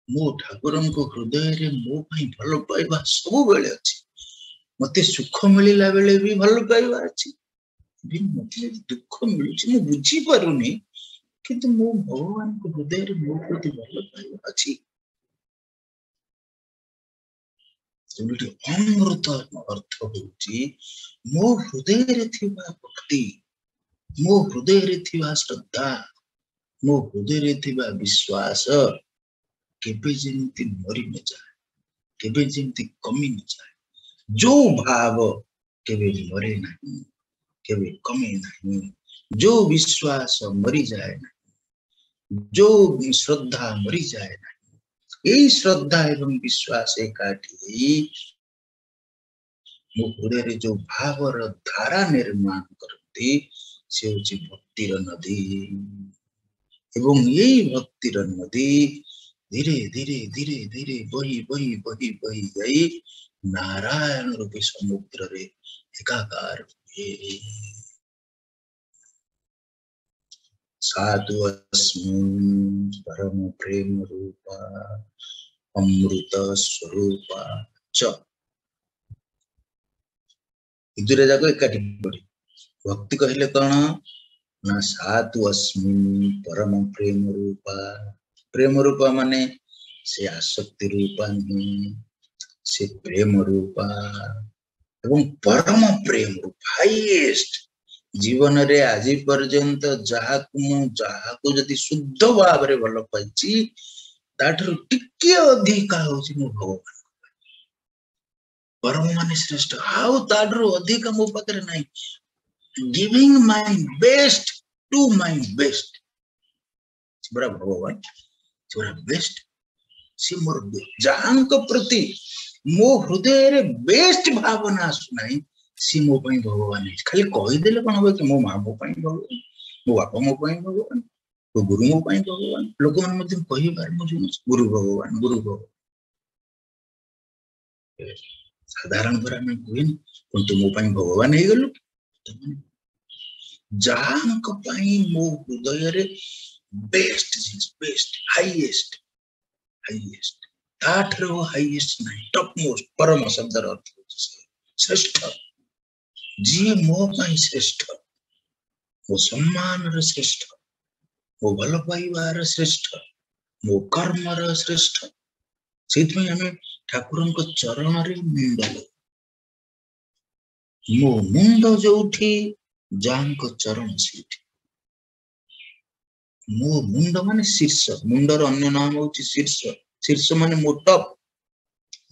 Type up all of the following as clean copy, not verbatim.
ମୋ ଠାକୁରଙ୍କ ହୃଦୟରେ ମୋ ପାଇଁ ଭଲ ପାଇବା ସବୁବେଳେ ଅଛି। ମତେ ସୁଖ ମିଳିଲା ବେଳେ ବି ଭଲ ପାଇବା ଅଛି, ମତେ ଯଦି ଦୁଃଖ ମିଳୁଛି ମୁଁ ବୁଝିପାରୁନି, କିନ୍ତୁ ମୋ ଭଗବାନଙ୍କ ହୃଦୟରେ ମୋ ପ୍ରତି ଭଲ ପାଇବା ଅଛି। ତେଣୁ ଅମୃତ ଅର୍ଥ ହଉଛି ମୋ ହୃଦୟରେ ଥିବା ଭକ୍ତି, ମୋ ହୃଦୟରେ ଥିବା ଶ୍ରଦ୍ଧା, ମୋ ହୃଦୟରେ ଥିବା ବିଶ୍ୱାସ କେବେ ଯେମିତି ମରି ନଯାଏ, କେବେ ଯେମିତି କମି ନଯାଏ। ଯୋଉ ଭାବ କେବେ ମରେ ନାହିଁ, କେବେ କମେ ନାହିଁ, ଯୋଉ ବିଶ୍ୱାସ ମରିଯାଏ ନାହିଁ, ଯୋଉ ଶ୍ରଦ୍ଧା ମରିଯାଏ ନାହିଁ, ଏଇ ଶ୍ରଦ୍ଧା ଏବଂ ବିଶ୍ୱାସ ଏକାଠି ହେଇ ମୋ ହୃଦୟରେ ଯୋଉ ଭାବର ଧାରା ନିର୍ମାଣ କରନ୍ତି, ସେ ହଉଛି ଭକ୍ତିର ନଦୀ। ଏବଂ ଏଇ ଭକ୍ତିର ନଦୀ ଧୀରେ ଧୀରେ ଧୀରେ ଧୀରେ ବହି ବହି ବହି ବହି ଯାଇ ନାରାୟଣ ରୂପୀ ସମୁଦ୍ରରେ ଏକାକାର ହୁଏ। ସାଧୁ ଅସ୍ମିନ୍ ପରମ ପ୍ରେମ ରୂପା ଅମୃତ ସ୍ୱରୂପା ଚ। ଏ ଦୁଇଟା ଯାକ ଏକାଠି ପଡି ଭକ୍ତି କହିଲେ କଣ ନା ସାଧୁ ଅସ୍ମିନ୍ ପରମ ପ୍ରେମ ରୂପା। ପ୍ରେମ ରୂପା ମାନେ ସେ ଆସକ୍ତି ରୂପା ନୁହେଁ, ସେ ପ୍ରେମ ରୂପା ଏବଂ ପରମ ପ୍ରେମ ରୂପା, ହାଇଏଷ୍ଟ। ଜୀବନରେ ଆଜି ପର୍ଯ୍ୟନ୍ତ ଯାହାକୁ ମୁଁ ଯାହାକୁ ଯଦି ଶୁଦ୍ଧ ଭାବରେ ଭଲ ପାଇଛି, ତାଠାରୁ ଟିକେ ଅଧିକା ହଉଛି ମୋ ଭଗବାନ। ପରମ ମାନେ ଶ୍ରେଷ୍ଠ, ଆଉ ତାଠାରୁ ଅଧିକା ମୋ ପାଖରେ ନାହିଁ। Giving my best to my best, ସେ ପରା ଭଗବାନ, ସେ ପରା ବେଷ୍ଟ, ସେ ମୋର ଯାହାଙ୍କ ପ୍ରତି ମୋ ହୃଦୟରେ ବେଷ୍ଟ ଭାବନା ଆସୁନାହିଁ, ସିଏ ମୋ ପାଇଁ ଭଗବାନ ହେଇଛି। ଖାଲି କହିଦେଲେ କଣ ହବ କି ମୋ ମା ମୋ ପାଇଁ ଭଗବାନ, ମୋ ବାପା ମୋ ପାଇଁ ଭଗବାନ, ମୋ ଗୁରୁ ମୋ ପାଇଁ ଭଗବାନ। ଲୋକମାନେ ମଧ୍ୟ କହିବାର ମୁଁ ଶୁଣୁଛି ଗୁରୁ ଭଗବାନ, ଗୁରୁ ଭଗବାନ। ସାଧାରଣ ପରେ ଆମେ କୁହେନି କିନ୍ତୁ ମୋ ପାଇଁ ଭଗବାନ ହେଇଗଲୁ। ଯାହାଙ୍କ ପାଇଁ ମୋ ହୃଦୟରେ ବେଷ୍ଟ ଜିନିଷ, ବେଷ୍ଟ, ହାଇଏଷ୍ଟ, ହାଇଏଷ୍ଟ, ତାଠାରୁ ହାଇଏଷ୍ଟ ନାହିଁ, ଟପ୍ ମୋଷ୍ଟ। ପରମ ଶବ୍ଦର ଅର୍ଥ ହଉଛି ଶ୍ରେଷ୍ଠ। ଯିଏ ମୋ ପାଇଁ ଶ୍ରେଷ୍ଠ, ମୋ ସମ୍ମାନର ଶ୍ରେଷ୍ଠ, ମୋ ଭଲ ପାଇବାର ଶ୍ରେଷ୍ଠ, ମୋ କର୍ମର ଶ୍ରେଷ୍ଠ। ସେଇଥିପାଇଁ ଆମେ ଠାକୁରଙ୍କ ଚରଣରେ ମୁଣ୍ଡ ଲଗାଉ। ମୋ ମୁଣ୍ଡ ଯୋଉଠି, ଯାହାଙ୍କ ଚରଣ ସେଇଠି। ମୋ ମୁଣ୍ଡ ମାନେ ଶୀର୍ଷ, ମୁଣ୍ଡର ଅନ୍ୟ ନାମ ହଉଛି ଶୀର୍ଷ। ଶୀର୍ଷ ମାନେ ମୋ ଟପ୍,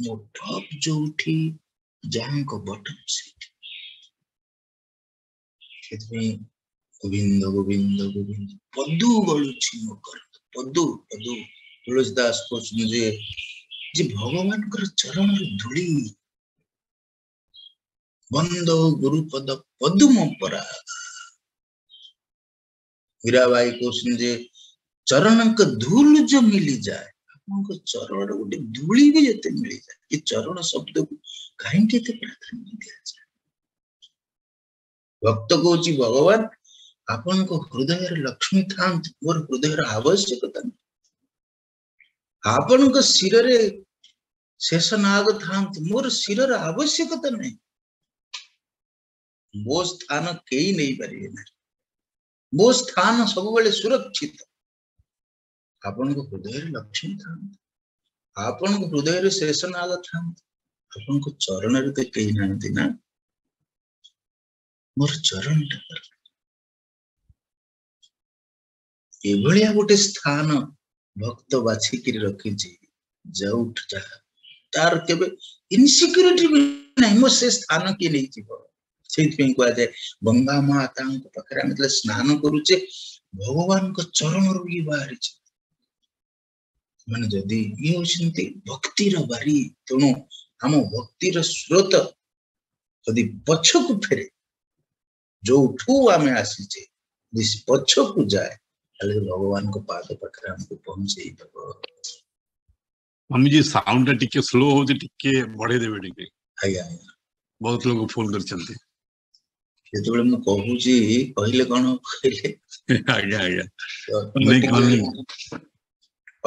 ମୋ ଟପ୍ ଯୋଉଠି, ଯାହାଙ୍କ ବଟମ ସେଇଠି। ସେଥିପାଇଁ ଗୋବିନ୍ଦ ଗୋବିନ୍ଦ ଗୋବିନ୍ଦ ପଦୁ ଗଳୁଛି ମୋ କର, ପଦୁ ପଦୁ। ତୁଳସୀ ଦାସ କହୁଛନ୍ତି ଯେ ଭଗବାନଙ୍କର ଚରଣର ଧୂଳି, ବନ୍ଦ ଗୁରୁପଦ ପଦୁମ ପରା। ମୀରାବାଇ କହୁଛନ୍ତି ଯେ ଚରଣଙ୍କ ଧୂଲ ଯୋ ମିଳିଯାଏ, ଆପଣଙ୍କ ଚରଣର ଗୋଟେ ଧୂଳି ବି ଯେତେ ମିଳିଯାଏ। ଏ ଚରଣ ଶବ୍ଦକୁ କାହିଁକି ଏତେ ପ୍ରାଧାନ୍ୟ ଦିଆଯାଏ? ଭକ୍ତ କହୁଛି ଭଗବାନ ଆପଣଙ୍କ ହୃଦୟରେ ଲକ୍ଷ୍ମୀ ଥାଆନ୍ତୁ, ମୋର ହୃଦୟର ଆବଶ୍ୟକତା ନାହିଁ। ଆପଣଙ୍କ ଶିରରେ ଶେଷ ନାଗ ଥାଆନ୍ତୁ, ମୋର ଶିରର ଆବଶ୍ୟକତା ନାହିଁ। ମୋ ସ୍ଥାନ କେହି ନେଇପାରିବେ ନାହିଁ, ମୋ ସ୍ଥାନ ସବୁବେଳେ ସୁରକ୍ଷିତ। ଆପଣଙ୍କ ହୃଦୟରେ ଲକ୍ଷ୍ମୀ ଥାଆନ୍ତୁ, ଆପଣଙ୍କ ହୃଦୟରେ ଶେଷ ନାଗ ଥାଆନ୍ତୁ, ଆପଣଙ୍କ ଚରଣରେ ତ କେହି ନାହାନ୍ତି ନା, ମୋର ଚରଣଟା ଦରକାର। ଏଭଳିଆ ଗୋଟେ ସ୍ଥାନ ଭକ୍ତ ବାଛିକିରି ରଖିଛି, ଯୋଉଠି ଯାହା ତାର କେବେ ଇନସିକ୍ୟୁରିଟି ବି ନାହିଁ, ମୋ ସେ ସ୍ଥାନ କିଏ ନେଇଯିବ। ସେଇଥିପାଇଁ କୁହାଯାଏ ଗଙ୍ଗା ମାତାଙ୍କ ପାଖରେ ଆମେ ଯେତେବେଳେ ସ୍ନାନ କରୁଛେ, ଭଗବାନଙ୍କ ଚରଣରୁ ଇଏ ବାହାରିছে। ମାନେ ଯଦି ଇଏ ହଉଛନ୍ତି ଭକ୍ତିର ବାରି। ତେଣୁ ଆମ ଭକ୍ତିର ସ୍ରୋତ ଯଦି ପଛକୁ ଫେରେ, ଯୋଉଠୁ ଆମେ ଆସିଛେ ଯଦି ପଛକୁ ଯାଏ, ତାହେଲେ ଭଗବାନଙ୍କ ପାଦ ପାଖରେ ଆମକୁ ପହଞ୍ଚେଇ ଦବ। ସ୍ୱାମୀଜୀ ସାଉଣ୍ଡ ଟା ଟିକେ ସ୍ଲୋ ହଉଛି, ଟିକେ ବଢେଇ ଦେବେ ଟିକେ। ଆଜ୍ଞା ଆଜ୍ଞା। ବହୁତ ଲୋକ ଫୋନ କରିଛନ୍ତି। ଯେତେବେଳେ ମୁଁ କହୁଛି କହିଲେ କଣ କହିଲେ? ଆଜ୍ଞା ଆଜ୍ଞା।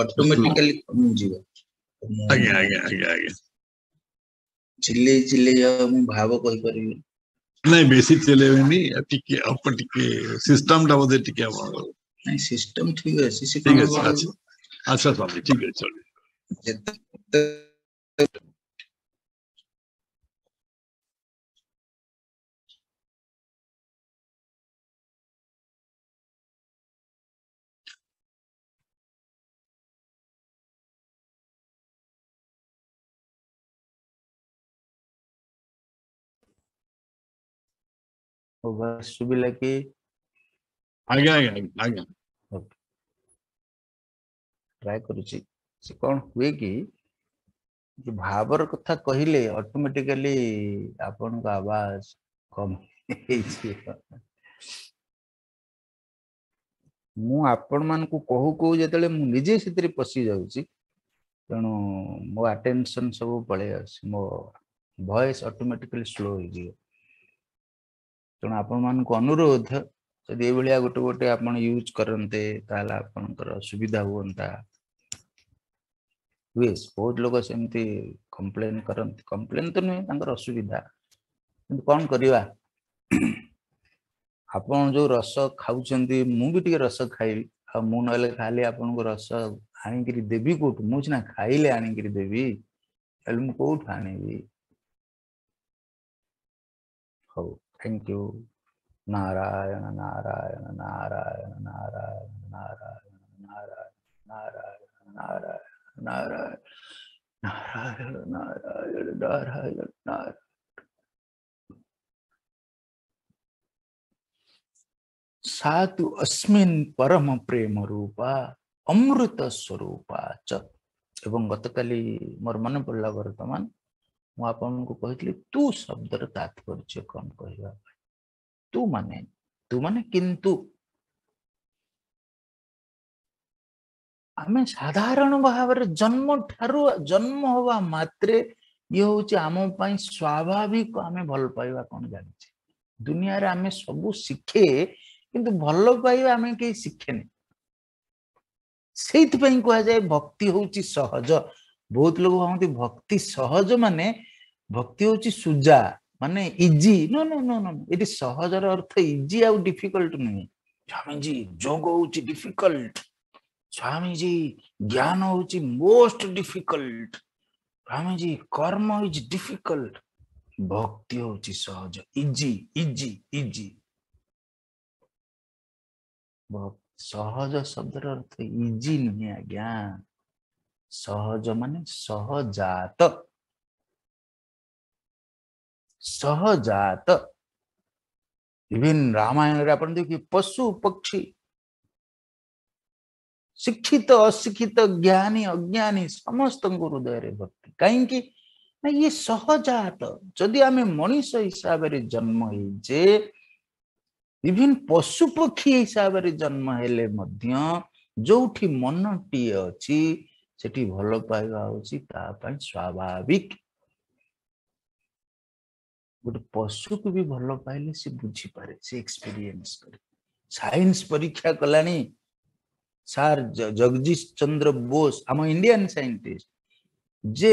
ଅଟୋମେଟିକାଲି କମିଯିବ। ମୁଁ ଆଜ୍ଞା ଆଜ୍ଞା ଆଜ୍ଞା ଆଜ୍ଞା। ଚିଲେଇ ଚିଲେଇ ଆଉ ମୁଁ ଭାବ କହିପାରିବି। ନାଇଁ, ବେଶୀ ଚିଲେଇବେନି, ଟିକେ ଅଳ୍ପ ଟିକେ। ସିଷ୍ଟମ ଟା ବୋଧେ ଟିକେ ଆପଣଙ୍କର। ନାଇଁ, ସିଷ୍ଟମ ଠିକ ଅଛି, ସେ ଠିକ କଣ ଅଛି। ଆଚ୍ଛା ଆଚ୍ଛା ସ୍ୱାମୀ, ଠିକ ଅଛି, ଚଳିବ। ଯେତେ ଶୁଭିଲା କି? ଆଜ୍ଞା ଆଜ୍ଞା ଆଜ୍ଞା। ଟ୍ରାଏ କରୁଛି। ସେ କଣ ହୁଏ କି, ଯେ ଭାବର କଥା କହିଲେ ଅଟୋମେଟିକାଲି ଆପଣଙ୍କ ଆବାଜ କମ ହେଇଯିବ। ମୁଁ ଆପଣ ମାନଙ୍କୁ କହୁ କହୁ ଯେତେବେଳେ ମୁଁ ନିଜେ ସେଥିରେ ପଶି ଯାଉଛି, ତେଣୁ ମୋ ଆଟେନସନ ସବୁ ପଳେଇ ଆସୁଛି, ମୋ ଭଏସ ଅଟୋମେଟିକାଲି ସ୍ଲୋ ହେଇଯିବ। ତେଣୁ ଆପଣମାନଙ୍କୁ ଅନୁରୋଧ, ଯଦି ଏଇଭଳିଆ ଗୋଟେ ଗୋଟେ ଆପଣ ୟୁଜ କରନ୍ତେ ତାହେଲେ ଆପଣଙ୍କର ସୁବିଧା ହୁଅନ୍ତା। ହୁଏ, ବହୁତ ଲୋକ ସେମିତି କମ୍ପ୍ଲେନ କରନ୍ତି, କମ୍ପ୍ଲେନ ତ ନୁହେଁ, ତାଙ୍କର ଅସୁବିଧା, କିନ୍ତୁ କଣ କରିବା? ଆପଣ ଯୋଉ ରସ ଖାଉଛନ୍ତି, ମୁଁ ବି ଟିକେ ରସ ଖାଇବି। ଆଉ ମୁଁ ନହେଲେ ଖାଲି ଆପଣଙ୍କୁ ରସ ଆଣିକିରି ଦେବି କୋଉଠୁ? ମୁଁ ସିନା ଖାଇଲେ ଆଣିକିରି ଦେବି, ତାହେଲେ ମୁଁ କୋଉଠୁ ଆଣିବି? ହଉ, thank you. Narayan Narayan Narayan Narayan Narayan Narayan Narayan Narayan Narayan Narayan Narayan Narayan Narayan. ସାତୁ ଅସ୍ମିନ୍ ପରମ ପ୍ରେମ ରୂପା ଅମୃତ ସ୍ୱରୂପା ଚ। ଏବଂ ଗତକାଲି ମୋର ମନେ ପଡ଼ିଲା, ବର୍ତ୍ତମାନ ମୁଁ ଆପଣଙ୍କୁ କହିଥିଲି ତୁ ଶବ୍ଦର ତାତ୍ପର୍ଯ୍ୟ କଣ କହିବା ପାଇଁ। ତୁ ମାନେ, ତୁ ମାନେ କିନ୍ତୁ। ଆମେ ସାଧାରଣ ଭାବରେ ଜନ୍ମ ଠାରୁ, ଜନ୍ମ ହବା ମାତ୍ରେ ଇଏ ହଉଛି ଆମ ପାଇଁ ସ୍ୱାଭାବିକ। ଆମେ ଭଲ ପାଇବା କଣ ଜାଣିଛେ? ଦୁନିଆରେ ଆମେ ସବୁ ଶିଖେ, କିନ୍ତୁ ଭଲ ପାଇବା ଆମେ କେହି ଶିଖେନି। ସେଇଥିପାଇଁ କୁହାଯାଏ ଭକ୍ତି ହଉଛି ସହଜ। ବହୁତ ଲୋକ ଭାବନ୍ତି ଭକ୍ତି ସହଜ ମାନେ ଭକ୍ତି ହଉଛି ସୁଜା, ମାନେ easy. No no no no, ଏଠି ସହଜର ଅର୍ଥ ଇଜି ଆଉ ଡିଫିକଲ୍ଟ ନୁହେଁ। ସ୍ୱାମୀଜୀ ଯୋଗ ହଉଛି ଡିଫିକଲ୍ଟ, ସ୍ୱାମୀଜୀ ଜ୍ଞାନ ହଉଛି ମୋଷ୍ଟ ଡିଫିକଲ୍ଟ, ସ୍ୱାମୀଜୀ କର୍ମ is difficult. ଭକ୍ତି ହଉଛି ସହଜ, ଇଜି ଇଜି ଇଜି। ସହଜ ଶବ୍ଦର ଅର୍ଥ ଇଜି ନୁହେଁ ଆଜ୍ଞା। ସହଜ ମାନେ ସହଜାତ, ସହଜାତ। ଇଭିନ୍ ରାମାୟଣରେ ଆପଣ ଦେଖିବେ ପଶୁ ପକ୍ଷୀ, ଶିକ୍ଷିତ ଅଶିକ୍ଷିତ, ଜ୍ଞାନୀ ଅଜ୍ଞାନୀ, ସମସ୍ତଙ୍କ ହୃଦୟରେ ଭକ୍ତି। କାହିଁକି ନା ଇଏ ସହଜାତ। ଯଦି ଆମେ ମଣିଷ ହିସାବରେ ଜନ୍ମ ହେଇଛେ, ଇଭିନ୍ ପଶୁ ପକ୍ଷୀ ହିସାବରେ ଜନ୍ମ ହେଲେ ମଧ୍ୟ ଯୋଉଠି ମନଟିଏ ଅଛି ସେଠି ଭଲ ପାଇବା ହଉଛି ତା ପାଇଁ ସ୍ୱାଭାବିକ। ଗୋଟେ ପଶୁକୁ ବି ଭଲ ପାଇଲେ ସେ ବୁଝିପାରେ, ସେ ଏକ୍ସପିରିଏନ୍ସ କରେ। ସାଇନ୍ସ ପରୀକ୍ଷା କଲାଣି ସାର୍ ଜଗଦୀଶ ଚନ୍ଦ୍ର ବୋଷ, ଆମ ଇଣ୍ଡିଆନ ସାଇଣ୍ଟିଷ୍ଟ, ଯେ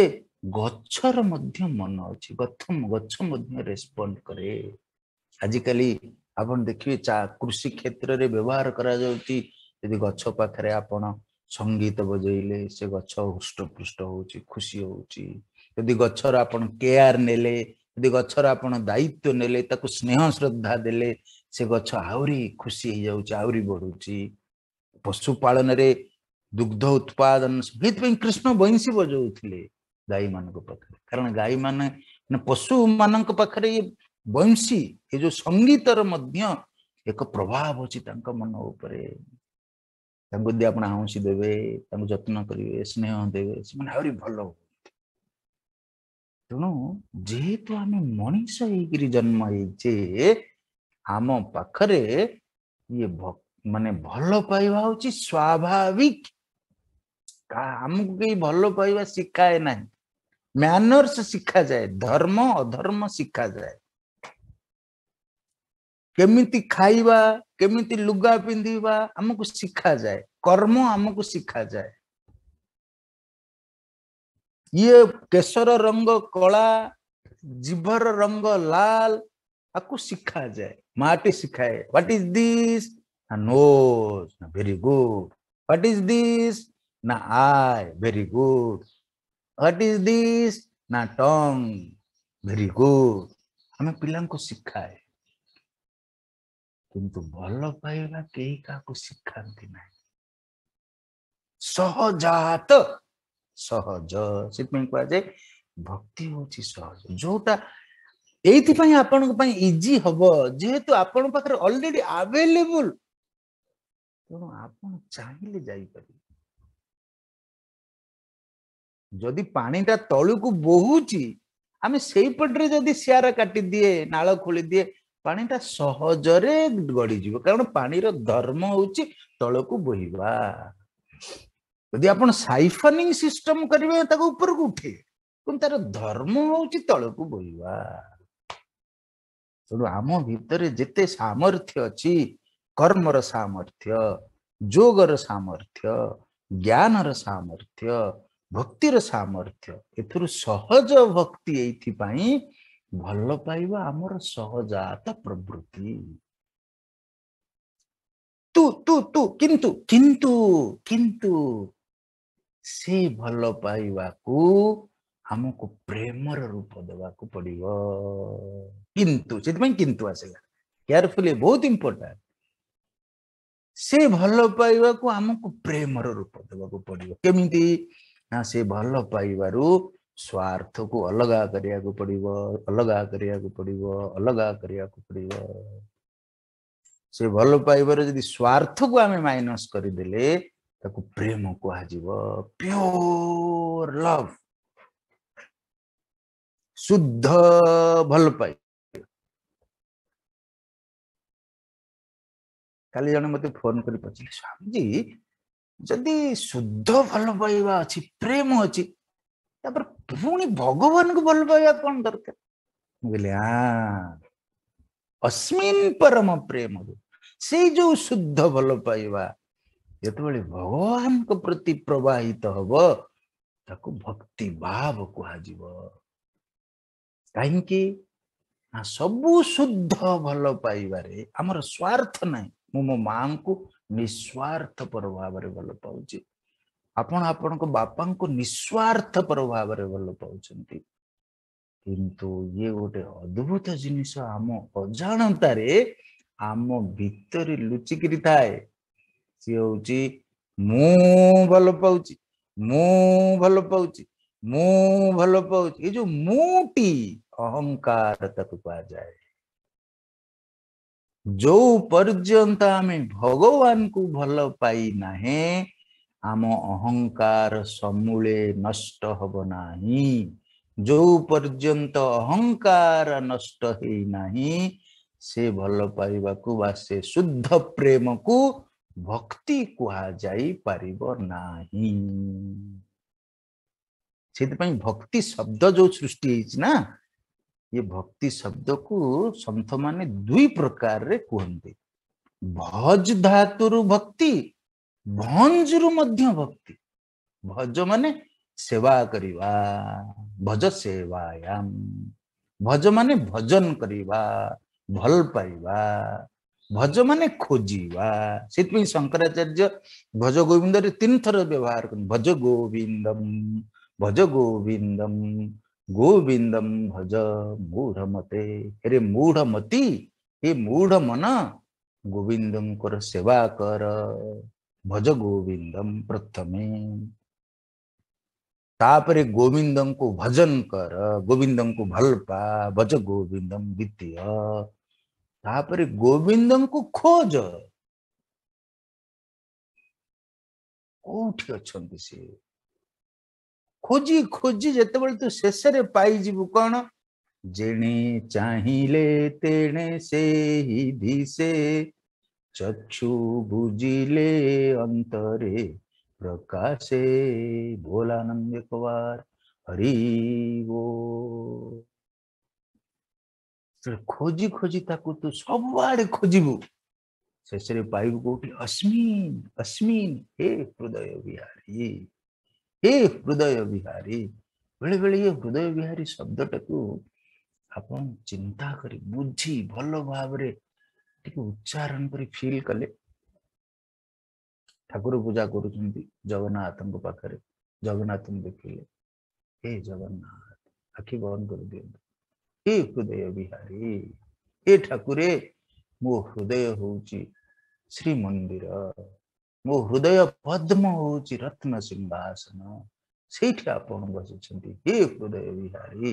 ଗଛର ମଧ୍ୟ ମନ ଅଛି, ଗଛ ମଧ୍ୟ ରେସ୍ପଣ୍ଡ କରେ। ଆଜିକାଲି ଆପଣ ଦେଖିବେ କୃଷି କ୍ଷେତ୍ରରେ ବ୍ୟବହାର କରାଯାଉଛି, ଯଦି ଗଛ ପାଖରେ ଆପଣ ସଙ୍ଗୀତ ବଜେଇଲେ ସେ ଗଛ ହୃଷ୍ଟପୃଷ୍ଟ ହଉଛି, ଖୁସି ହଉଛି। ଯଦି ଗଛର ଆପଣ କେୟାର ନେଲେ, ଯଦି ଗଛର ଆପଣ ଦାୟିତ୍ୱ ନେଲେ, ତାକୁ ସ୍ନେହ ଶ୍ରଦ୍ଧା ଦେଲେ, ସେ ଗଛ ଆହୁରି ଖୁସି ହେଇଯାଉଛି, ଆହୁରି ବଢୁଛି। ପଶୁପାଳନରେ ଦୁଗ୍ଧ ଉତ୍ପାଦନ, ସେଇଥିପାଇଁ କୃଷ୍ଣ ବଇଁଶୀ ବଜଉଥିଲେ ଗାଈମାନଙ୍କ ପାଖରେ, କାରଣ ଗାଈମାନେ ମାନେ ପଶୁମାନଙ୍କ ପାଖରେ ଇଏ ବଇଁଶୀ, ଏ ଯୋଉ ସଙ୍ଗୀତର ମଧ୍ୟ ଏକ ପ୍ରଭାବ ଅଛି ତାଙ୍କ ମନ ଉପରେ। ତାଙ୍କୁ ଯଦି ଆପଣ ଆଉଁସି ଦେବେ, ତାଙ୍କୁ ଯତ୍ନ କରିବେ, ସ୍ନେହ ଦେବେ, ସେମାନେ ଆହୁରି ଭଲ ହୁଅନ୍ତି। ତେଣୁ ଯେହେତୁ ଆମେ ମଣିଷ ହେଇକିରି ଜନ୍ମ ହେଇଛେ, ଆମ ପାଖରେ ଇଏ ମାନେ ଭଲ ପାଇବା ହଉଛି ସ୍ୱାଭାବିକ। ଆମକୁ କେହି ଭଲ ପାଇବା ଶିଖାଏ ନାହିଁ, ମ୍ୟାନର୍ସ ଶିଖାଯାଏ, ଧର୍ମ ଅଧର୍ମ ଶିଖାଯାଏ, କେମିତି ଖାଇବା, କେମିତି ଲୁଗା ପିନ୍ଧିବା ଆମକୁ ଶିଖାଯାଏ, କର୍ମ ଆମକୁ ଶିଖାଯାଏ। ଇଏ କେଶର ରଙ୍ଗ କଳା, ଜିଭର ରଙ୍ଗ ଲାଲ, ଆକୁ ଶିଖାଯାଏ। ମାଟି ଶିଖାଏ, what is this? ନା ନୋଜ, ନା very good. What is this? ନା eye, very good. What is this? ନା ଟଙ୍ଗ, ଭେରି ଗୁଡ। ଆମେ ପିଲାଙ୍କୁ ଶିଖାଏ, କିନ୍ତୁ ଭଲ ପାଇବା କେହି କାହାକୁ ଶିଖାନ୍ତି ନାହିଁ। ସହଜାତ, ସହଜ। ସେଥିପାଇଁ କୁହାଯାଏ ଭକ୍ତି ହଉଛି ସହଜ। ଯୋଉଟା ଏଇଥିପାଇଁ ଆପଣଙ୍କ ପାଇଁ ଇଜି ହବ, ଯେହେତୁ ଆପଣଙ୍କ ପାଖରେ ଅଲରେଡି ଆଭେଲେବୁଲ, ତେଣୁ ଆପଣ ଚାହିଁଲେ ଯାଇପାରିବେ। ଯଦି ପାଣିଟା ତଳକୁ ବୋହୁଛି, ଆମେ ସେଇପଟରେ ଯଦି ସିଆର କାଟିଦିଏ, ନାଳ ଖୋଳିଦିଏ, ପାଣିଟା ସହଜରେ ଗଡ଼ିଯିବ। କାରଣ ପାଣିର ଧର୍ମ ହଉଛି ତଳକୁ ବୋହିବା। ଯଦି ଆପଣ ସାଇଫନିଂ ସିଷ୍ଟମ କରିବେ, ତାକୁ ଉପରକୁ ଉଠେଇବେ, କିନ୍ତୁ ତାର ଧର୍ମ ହଉଛି ତଳକୁ ବୋହିବା। ତେଣୁ ଆମ ଭିତରେ ଯେତେ ସାମର୍ଥ୍ୟ ଅଛି, କର୍ମର ସାମର୍ଥ୍ୟ, ଯୋଗର ସାମର୍ଥ୍ୟ, ଜ୍ଞାନର ସାମର୍ଥ୍ୟ, ଭକ୍ତିର ସାମର୍ଥ୍ୟ, ଏଥିରୁ ସହଜ ଭକ୍ତି। ଏଇଥିପାଇଁ ଭଲ ପାଇବା ଆମର ସହଜାତ ପ୍ରବୃତ୍ତି। ତୁ ତୁ ତୁ କିନ୍ତୁ କିନ୍ତୁ କିନ୍ତୁ ସେ ଭଲ ପାଇବାକୁ ଆମକୁ ପ୍ରେମର ରୂପ ଦେବାକୁ ପଡିବ। କିନ୍ତୁ ସେଥିପାଇଁ କିନ୍ତୁ ଆସିଲା, କେୟାରଫୁଲି, ବହୁତ ଇମ୍ପୋର୍ଟାଣ୍ଟ। ସେ ଭଲ ପାଇବାକୁ ଆମକୁ ପ୍ରେମର ରୂପ ଦେବାକୁ ପଡିବ। କେମିତି? ନା ସେ ଭଲ ପାଇବାରୁ ସ୍ୱାର୍ଥକୁ ଅଲଗା କରିବାକୁ ପଡିବ, ଅଲଗା କରିବାକୁ ପଡିବ, ଅଲଗା କରିବାକୁ ପଡିବ। ସେ ଭଲ ପାଇବାରେ ଯଦି ସ୍ୱାର୍ଥକୁ ଆମେ ମାଇନସ କରିଦେଲେ, ତାକୁ ପ୍ରେମ କୁହାଯିବ। ପିଓର ଲଭ, ଶୁଦ୍ଧ ଭଲ ପାଇବା। କାଲି ଜଣେ ମତେ ଫୋନ କରି ପଚାରିଲେ, ସ୍ୱାମୀଜୀ ଯଦି ଶୁଦ୍ଧ ଭଲ ପାଇବା ଅଛି, ପ୍ରେମ ଅଛି, ତାପରେ ପୁଣି ଭଗବାନଙ୍କୁ ଭଲ ପାଇବା କଣ ଦରକାର? ମୁଁ କହିଲି, ଅସ୍ମିନ୍ ପରମ ପ୍ରେମ, ସେଇ ଯୋଉ ଶୁଦ୍ଧ ଭଲ ପାଇବା ଯେତେବେଳେ ଭଗବାନଙ୍କ ପ୍ରତି ପ୍ରବାହିତ ହବ, ତାକୁ ଭକ୍ତି ଭାବ କୁହାଯିବ। କାହିଁକି ନା ସବୁ ଶୁଦ୍ଧ ଭଲ ପାଇବାରେ ଆମର ସ୍ୱାର୍ଥ ନାହିଁ। ମୁଁ ମୋ ମାଙ୍କୁ ନିସ୍ୱାର୍ଥପର ଭାବରେ ଭଲ ପାଉଛି, ଆପଣ ଆପଣଙ୍କ ବାପାଙ୍କୁ ନିସ୍ୱାର୍ଥପର ଭାବରେ ଭଲ ପାଉଛନ୍ତି। କିନ୍ତୁ ଇଏ ଗୋଟେ ଅଦ୍ଭୁତ ଜିନିଷ, ଆମ ଅଜାଣତାରେ ଆମ ଭିତରେ ଲୁଚିକିରି ଥାଏ। ସିଏ ହଉଛି ମୁଁ ଭଲ ପାଉଛି, ମୁଁ ଭଲ ପାଉଛି, ମୁଁ ଭଲ ପାଉଛି। ଏ ଯୋଉ ମୁଁଟି, ଅହଙ୍କାର ତାକୁ କୁହାଯାଏ। ଯୋଉ ପର୍ଯ୍ୟନ୍ତ ଆମେ ଭଗବାନଙ୍କୁ ଭଲ ପାଇନାହେଁ, ଆମ ଅହଙ୍କାର ସମୂଳେ ନଷ୍ଟ ହବ ନାହିଁ। ଯୋଉ ପର୍ଯ୍ୟନ୍ତ ଅହଙ୍କାର ନଷ୍ଟ ହେଇନାହିଁ, ସେ ଭଲ ପାଇବାକୁ ବା ସେ ଶୁଦ୍ଧ ପ୍ରେମକୁ ଭକ୍ତି କୁହାଯାଇ ପାରିବ ନାହିଁ। ସେଥିପାଇଁ ଭକ୍ତି ଶବ୍ଦ ଯୋଉ ସୃଷ୍ଟି ହେଇଛି ନା, ଏ ଭକ୍ତି ଶବ୍ଦକୁ ସନ୍ଥମାନେ ଦୁଇ ପ୍ରକାରରେ କୁହନ୍ତି। ଭଜ ଧାତୁରୁ ଭକ୍ତି, ଭଞ୍ଜରୁ ମଧ୍ୟ ଭକ୍ତି। ଭଜ ମାନେ ସେବା କରିବା, ଭଜ ସେବାୟାମ। ଭଜ ମାନେ ଭଜନ କରିବା, ଭଲ ପାଇବା। ଭଜ ମାନେ ଖୋଜିବା। ସେଥିପାଇଁ ଶଙ୍କରାଚାର୍ଯ୍ୟ ଭଜ ଗୋବିନ୍ଦରେ 3 ଥର ବ୍ୟବହାର କରନ୍ତି। ଭଜ ଗୋବିନ୍ଦମ, ଭଜ ଗୋବିନ୍ଦମ, ଗୋବିନ୍ଦମ ଭଜ ମୂଢ଼ମତେ। ହେରେ ମୂଢ଼ମତି, ହେ ମୂଢ଼ ମନ, ଗୋବିନ୍ଦଙ୍କର ସେବା କର। ଭଜ ଗୋବିନ୍ଦମ ପ୍ରଥମେ, ତାପରେ ଗୋବିନ୍ଦଙ୍କୁ ଭଜନ କର, ଗୋବିନ୍ଦଙ୍କୁ ଭଲ ପା, ଭଜ ଗୋବିନ୍ଦମ ଦ୍ୱିତୀୟ, ତାପରେ ଗୋବିନ୍ଦଙ୍କୁ ଖୋଜ, କୋଉଠି ଅଛନ୍ତି ସିଏ। ଖୋଜି ଖୋଜି ଯେତେବେଳେ ତୁ ଶେଷରେ ପାଇଯିବୁ କଣ, ଯେଣେ ଚାହିଁଲେ ତେଣେ ସେହି ଦିଶେ, ଚକ୍ଷୁ ବୁଜିଲେ ଅନ୍ତରେ ପ୍ରକାଶେ। ଭୋଲାନନ୍ଦ କୁମାର ହରି ବୋଲ। ଖୋଜି ଖୋଜି ତାକୁ ତୁ ସବୁଆଡେ ଖୋଜିବୁ, ଶେଷରେ ପାଇବୁ କୋଉଠି? ଅସ୍ମିନ୍ ଅସ୍ମିନ୍, ହେ ହୃଦୟ ବିହାରୀ, ହେ ହୃଦୟ ବିହାରୀ, ବେଳେବେଳେ ଇଏ ହୃଦୟ ବିହାରୀ ଶବ୍ଦଟାକୁ ଆପଣ ଚିନ୍ତା କରି ବୁଝି ଭଲ ଭାବରେ ଟିକେ ଉଚ୍ଚାରଣ କରି ଫିଲ୍ କଲେ, ଠାକୁର ପୂଜା କରୁଛନ୍ତି ଜଗନ୍ନାଥଙ୍କ ପାଖରେ, ଜଗନ୍ନାଥଙ୍କୁ ଦେଖିଲେ, ହେ ଜଗନ୍ନାଥ, ଆଖି ବନ୍ଦ କରିଦିଅନ୍ତୁ, ହେ ହୃଦୟ ବିହାରୀ, ହେ ଠାକୁରେ, ମୋ ହୃଦୟ ହଉଛି ଶ୍ରୀମନ୍ଦିର, ମୋ ହୃଦୟ ପଦ୍ମ ହଉଛି ରତ୍ନ ସିଂହାସନ, ସେଇଠି ଆପଣ ବସିଛନ୍ତି, ହେ ହୃଦୟ ବିହାରୀ।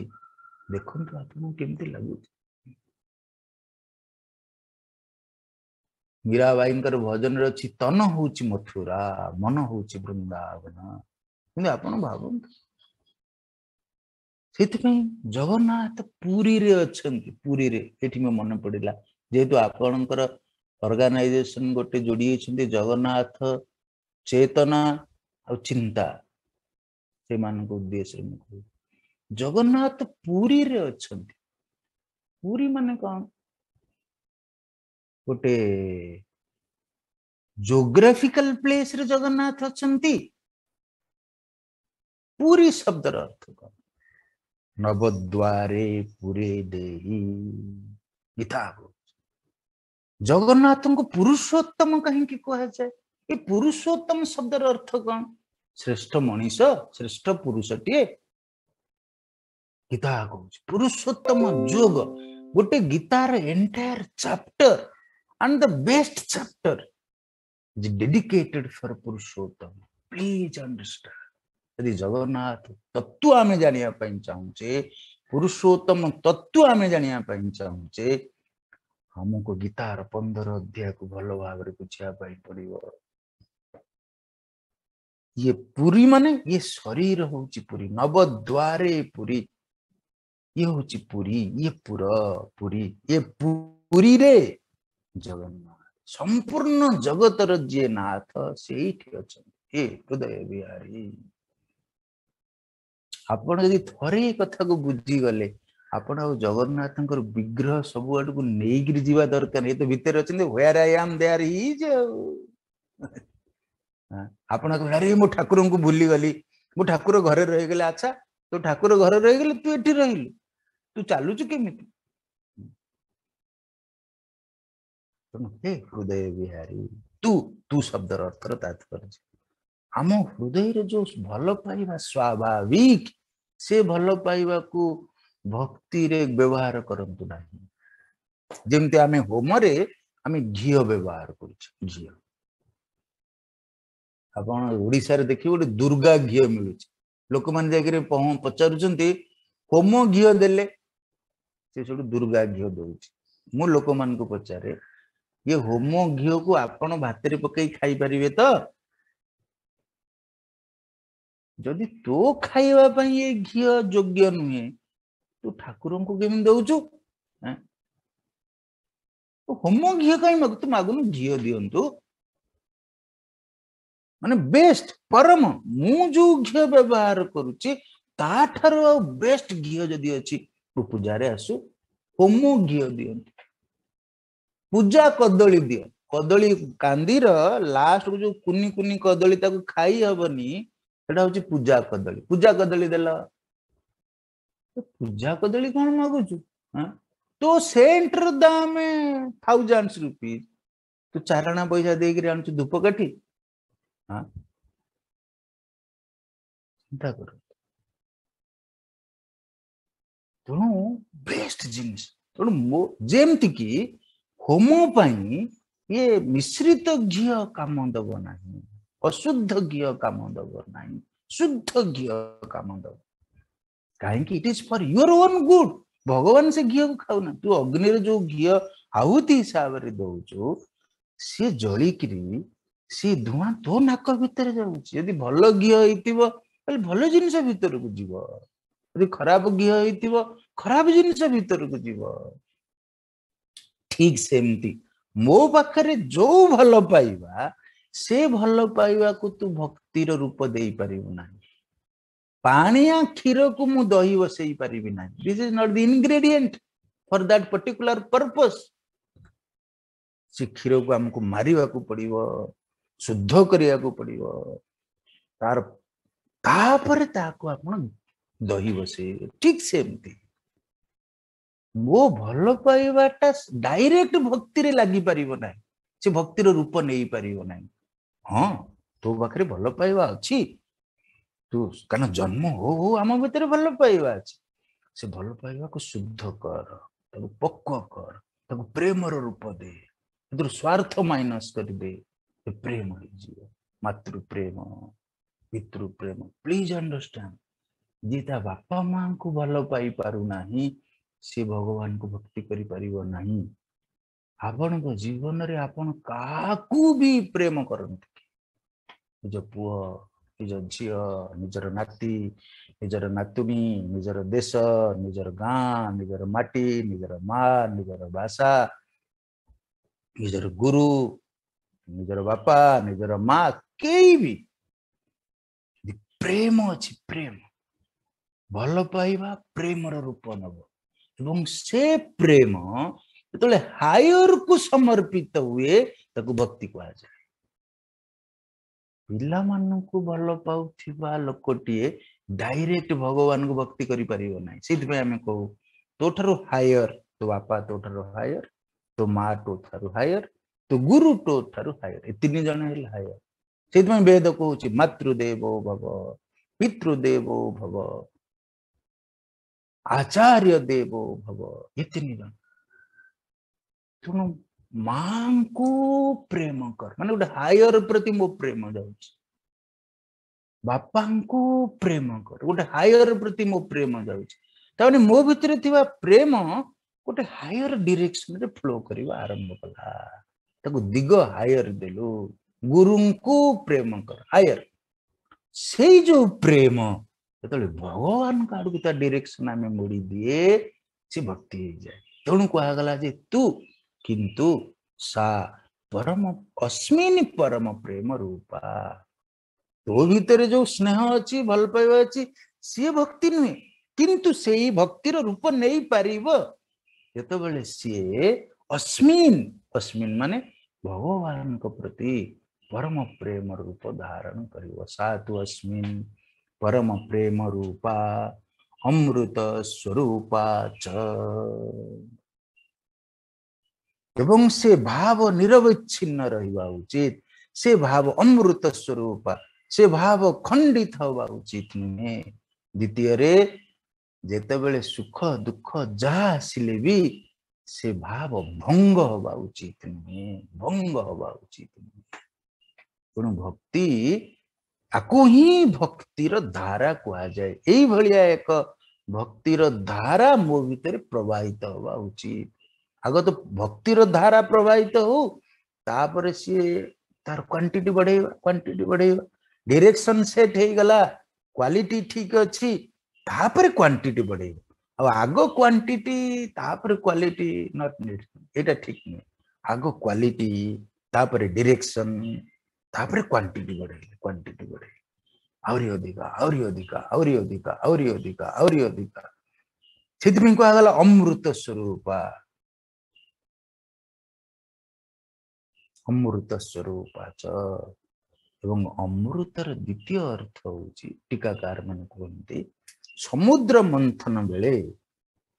ଦେଖନ୍ତୁ ଆପଣଙ୍କୁ କେମିତି ଲାଗୁଛି। ମୀରାବାଇଙ୍କର ଭଜନରେ ଅଛି, ତନ ହଉଛି ମଥୁରା, ମନ ହଉଛି ବୃନ୍ଦାବନ। କିନ୍ତୁ ଆପଣ ଭାବନ୍ତୁ, ସେଥିପାଇଁ ଜଗନ୍ନାଥ ପୁରୀରେ ଅଛନ୍ତି। ପୁରୀରେ ଏଠି ମୋ ମନେ ପଡିଲା, ଯେହେତୁ ଆପଣଙ୍କର ଅର୍ଗାନାଇଜେସନ ଗୋଟେ ଯୋଡି ହେଇଛନ୍ତି, ଜଗନ୍ନାଥ ଚେତନା ଆଉ ଚିନ୍ତା, ସେମାନଙ୍କ ଉଦ୍ଦେଶ୍ୟରେ ମୁଁ କହୁଛି ଜଗନ୍ନାଥ ପୁରୀରେ ଅଛନ୍ତି। ପୁରୀ ମାନେ କଣ? ଗୋଟେ ଜୋଗ୍ରାଫିକାଲ ପ୍ଲେସରେ ଜଗନ୍ନାଥ ଅଛନ୍ତି। ପୁରୀ ଶବ୍ଦର ଅର୍ଥ କଣ? ନବଦ୍ୱାରେ ପୁରେ ଦେଇ। ଗୀତା କହୁଛି ଜଗନ୍ନାଥଙ୍କୁ ପୁରୁଷୋତ୍ତମ କାହିଁକି କୁହାଯାଏ? ଏ ପୁରୁଷୋତ୍ତମ ଶବ୍ଦର ଅର୍ଥ କଣ? ଶ୍ରେଷ୍ଠ ମଣିଷ, ଶ୍ରେଷ୍ଠ ପୁରୁଷଟିଏ। ଗୀତା କହୁଛି ପୁରୁଷୋତ୍ତମ ଯୋଗ। ଗୋଟେ ଗୀତାର entire chapter and the best chapter is dedicated for Purushottama. Please understand. ଯଦି ଜଗନ୍ନାଥ ତତ୍ତ୍ୱ ଆମେ ଜାଣିବା ପାଇଁ ଚାହୁଁଛେ, ପୁରୁଷୋତ୍ତମ ତତ୍ତ୍ୱ ଆମେ ଜାଣିବା ପାଇଁ ଚାହୁଁଛେ, ଆମକୁ ଗୀତାର 15 ଅଧ୍ୟାୟକୁ ଭଲ ଭାବରେ ବୁଝିବା ପାଇଁ ପଡିବ। ଇଏ ପୁରୀ ମାନେ ଇଏ ଶରୀର ହଉଛି ପୁରୀ, ନବଦ୍ୱାରେ ପୁରୀ, ଇଏ ହଉଛି ପୁରୀ, ଇଏ ପୁର ପୁରୀ, ଇଏ ପୁରୀରେ ଜଗନ୍ନାଥ ସମ୍ପୂର୍ଣ୍ଣ ଜଗତର ଯିଏ ନାଥ ସେଇଠି ଅଛନ୍ତି। ହେ ହୃଦୟ ବିହାରୀ, ଆପଣ ଯଦି ଥରେ ଏ କଥାକୁ ବୁଝିଗଲେ, ଆପଣ ଆଉ ଜଗନ୍ନାଥଙ୍କର ବିଗ୍ରହ ସବୁ ଆଡକୁ ନେଇକିରି ଯିବା ଦରକାର ନାହିଁ। ଏ ତ ଭିତରେ ଅଛନ୍ତି, where I am there is. ଆଉ ଆପଣ କହିବେ, ଆରେ ମୁଁ ଠାକୁରଙ୍କୁ ଭୁଲିଗଲି, ମୁଁ ଠାକୁର ଘରେ ରହିଗଲେ। ଆଚ୍ଛା, ତୁ ଠାକୁର ଘରେ ରହିଗଲେ, ତୁ ଏଠି ରହିଲୁ, ତୁ ଚାଲୁଛୁ କେମିତି? ତେଣୁ ହେ ହୃଦୟ ବିହାରୀ, ତୁ, ତୁ ଶବ୍ଦର ଅର୍ଥର ତାତ୍ପର୍ଯ୍ୟ ଆମ ହୃଦୟରେ ଯୋଉ ଭଲ ପାଇବା ସ୍ୱାଭାବିକ, ସେ ଭଲ ପାଇବାକୁ ଭକ୍ତିରେ ବ୍ୟବହାର କରନ୍ତୁ ନାହିଁ। ଯେମିତି ଆମେ ହୋମରେ ଆମେ ଘିଅ ବ୍ୟବହାର କରୁଛେ, ଘିଅ ଆପଣ ଓଡିଶାରେ ଦେଖିବେ ଗୋଟେ ଦୁର୍ଗା ଘିଅ ମିଳୁଛି, ଲୋକମାନେ ଯାଇକିରି ପଚାରୁଛନ୍ତି ହୋମ ଘିଅ ଦେଲେ, ସେ ସେଠୁ ଦୁର୍ଗା ଘିଅ ଦଉଛି। ମୁଁ ଲୋକମାନଙ୍କୁ ପଚାରେ, ଇଏ ହୋମ ଘିଅକୁ ଆପଣ ଭାତରେ ପକେଇ ଖାଇପାରିବେ ତ? ଯଦି ତୋ ଖାଇବା ପାଇଁ ଏ ଘିଅ ଯୋଗ୍ୟ ନୁହେଁ, ତୁ ଠାକୁରଙ୍କୁ କେମିତି ଦଉଛୁ? ହୋମ ଘିଅ କାହିଁ ମାଗୁ? ତୁ ମାଗୁନୁ ଘିଅ ଦିଅନ୍ତୁ, ମାନେ ବେଷ୍ଟ ପରମ। ମୁଁ ଯୋଉ ଘିଅ ବ୍ୟବହାର କରୁଛି ତାଠାରୁ ଆଉ ବେଷ୍ଟ ଘିଅ ଯଦି ଅଛି, ତୁ ପୂଜାରେ ଆସୁ, ହୋମ ଘିଅ ଦିଅନ୍ତୁ। ପୂଜା କଦଳୀ ଦିଅ, କଦଳୀ କାନ୍ଦିର ଲାଷ୍ଟକୁ ଯୋଉ କୁନି କୁନି କଦଳୀ, ତାକୁ ଖାଇ ହବନି, ସେଟା ହଉଛି ପୂଜା କଦଳୀ। ପୂଜା କଦଳୀ ଦେଲ, ପୂଜା କଦଳୀ କଣ ମାଗୁଛୁ? ତୋ ସେଣ୍ଟର ଦାମ ଥାଉଜେଣ୍ଡ ରୁପିଜ, ତୁ ଚାରଣା ପଇସା ଦେଇକିରି ଆଣୁଛୁ ଧୂପକାଠି। ଚିନ୍ତା କର। ତେଣୁ ବେଷ୍ଟ ଜିନିଷ। ତେଣୁ ଯେମିତି କି ହୋମ ପାଇଁ ଇଏ ମିଶ୍ରିତ ଘିଅ କାମ ଦବ ନାହିଁ, ଅଶୁଦ୍ଧ ଘିଅ କାମ ଦବ ନାହିଁ, ଶୁଦ୍ଧ ଘିଅ କାମ ଦବ। କାହିଁକି? It is for your own good. ଭଗବାନ ସେ ଘିଅକୁ ଖାଉନା, ତୁ ଅଗ୍ନିରେ ଯୋଉ ଘିଅ ଆହୁତି ହିସାବରେ ଦଉଛୁ, ସିଏ ଜଳିକିରି ସେ ଧୂଆଁ ତୋ ନାକ ଭିତରେ ଯାଉଛି। ଯଦି ଭଲ ଘିଅ ହେଇଥିବ ତାହେଲେ ଭଲ ଜିନିଷ ଭିତରକୁ ଯିବ, ଯଦି ଖରାପ ଘିଅ ହେଇଥିବ ଖରାପ ଜିନିଷ ଭିତରକୁ ଯିବ। ଠିକ ସେମିତି ମୋ ପାଖରେ ଯୋଉ ଭଲ ପାଇବା, ସେ ଭଲ ପାଇବାକୁ ତୁ ଭକ୍ତିର ରୂପ ଦେଇପାରିବୁ ନାହିଁ। ପାଣିଆ କ୍ଷୀରକୁ ମୁଁ ଦହି ବସେଇ ପାରିବି ନାହିଁ। This is not the ingredient for that particular purpose. ସେ କ୍ଷୀରକୁ ଆମକୁ ମାରିବାକୁ ପଡିବ, ଶୁଦ୍ଧ କରିବାକୁ ପଡିବ, ତାପରେ ତାକୁ ଆପଣ ଦହି ବସେଇବେ, ଠିକ ସେମିତି ମୋ ଭଲ ପାଇବାଟା ଡାଇରେକ୍ଟ ଭକ୍ତିରେ ଲାଗିପାରିବ ନାହିଁ, ସେ ଭକ୍ତିର ରୂପ ନେଇପାରିବ ନାହିଁ। ହଁ, ତୋ ପାଖରେ ଭଲ ପାଇବା ଅଛି, ତୁ କାରଣ ଜନ୍ମ ହଉ ହଉ ଆମ ଭିତରେ ଭଲ ପାଇବା ଅଛି, ସେ ଭଲ ପାଇବାକୁ ଶୁଦ୍ଧ କର, ତାକୁ ପକ୍ୱ କର, ତାକୁ ପ୍ରେମର ରୂପ ଦେ, ସେଥିରୁ ସ୍ୱାର୍ଥ ମାଇନସ କରିଦେ, ସେ ପ୍ରେମ ହେଇଯିବ। ମାତୃ ପ୍ରେମ, ପିତୃ ପ୍ରେମ। ପ୍ଲିଜ ଅଣ୍ଡରଷ୍ଟାଣ୍ଡ, ଯିଏ ତା ବାପା ମାଙ୍କୁ ଭଲ ପାଇପାରୁନାହିଁ ସେ ଭଗବାନଙ୍କୁ ଭକ୍ତି କରିପାରିବ ନାହିଁ। ଆପଣଙ୍କ ଜୀବନରେ ଆପଣ କାହାକୁ ବି ପ୍ରେମ କରନ୍ତି, ନିଜ ପୁଅ, ନିଜ ଝିଅ, ନିଜର ନାତି, ନିଜର ନାତୁଣୀ, ନିଜର ଦେଶ, ନିଜର ଗାଁ, ନିଜର ମାଟି, ନିଜର ମା, ନିଜର ଭାଷା, ନିଜର ଗୁରୁ, ନିଜର ବାପା, ନିଜର ମା, କେହି ବି ପ୍ରେମ ଅଛି, ପ୍ରେମ ଭଲ ପାଇବା ପ୍ରେମର ରୂପ ନବ। ଏବଂ ସେ ପ୍ରେମ ଯେତେବେଳେ ହାୟରକୁ ସମର୍ପିତ ହୁଏ ତାକୁ ଭକ୍ତି କୁହାଯାଏ। ପିଲାମାନଙ୍କୁ ଭଲ ପାଉଥିବା ଲୋକଟିଏ ଡାଇରେକ୍ଟ ଭଗବାନଙ୍କୁ ଭକ୍ତି କରିପାରିବ ନାହିଁ। ସେଇଥିପାଇଁ ଆମେ କହୁ ତୋ ଠାରୁ ହାୟର, ତୋ ବାପା ତୋ ଠାରୁ ହାୟର, ତୋ ମା ତୋ ଠାରୁ ହାୟର, ତୋ ଗୁରୁ ତୋ ଠାରୁ ହାୟର, ଏ ତିନି ଜଣ ହେଲେ ହାୟର। ସେଇଥିପାଇଁ ବେଦ କହୁଛି ମାତୃଦେବୋ ଭବ, ପିତୃଦେବୋ ଭବ, ଆଚାର୍ଯ୍ୟ ଦେବୋ ଭବ, ଏ ତିନି ଜଣ। ତେଣୁ ମାଙ୍କୁ ପ୍ରେମ କର, ମାନେ ଗୋଟେ ହାୟର ପ୍ରତି ମୋ ପ୍ରେମ ଯାଉଛି। ବାପାଙ୍କୁ ପ୍ରେମ କର, ଗୋଟେ ହାୟର ପ୍ରତି ମୋ ପ୍ରେମ ଯାଉଛି। ତାମାନେ ମୋ ଭିତରେ ଥିବା ପ୍ରେମ ଗୋଟେ ହାୟର ଡିରେକ୍ସନରେ ଫ୍ଲୋ କରିବା ଆରମ୍ଭ କଲା, ତାକୁ ଦିଗ ହାୟର ଦେଲୁ। ଗୁରୁଙ୍କୁ ପ୍ରେମ କର, ହାୟର। ସେଇ ଯୋଉ ପ୍ରେମ ଯେତେବେଳେ ଭଗବାନଙ୍କ ଆଡକୁ ତା ଡିରେକ୍ସନ ଆମେ ମୋଡି ଦିଏ, ସେ ଭକ୍ତି ହେଇଯାଏ। ତେଣୁ କୁହାଗଲା ଯେ ତୁ କିନ୍ତୁ ସା ପରମ ଅସ୍ମିନ ପରମ ପ୍ରେମ ରୂପା, ତୋ ଭିତରେ ଯୋଉ ସ୍ନେହ ଅଛି, ଭଲ ପାଇବା ଅଛି, ସିଏ ଭକ୍ତି ନୁହେଁ, କିନ୍ତୁ ସେଇ ଭକ୍ତିର ରୂପ ନେଇପାରିବ ଯେତେବେଳେ ସିଏ ଅସ୍ମିନ, ଅସ୍ମିନ ମାନେ ଭଗବାନଙ୍କ ପ୍ରତି ପରମ ପ୍ରେମ ରୂପ ଧାରଣ କରିବ। ସା ତୁ ଅସ୍ମିନ ପରମ ପ୍ରେମ ରୂପା ଅମୃତ ସ୍ୱରୂପା ଚ। ଏବଂ ସେ ଭାବ ନିରବଚ୍ଛିନ୍ନ ରହିବା ଉଚିତ, ସେ ଭାବ ଅମୃତ ସ୍ୱରୂପା, ସେ ଭାବ ଖଣ୍ଡିତ ହବା ଉଚିତ ନୁହେଁ। ଦ୍ୱିତୀୟରେ ଯେତେବେଳେ ସୁଖ ଦୁଃଖ ଯାହା ଆସିଲେ ବି ସେ ଭାବ ଭଙ୍ଗ ହବା ଉଚିତ ନୁହେଁ, ଭଙ୍ଗ ହବା ଉଚିତ ନୁହେଁ। ତେଣୁ ଭକ୍ତି, ଆକୁ ହିଁ ଭକ୍ତିର ଧାରା କୁହାଯାଏ। ଏଇଭଳିଆ ଏକ ଭକ୍ତିର ଧାରା ମୋ ଭିତରେ ପ୍ରବାହିତ ହବା ଉଚିତ। ଆଗ ତ ଭକ୍ତିର ଧାରା ପ୍ରବାହିତ ହଉ, ତାପରେ ସିଏ ତାର କ୍ୱାଣ୍ଟିଟି ବଢେଇବା, କ୍ୱାଣ୍ଟିଟି ବଢେଇବା, ଡିରେକ୍ସନ ସେଟ୍ ହେଇଗଲା, କ୍ୱାଲିଟି ଠିକ ଅଛି, ତାପରେ କ୍ୱାଣ୍ଟିଟି ବଢେଇବା। ଆଉ ଆଗ କ୍ୱାଣ୍ଟିଟି ତାପରେ କ୍ୱାଲିଟି not need, ଏଇଟା ଠିକ ନୁହେଁ। ଆଗ କ୍ୱାଲିଟି ତାପରେ ଡିରେକ୍ସନ ତାପରେ କ୍ୱାଣ୍ଟିଟି ବଢେଇଲେ, କ୍ୱାଣ୍ଟିଟି ବଢେଇଲେ ଆହୁରି ଅଧିକା, ଆହୁରି ଅଧିକା, ଆହୁରି ଅଧିକା, ଆହୁରି ଅଧିକା, ଆହୁରି ଅଧିକା। ସେଥିପାଇଁ କୁହାଗଲା ଅମୃତ ସ୍ୱରୂପା, ଅମୃତ ସ୍ୱରୂପା ଚ। ଏବଂ ଅମୃତର ଦ୍ୱିତୀୟ ଅର୍ଥ ହଉଛି, ଟୀକାକାର ମାନେ କୁହନ୍ତି, ସମୁଦ୍ର ମନ୍ଥନ ବେଳେ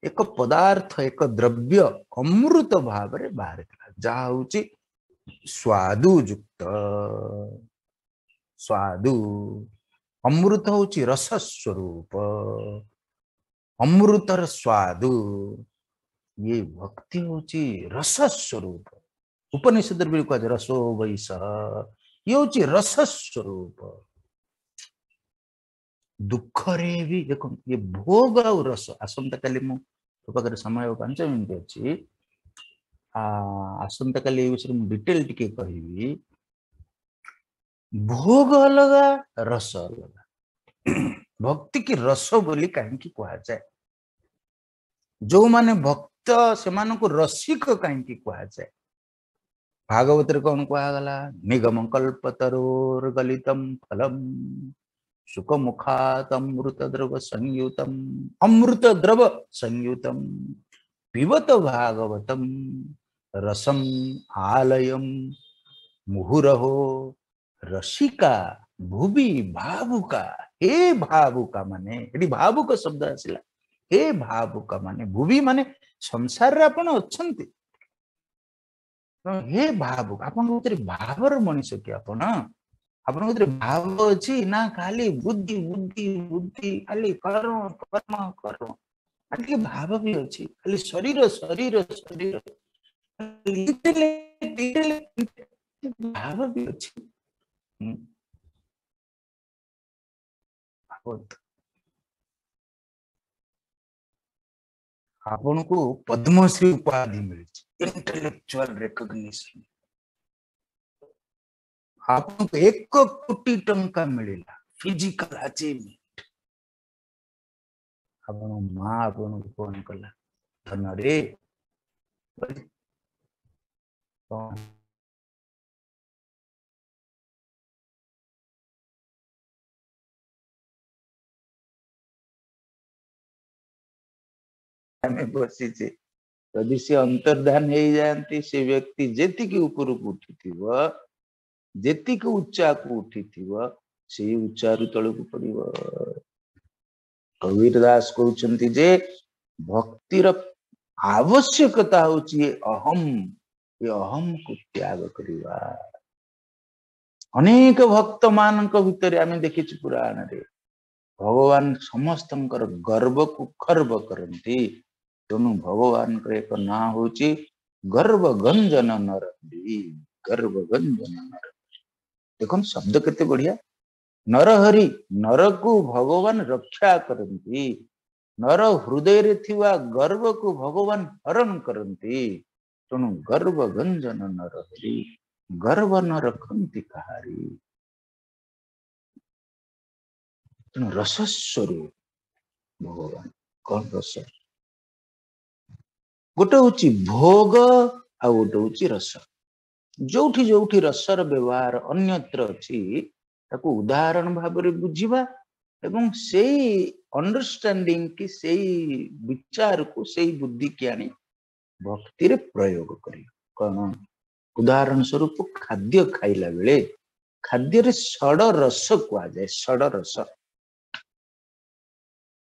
ଏକ ପଦାର୍ଥ, ଏକ ଦ୍ରବ୍ୟ ଅମୃତ ଭାବରେ ବାହାରିଥିଲା, ଯାହା ହଉଛି ସ୍ୱାଦୁଯୁକ୍ତ। ସ୍ୱାଦୁ, ଅମୃତ ହଉଛି ରସ ସ୍ୱରୂପ, ଅମୃତର ସ୍ୱାଦୁ। ଇଏ ଭକ୍ତି ହଉଛି ରସ ସ୍ୱରୂପ। ଉପନିଷଦରେ ବି କୁହାଯାଏ ରସୋ ବୈସଃ, ଇଏ ହଉଛି ରସ ସ୍ୱରୂପ। ଦୁଃଖରେ ବି ଦେଖନ୍ତୁ ଇଏ ଭୋଗ ଆଉ ରସ। ଆସନ୍ତାକାଲି ମୁଁ ତୋ ପାଖରେ ସମୟ 5 ମିନିଟ୍ ଅଛି, ଆସନ୍ତାକାଲି ଏ ବିଷୟରେ ମୁଁ ଡିଟେଲ ଟିକେ କହିବି। ଭୋଗ ଅଲଗା, ରସ ଅଲଗା। ଭକ୍ତି କି ରସ ବୋଲି କାହିଁକି କୁହାଯାଏ? ଯୋଉମାନେ ଭକ୍ତ ସେମାନଙ୍କୁ ରସିକ କାହିଁକି କୁହାଯାଏ? ଭାଗବତରେ କଣ କୁହାଗଲା? ନିଗମ କଳ୍ପତରୋର ଗଲିତମ ଫଲମ ସୁଖମୁଖାତ ଅମୃତ ଦ୍ରବ ସଂୟୁତମ, ଅମୃତ ଦ୍ରବ ସଂୟୁତମ ପିବତ ଭାଗବତମ ରସମ ଆଲୟମ ମୁହୁରହୋ ରସିକା ଭୁବି ଭାବୁକା ହେ ଭାବୁକା ମାନେ, ଏଠି ଭାବୁକ ଶବ୍ଦ ଆସିଲା। ହେ ଭାବୁକା ମାନେ, ଭୁବି ମାନେ ସଂସାରରେ ଆପଣ ଅଛନ୍ତି। ହେ ଭାବୁକ, ଆପଣଙ୍କ ଭିତରେ ଭାବର ମଣିଷ କି ଆପଣ? ଆପଣଙ୍କ ଭିତରେ ଭାବ ଅଛି ନା ଖାଲି ବୁଦ୍ଧି ବୁଦ୍ଧି ବୁଦ୍ଧି, ଖାଲି କର୍ମ କର୍ମ କର୍ମ? ଟିକେ ଭାବ ବି ଅଛି, ଖାଲି ଶରୀର ଶରୀର ଶରୀର, ଭାବ ବି ଅଛି। ଆପଣଙ୍କୁ ପଦ୍ମଶ୍ରୀ ଉପାଧି ମିଳିଛି, ଇଣ୍ଟେଲେକ୍ଚୁଆଲ ରେକଗ୍ନିସନ। ଆପଣଙ୍କୁ 1 କୋଟି ଟଙ୍କା ମିଳିଲା, ଫିଜିକାଲ ଆଚିଭମେଣ୍ଟ। ଆପଣ ମା ଆପଣଙ୍କୁ ଫୋନ କଲା, ଧନରେ ଆମେ ବସିଛେ। ଯଦି ସେ ଅନ୍ତର୍ଧାନ ହେଇଯାଆନ୍ତି, ସେ ବ୍ୟକ୍ତି ଯେତିକି ଉପରକୁ ଉଠିଥିବ, ଯେତିକି ଉଚ୍ଚାକୁ ଉଠିଥିବ, ସେଇ ଉଚ୍ଚାରୁ ତଳକୁ ପଡିବ। କବୀର ଦାସ କହୁଛନ୍ତି ଯେ ଭକ୍ତିର ଆବଶ୍ୟକତା ହଉଛି ଏ ଅହମ୍, ଏ ଅହମ୍କୁ ତ୍ୟାଗ କରିବା। ଅନେକ ଭକ୍ତ ମାନଙ୍କ ଭିତରେ ଆମେ ଦେଖିଛୁ ପୁରାଣରେ ଭଗବାନ ସମସ୍ତଙ୍କର ଗର୍ବକୁ ଖର୍ବ କରନ୍ତି। ତେଣୁ ଭଗବାନଙ୍କର ଏକ ନାଁ ହଉଛି ଗର୍ବ ଗଞ୍ଜନ ନରହରି। ଗର୍ବ ଗଞ୍ଜନ ନରହରି। ଦେଖନ୍ତୁ ଶବ୍ଦ କେତେ ବଢିଆ। ନରହରି, ନରକୁ ଭଗବାନ ରକ୍ଷା କରନ୍ତି, ନର ହୃଦୟରେ ଥିବା ଗର୍ବକୁ ଭଗବାନ ହରଣ କରନ୍ତି। ତେଣୁ ଗର୍ବ ଗଞ୍ଜନ ନରହରି, ଗର୍ବ ନ ରଖନ୍ତି କାହାରି। ତେଣୁ ରସସ୍ୱରୂପ ଭଗବାନ। କଣ ରସ? ଗୋଟେ ହଉଛି ଭୋଗ, ଆଉ ଗୋଟେ ହଉଛି ରସ। ଯୋଉଠି ଯୋଉଠି ରସର ବ୍ୟବହାର ଅନ୍ୟତ୍ର ଅଛି, ତାକୁ ଉଦାହରଣ ଭାବରେ ବୁଝିବା ଏବଂ ସେଇ ଅଣ୍ଡରଷ୍ଟାଣ୍ଡିଂ କି ସେଇ ବିଚାରକୁ, ସେଇ ବୁଦ୍ଧିକି ଆଣି ଭକ୍ତିରେ ପ୍ରୟୋଗ କରିବା। କଣ ଉଦାହରଣ ସ୍ୱରୂପ, ଖାଦ୍ୟ ଖାଇଲା ବେଳେ ଖାଦ୍ୟରେ ଷଡ଼ ରସ କୁହାଯାଏ। ଷଡ଼ ରସ,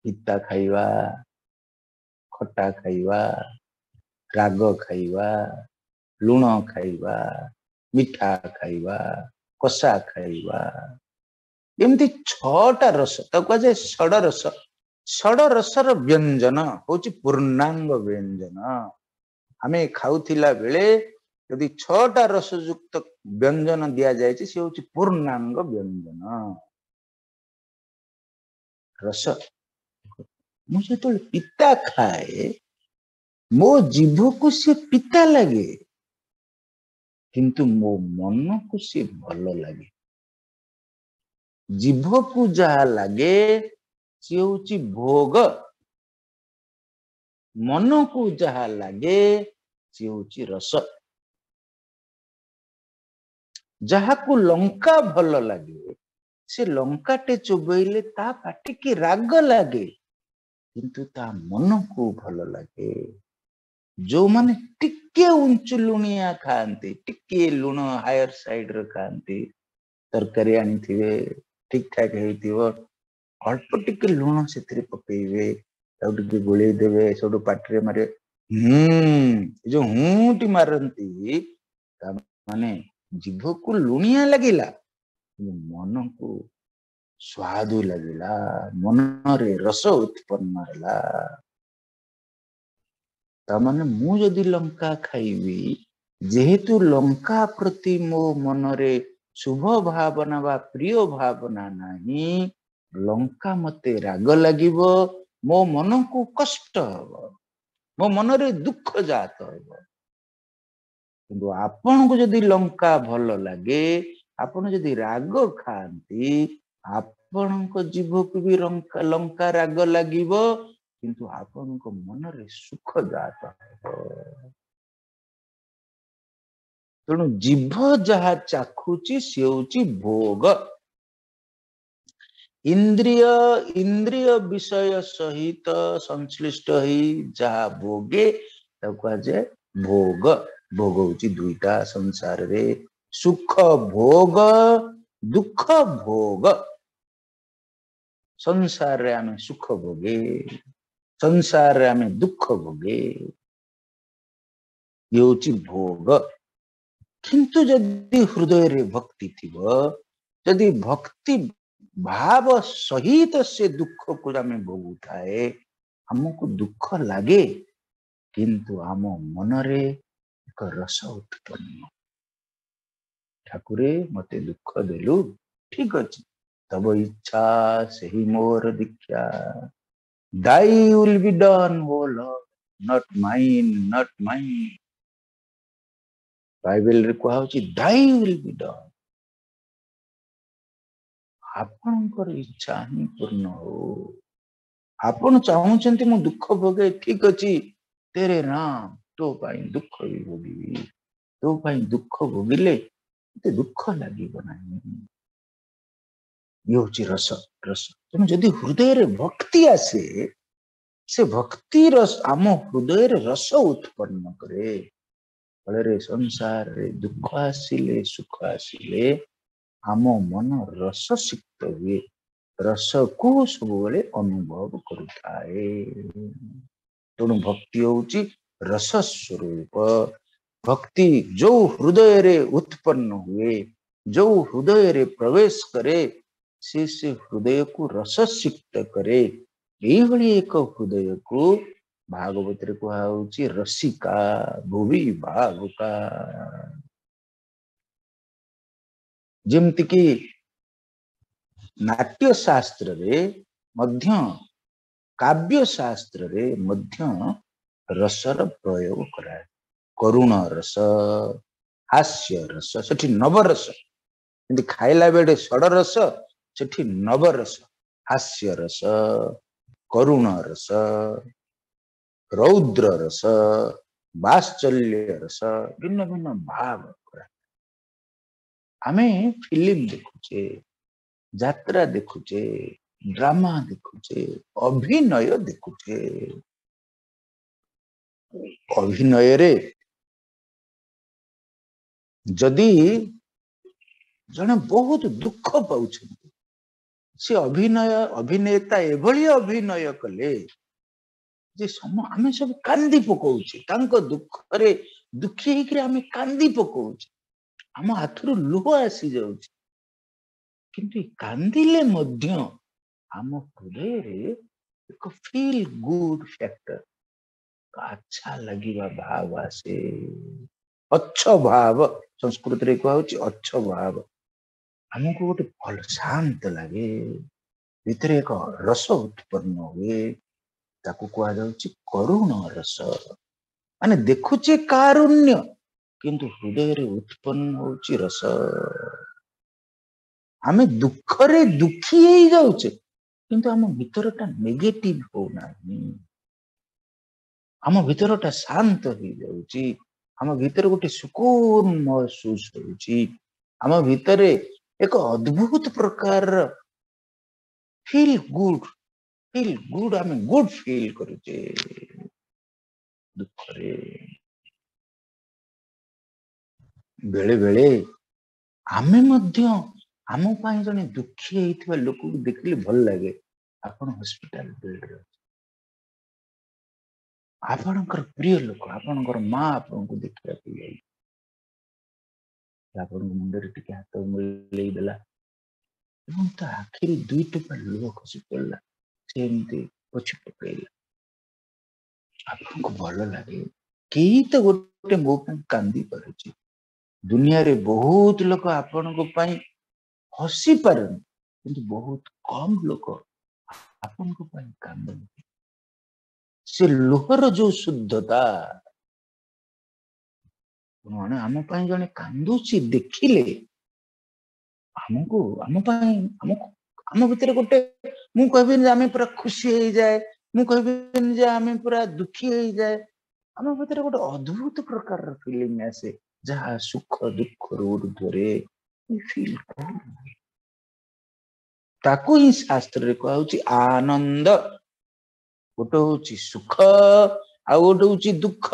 ପିତା ଖାଇବା, ଖଟା ଖାଇବା, ରାଗ ଖାଇବା, ଲୁଣ ଖାଇବା, ମିଠା ଖାଇବା, କଷା ଖାଇବା, ଏମିତି 6ଟା ରସ, ତାକୁ କୁହାଯାଏ ଷଡ଼ ରସ। ଷଡ଼ ରସର ବ୍ୟଞ୍ଜନ ହଉଛି ପୂର୍ଣ୍ଣାଙ୍ଗ ବ୍ୟଞ୍ଜନ। ଆମେ ଖାଉଥିଲା ବେଳେ ଯଦି 6ଟା ରସଯୁକ୍ତ ବ୍ୟଞ୍ଜନ ଦିଆଯାଇଛି, ସେ ହଉଛି ପୂର୍ଣ୍ଣାଙ୍ଗ ବ୍ୟଞ୍ଜନ। ରସ, ମୁଁ ଯେତେବେଳେ ପିତା ଖାଏ, ମୋ ଜିଭକୁ ସେ ପିତା ଲାଗେ, କିନ୍ତୁ ମୋ ମନକୁ ସେ ଭଲ ଲାଗେ। ଜିଭକୁ ଯାହା ଲାଗେ ସିଏ ହଉଛି ଭୋଗ, ମନକୁ ଯାହା ଲାଗେ ସିଏ ହଉଛି ରସ। ଯାହାକୁ ଲଙ୍କା ଭଲ ଲାଗେ, ସେ ଲଙ୍କାଟେ ଚୋବେଇଲେ ତା ପାଟିକି ରାଗ ଲାଗେ, କିନ୍ତୁ ତା ମନକୁ ଭଲ ଲାଗେ। ଯୋଉମାନେ ଟିକେ ଉଞ୍ଚୁ ଲୁଣିଆ ଖାଆନ୍ତି, ଟିକେ ଲୁଣ ହାୟର ସାଇଡରେ ଖାଆନ୍ତି, ତରକାରୀ ଆଣିଥିବେ ଠିକ ଠାକ ହେଇଥିବ, ଅଳ୍ପ ଟିକେ ଲୁଣ ସେଥିରେ ପକେଇବେ, ତାକୁ ଟିକେ ଗୋଳେଇ ଦେବେ, ସେଠୁ ପାଟିରେ ମାରିବେ, ଏ ଯୋଉ ହୁଁଟି ମାରନ୍ତି, ତା ମାନେ ଜିଭକୁ ଲୁଣିଆ ଲାଗିଲା, କିନ୍ତୁ ମନକୁ ସ୍ୱାଦୁ ଲାଗିଲା, ମନରେ ରସ ଉତ୍ପନ୍ନ ହେଲା। ତା ମାନେ ମୁଁ ଯଦି ଲଙ୍କା ଖାଇବି, ଯେହେତୁ ଲଙ୍କା ପ୍ରତି ମୋ ମନରେ ଶୁଭ ଭାବନା ବା ପ୍ରିୟ ଭାବନା ନାହିଁ, ଲଙ୍କା ମତେ ରାଗ ଲାଗିବ, ମୋ ମନକୁ କଷ୍ଟ ହବ, ମୋ ମନରେ ଦୁଃଖ ଜାତ ହବ। କିନ୍ତୁ ଆପଣଙ୍କୁ ଯଦି ଲଙ୍କା ଭଲ ଲାଗେ, ଆପଣ ଯଦି ରାଗ ଖାଆନ୍ତି, ଆପଣଙ୍କ ଜିଭକୁ ବି ଲଙ୍କା ରାଗ ଲାଗିବ, କିନ୍ତୁ ଆପଣଙ୍କ ମନରେ ସୁଖ ଜାତ ହବ। ତେଣୁ ଜିଭ ଯାହା ଚାଖୁଛି ସେ ହଉଛି ଭୋଗ। ଇନ୍ଦ୍ରିୟ ବିଷୟ ସହିତ ସଂଶ୍ଳିଷ୍ଟ ହେଇ ଯାହା ଭୋଗେ ତାକୁ କୁହାଯାଏ ଭୋଗ। ଭୋଗ ହଉଛି ଦୁଇଟା ସଂସାରରେ, ସୁଖ ଭୋଗ, ଦୁଃଖ ଭୋଗ। ସଂସାରରେ ଆମେ ସୁଖ ଭୋଗେ, ସଂସାରରେ ଆମେ ଦୁଃଖ ଭୋଗେ, ଇଏ ହଉଛି ଭୋଗ। କିନ୍ତୁ ଯଦି ହୃଦୟରେ ଭକ୍ତି ଥିବ, ଯଦି ଭକ୍ତି ଭାବ ସହିତ ସେ ଦୁଃଖକୁ ଆମେ ଭୋଗୁଥାଏ, ଆମକୁ ଦୁଃଖ ଲାଗେ, କିନ୍ତୁ ଆମ ମନରେ ଏକ ରସ ଉତ୍ପନ୍ନ। ଠାକୁରେ ମତେ ଦୁଃଖ ଦେଲୁ, ଠିକ ଅଛି, ତବ ଇଚ୍ଛା ସେହି ମୋର ଦୀକ୍ଷା। Thy will be done, O Lord, not mine, not mine. ବାଇବେଲରେ କୁହାହଉଛି Thy will be done, ଆପଣଙ୍କର ଇଚ୍ଛା ହିଁ ପୂର୍ଣ୍ଣ ହଉ। ଆପଣ ଚାହୁଁଛନ୍ତି ମୁଁ ଦୁଃଖ ଭୋଗେ, ଠିକ ଅଛି, ତେରେ ରାମ, ତୋ ପାଇଁ ଦୁଃଖ ବି ଭୋଗିବି, ତୋ ପାଇଁ ଦୁଃଖ ଭୋଗିଲେ ମତେ ଦୁଃଖ ଲାଗିବ ନାହିଁ। ଇଏ ହଉଛି ରସ, ରସ। ତେଣୁ ଯଦି ହୃଦୟରେ ଭକ୍ତି ଆସେ, ସେ ଭକ୍ତି ରସ ଆମ ହୃଦୟରେ ରସ ଉତ୍ପନ୍ନ କରେ। ଫଳରେ ସଂସାରରେ ଦୁଃଖ ଆସିଲେ ସୁଖ ଆସିଲେ ଆମ ମନ ରସ ସିକ୍ତ ହୁଏ, ରସକୁ ସବୁବେଳେ ଅନୁଭବ କରୁଥାଏ। ତେଣୁ ଭକ୍ତି ହଉଛି ରସ ସ୍ୱରୂପ। ଭକ୍ତି ଯୋଉ ହୃଦୟରେ ଉତ୍ପନ୍ନ ହୁଏ, ଯୋଉ ହୃଦୟରେ ପ୍ରବେଶ କରେ, ସେ ସେ ହୃଦୟକୁ ରସସିକ୍ତ କରେ। ଏଇଭଳି ଏକ ହୃଦୟକୁ ଭାଗବତରେ କୁହାହଉଛି ରସିକା ଭୁବି ଭାବୁକା। ଯେମିତିକି ନାଟ୍ୟ ଶାସ୍ତ୍ରରେ ମଧ୍ୟ, କାବ୍ୟ ଶାସ୍ତ୍ରରେ ମଧ୍ୟ ରସର ପ୍ରୟୋଗ କରାଯାଏ। କରୁଣ ରସ, ହାସ୍ୟ ରସ, ସେଠି ନବରସ। କିନ୍ତୁ ଖାଇଲା ବେଳେ ଷଡ଼ରସ, ସେଠି ନବରସ, ହାସ୍ୟ ରସ, କରୁଣ ରସ, ରୌଦ୍ର ରସ, ବାତ୍ସଲ୍ୟ ରସ, ଭିନ୍ନ ଭିନ୍ନ ଭାବ କରା। ଆମେ ଫିଲ୍ମ ଦେଖୁଛେ, ଯାତ୍ରା ଦେଖୁଛେ, ଡ୍ରାମା ଦେଖୁଛେ, ଅଭିନୟ ଦେଖୁଛେ। ଅଭିନୟରେ ଯଦି ଜଣେ ବହୁତ ଦୁଃଖ ପାଉଛନ୍ତି, ସେ ଅଭିନୟ ଅଭିନେତା ଏଭଳି ଅଭିନୟ କଲେ ଯେ ଆମେ ସବୁ କାନ୍ଦି ପକଉଛେ, ତାଙ୍କ ଦୁଃଖରେ ଦୁଃଖୀ ହେଇକିରି ଆମେ କାନ୍ଦି ପକଉଛେ, ଆମ ଆଖିରୁ ଲୁହ ଆସିଯାଉଛି। କିନ୍ତୁ କାନ୍ଦିଲେ ମଧ୍ୟ ଆମ ହୃଦୟରେ ଏକ ଫିଲ୍ ଗୁଡ୍ ଫ୍ୟାକ୍ଟର, ଆଚ୍ଛା ଲାଗିବା ଭାବ ଆସେ। ଅଚ୍ଛ ଭାବ, ସଂସ୍କୃତରେ କୁହାହଉଛି ଅଚ୍ଛ ଭାବ। ଆମକୁ ଗୋଟେ ଭଲ ଶାନ୍ତ ଲାଗେ, ଭିତରେ ଏକ ରସ ଉତ୍ପନ୍ନ ହୁଏ, ତାକୁ କୁହାଯାଉଛି କରୁଣ ରସ। ମାନେ ଦେଖୁଛେ କାରୁଣ୍ୟ, କିନ୍ତୁ ହୃଦୟରେ ଉତ୍ପନ୍ନ ହଉଛି ରସ। ଆମେ ଦୁଃଖରେ ଦୁଃଖୀ ହେଇଯାଉଛେ, କିନ୍ତୁ ଆମ ଭିତରଟା ନେଗେଟିଭ ହଉନାହିଁ, ଆମ ଭିତରଟା ଶାନ୍ତ ହେଇଯାଉଛି, ଆମ ଭିତରେ ଗୋଟେ ସୁକୁନ ମହସୁସ ହଉଛି, ଆମ ଭିତରେ ଏକ ଅଦ୍ଭୁତ ପ୍ରକାରର ଫିଲ୍ ଗୁଡ୍, ଫିଲ୍ ଗୁଡ୍, ଆମେ ଗୁଡ୍ ଫିଲ୍ କରୁଛେ ଦୁଃଖରେ। ବେଳେ ବେଳେ ଆମେ ମଧ୍ୟ ଆମ ପାଇଁ ଜଣେ ଦୁଃଖୀ ହେଇଥିବା ଲୋକକୁ ଦେଖିଲେ ଭଲ ଲାଗେ। ଆପଣ ହସ୍ପିଟାଲ ବେଡରେ ଅଛନ୍ତି, ଆପଣଙ୍କର ପ୍ରିୟ ଲୋକ, ଆପଣଙ୍କର ମା ଆପଣଙ୍କୁ ଦେଖିବାକୁ ଯାଇ ଆପଣଙ୍କ ମୁଣ୍ଡରେ ଟିକେ ହାତ ବୁଲେଇ ଦେଲା ଏବଂ ତା ଆଖିରୁ ଦୁଇ ଟୋପା ଲୁହ ଖସି ପଡିଲା, ସେ ଏମିତି ପୋଛି ପକେଇଲା। ଆପଣଙ୍କୁ ଭଲ ଲାଗେ, କେହି ତ ଗୋଟେ ମୋ ପାଇଁ କାନ୍ଦି ପାରୁଛି। ଦୁନିଆରେ ବହୁତ ଲୋକ ଆପଣଙ୍କ ପାଇଁ ହସି ପାରନ୍ତି, କିନ୍ତୁ ବହୁତ କମ ଲୋକ ଆପଣଙ୍କ ପାଇଁ କାନ୍ଦନ୍ତି। ସେ ଲୁହର ଯୋଉ ଶୁଦ୍ଧତା, ଜଣେ ଆମ ପାଇଁ ଜଣେ କାନ୍ଦୁଛି ଦେଖିଲେ ଆମକୁ, ଆମ ପାଇଁ, ଆମକୁ, ଆମ ଭିତରେ ଗୋଟେ, ମୁଁ କହିବିନି ଯେ ଆମେ ପୁରା ଖୁସି ହେଇଯାଏ, ମୁଁ କହିବିନି ଯେ ଆମେ ପୁରା ଦୁଃଖୀ ହେଇଯାଏ, ଆମ ଭିତରେ ଗୋଟେ ଅଦ୍ଭୁତ ପ୍ରକାରର ଫିଲିଂ ଆସେ, ଯାହା ସୁଖ ଦୁଃଖରୁ ଊର୍ଦ୍ଧ୍ୱରେ ଫିଲ୍। ତାକୁ ହିଁ ଶାସ୍ତ୍ରରେ କୁହାହଉଛି ଆନନ୍ଦ। ଗୋଟେ ହଉଛି ସୁଖ, ଆଉ ଗୋଟେ ହଉଛି ଦୁଃଖ,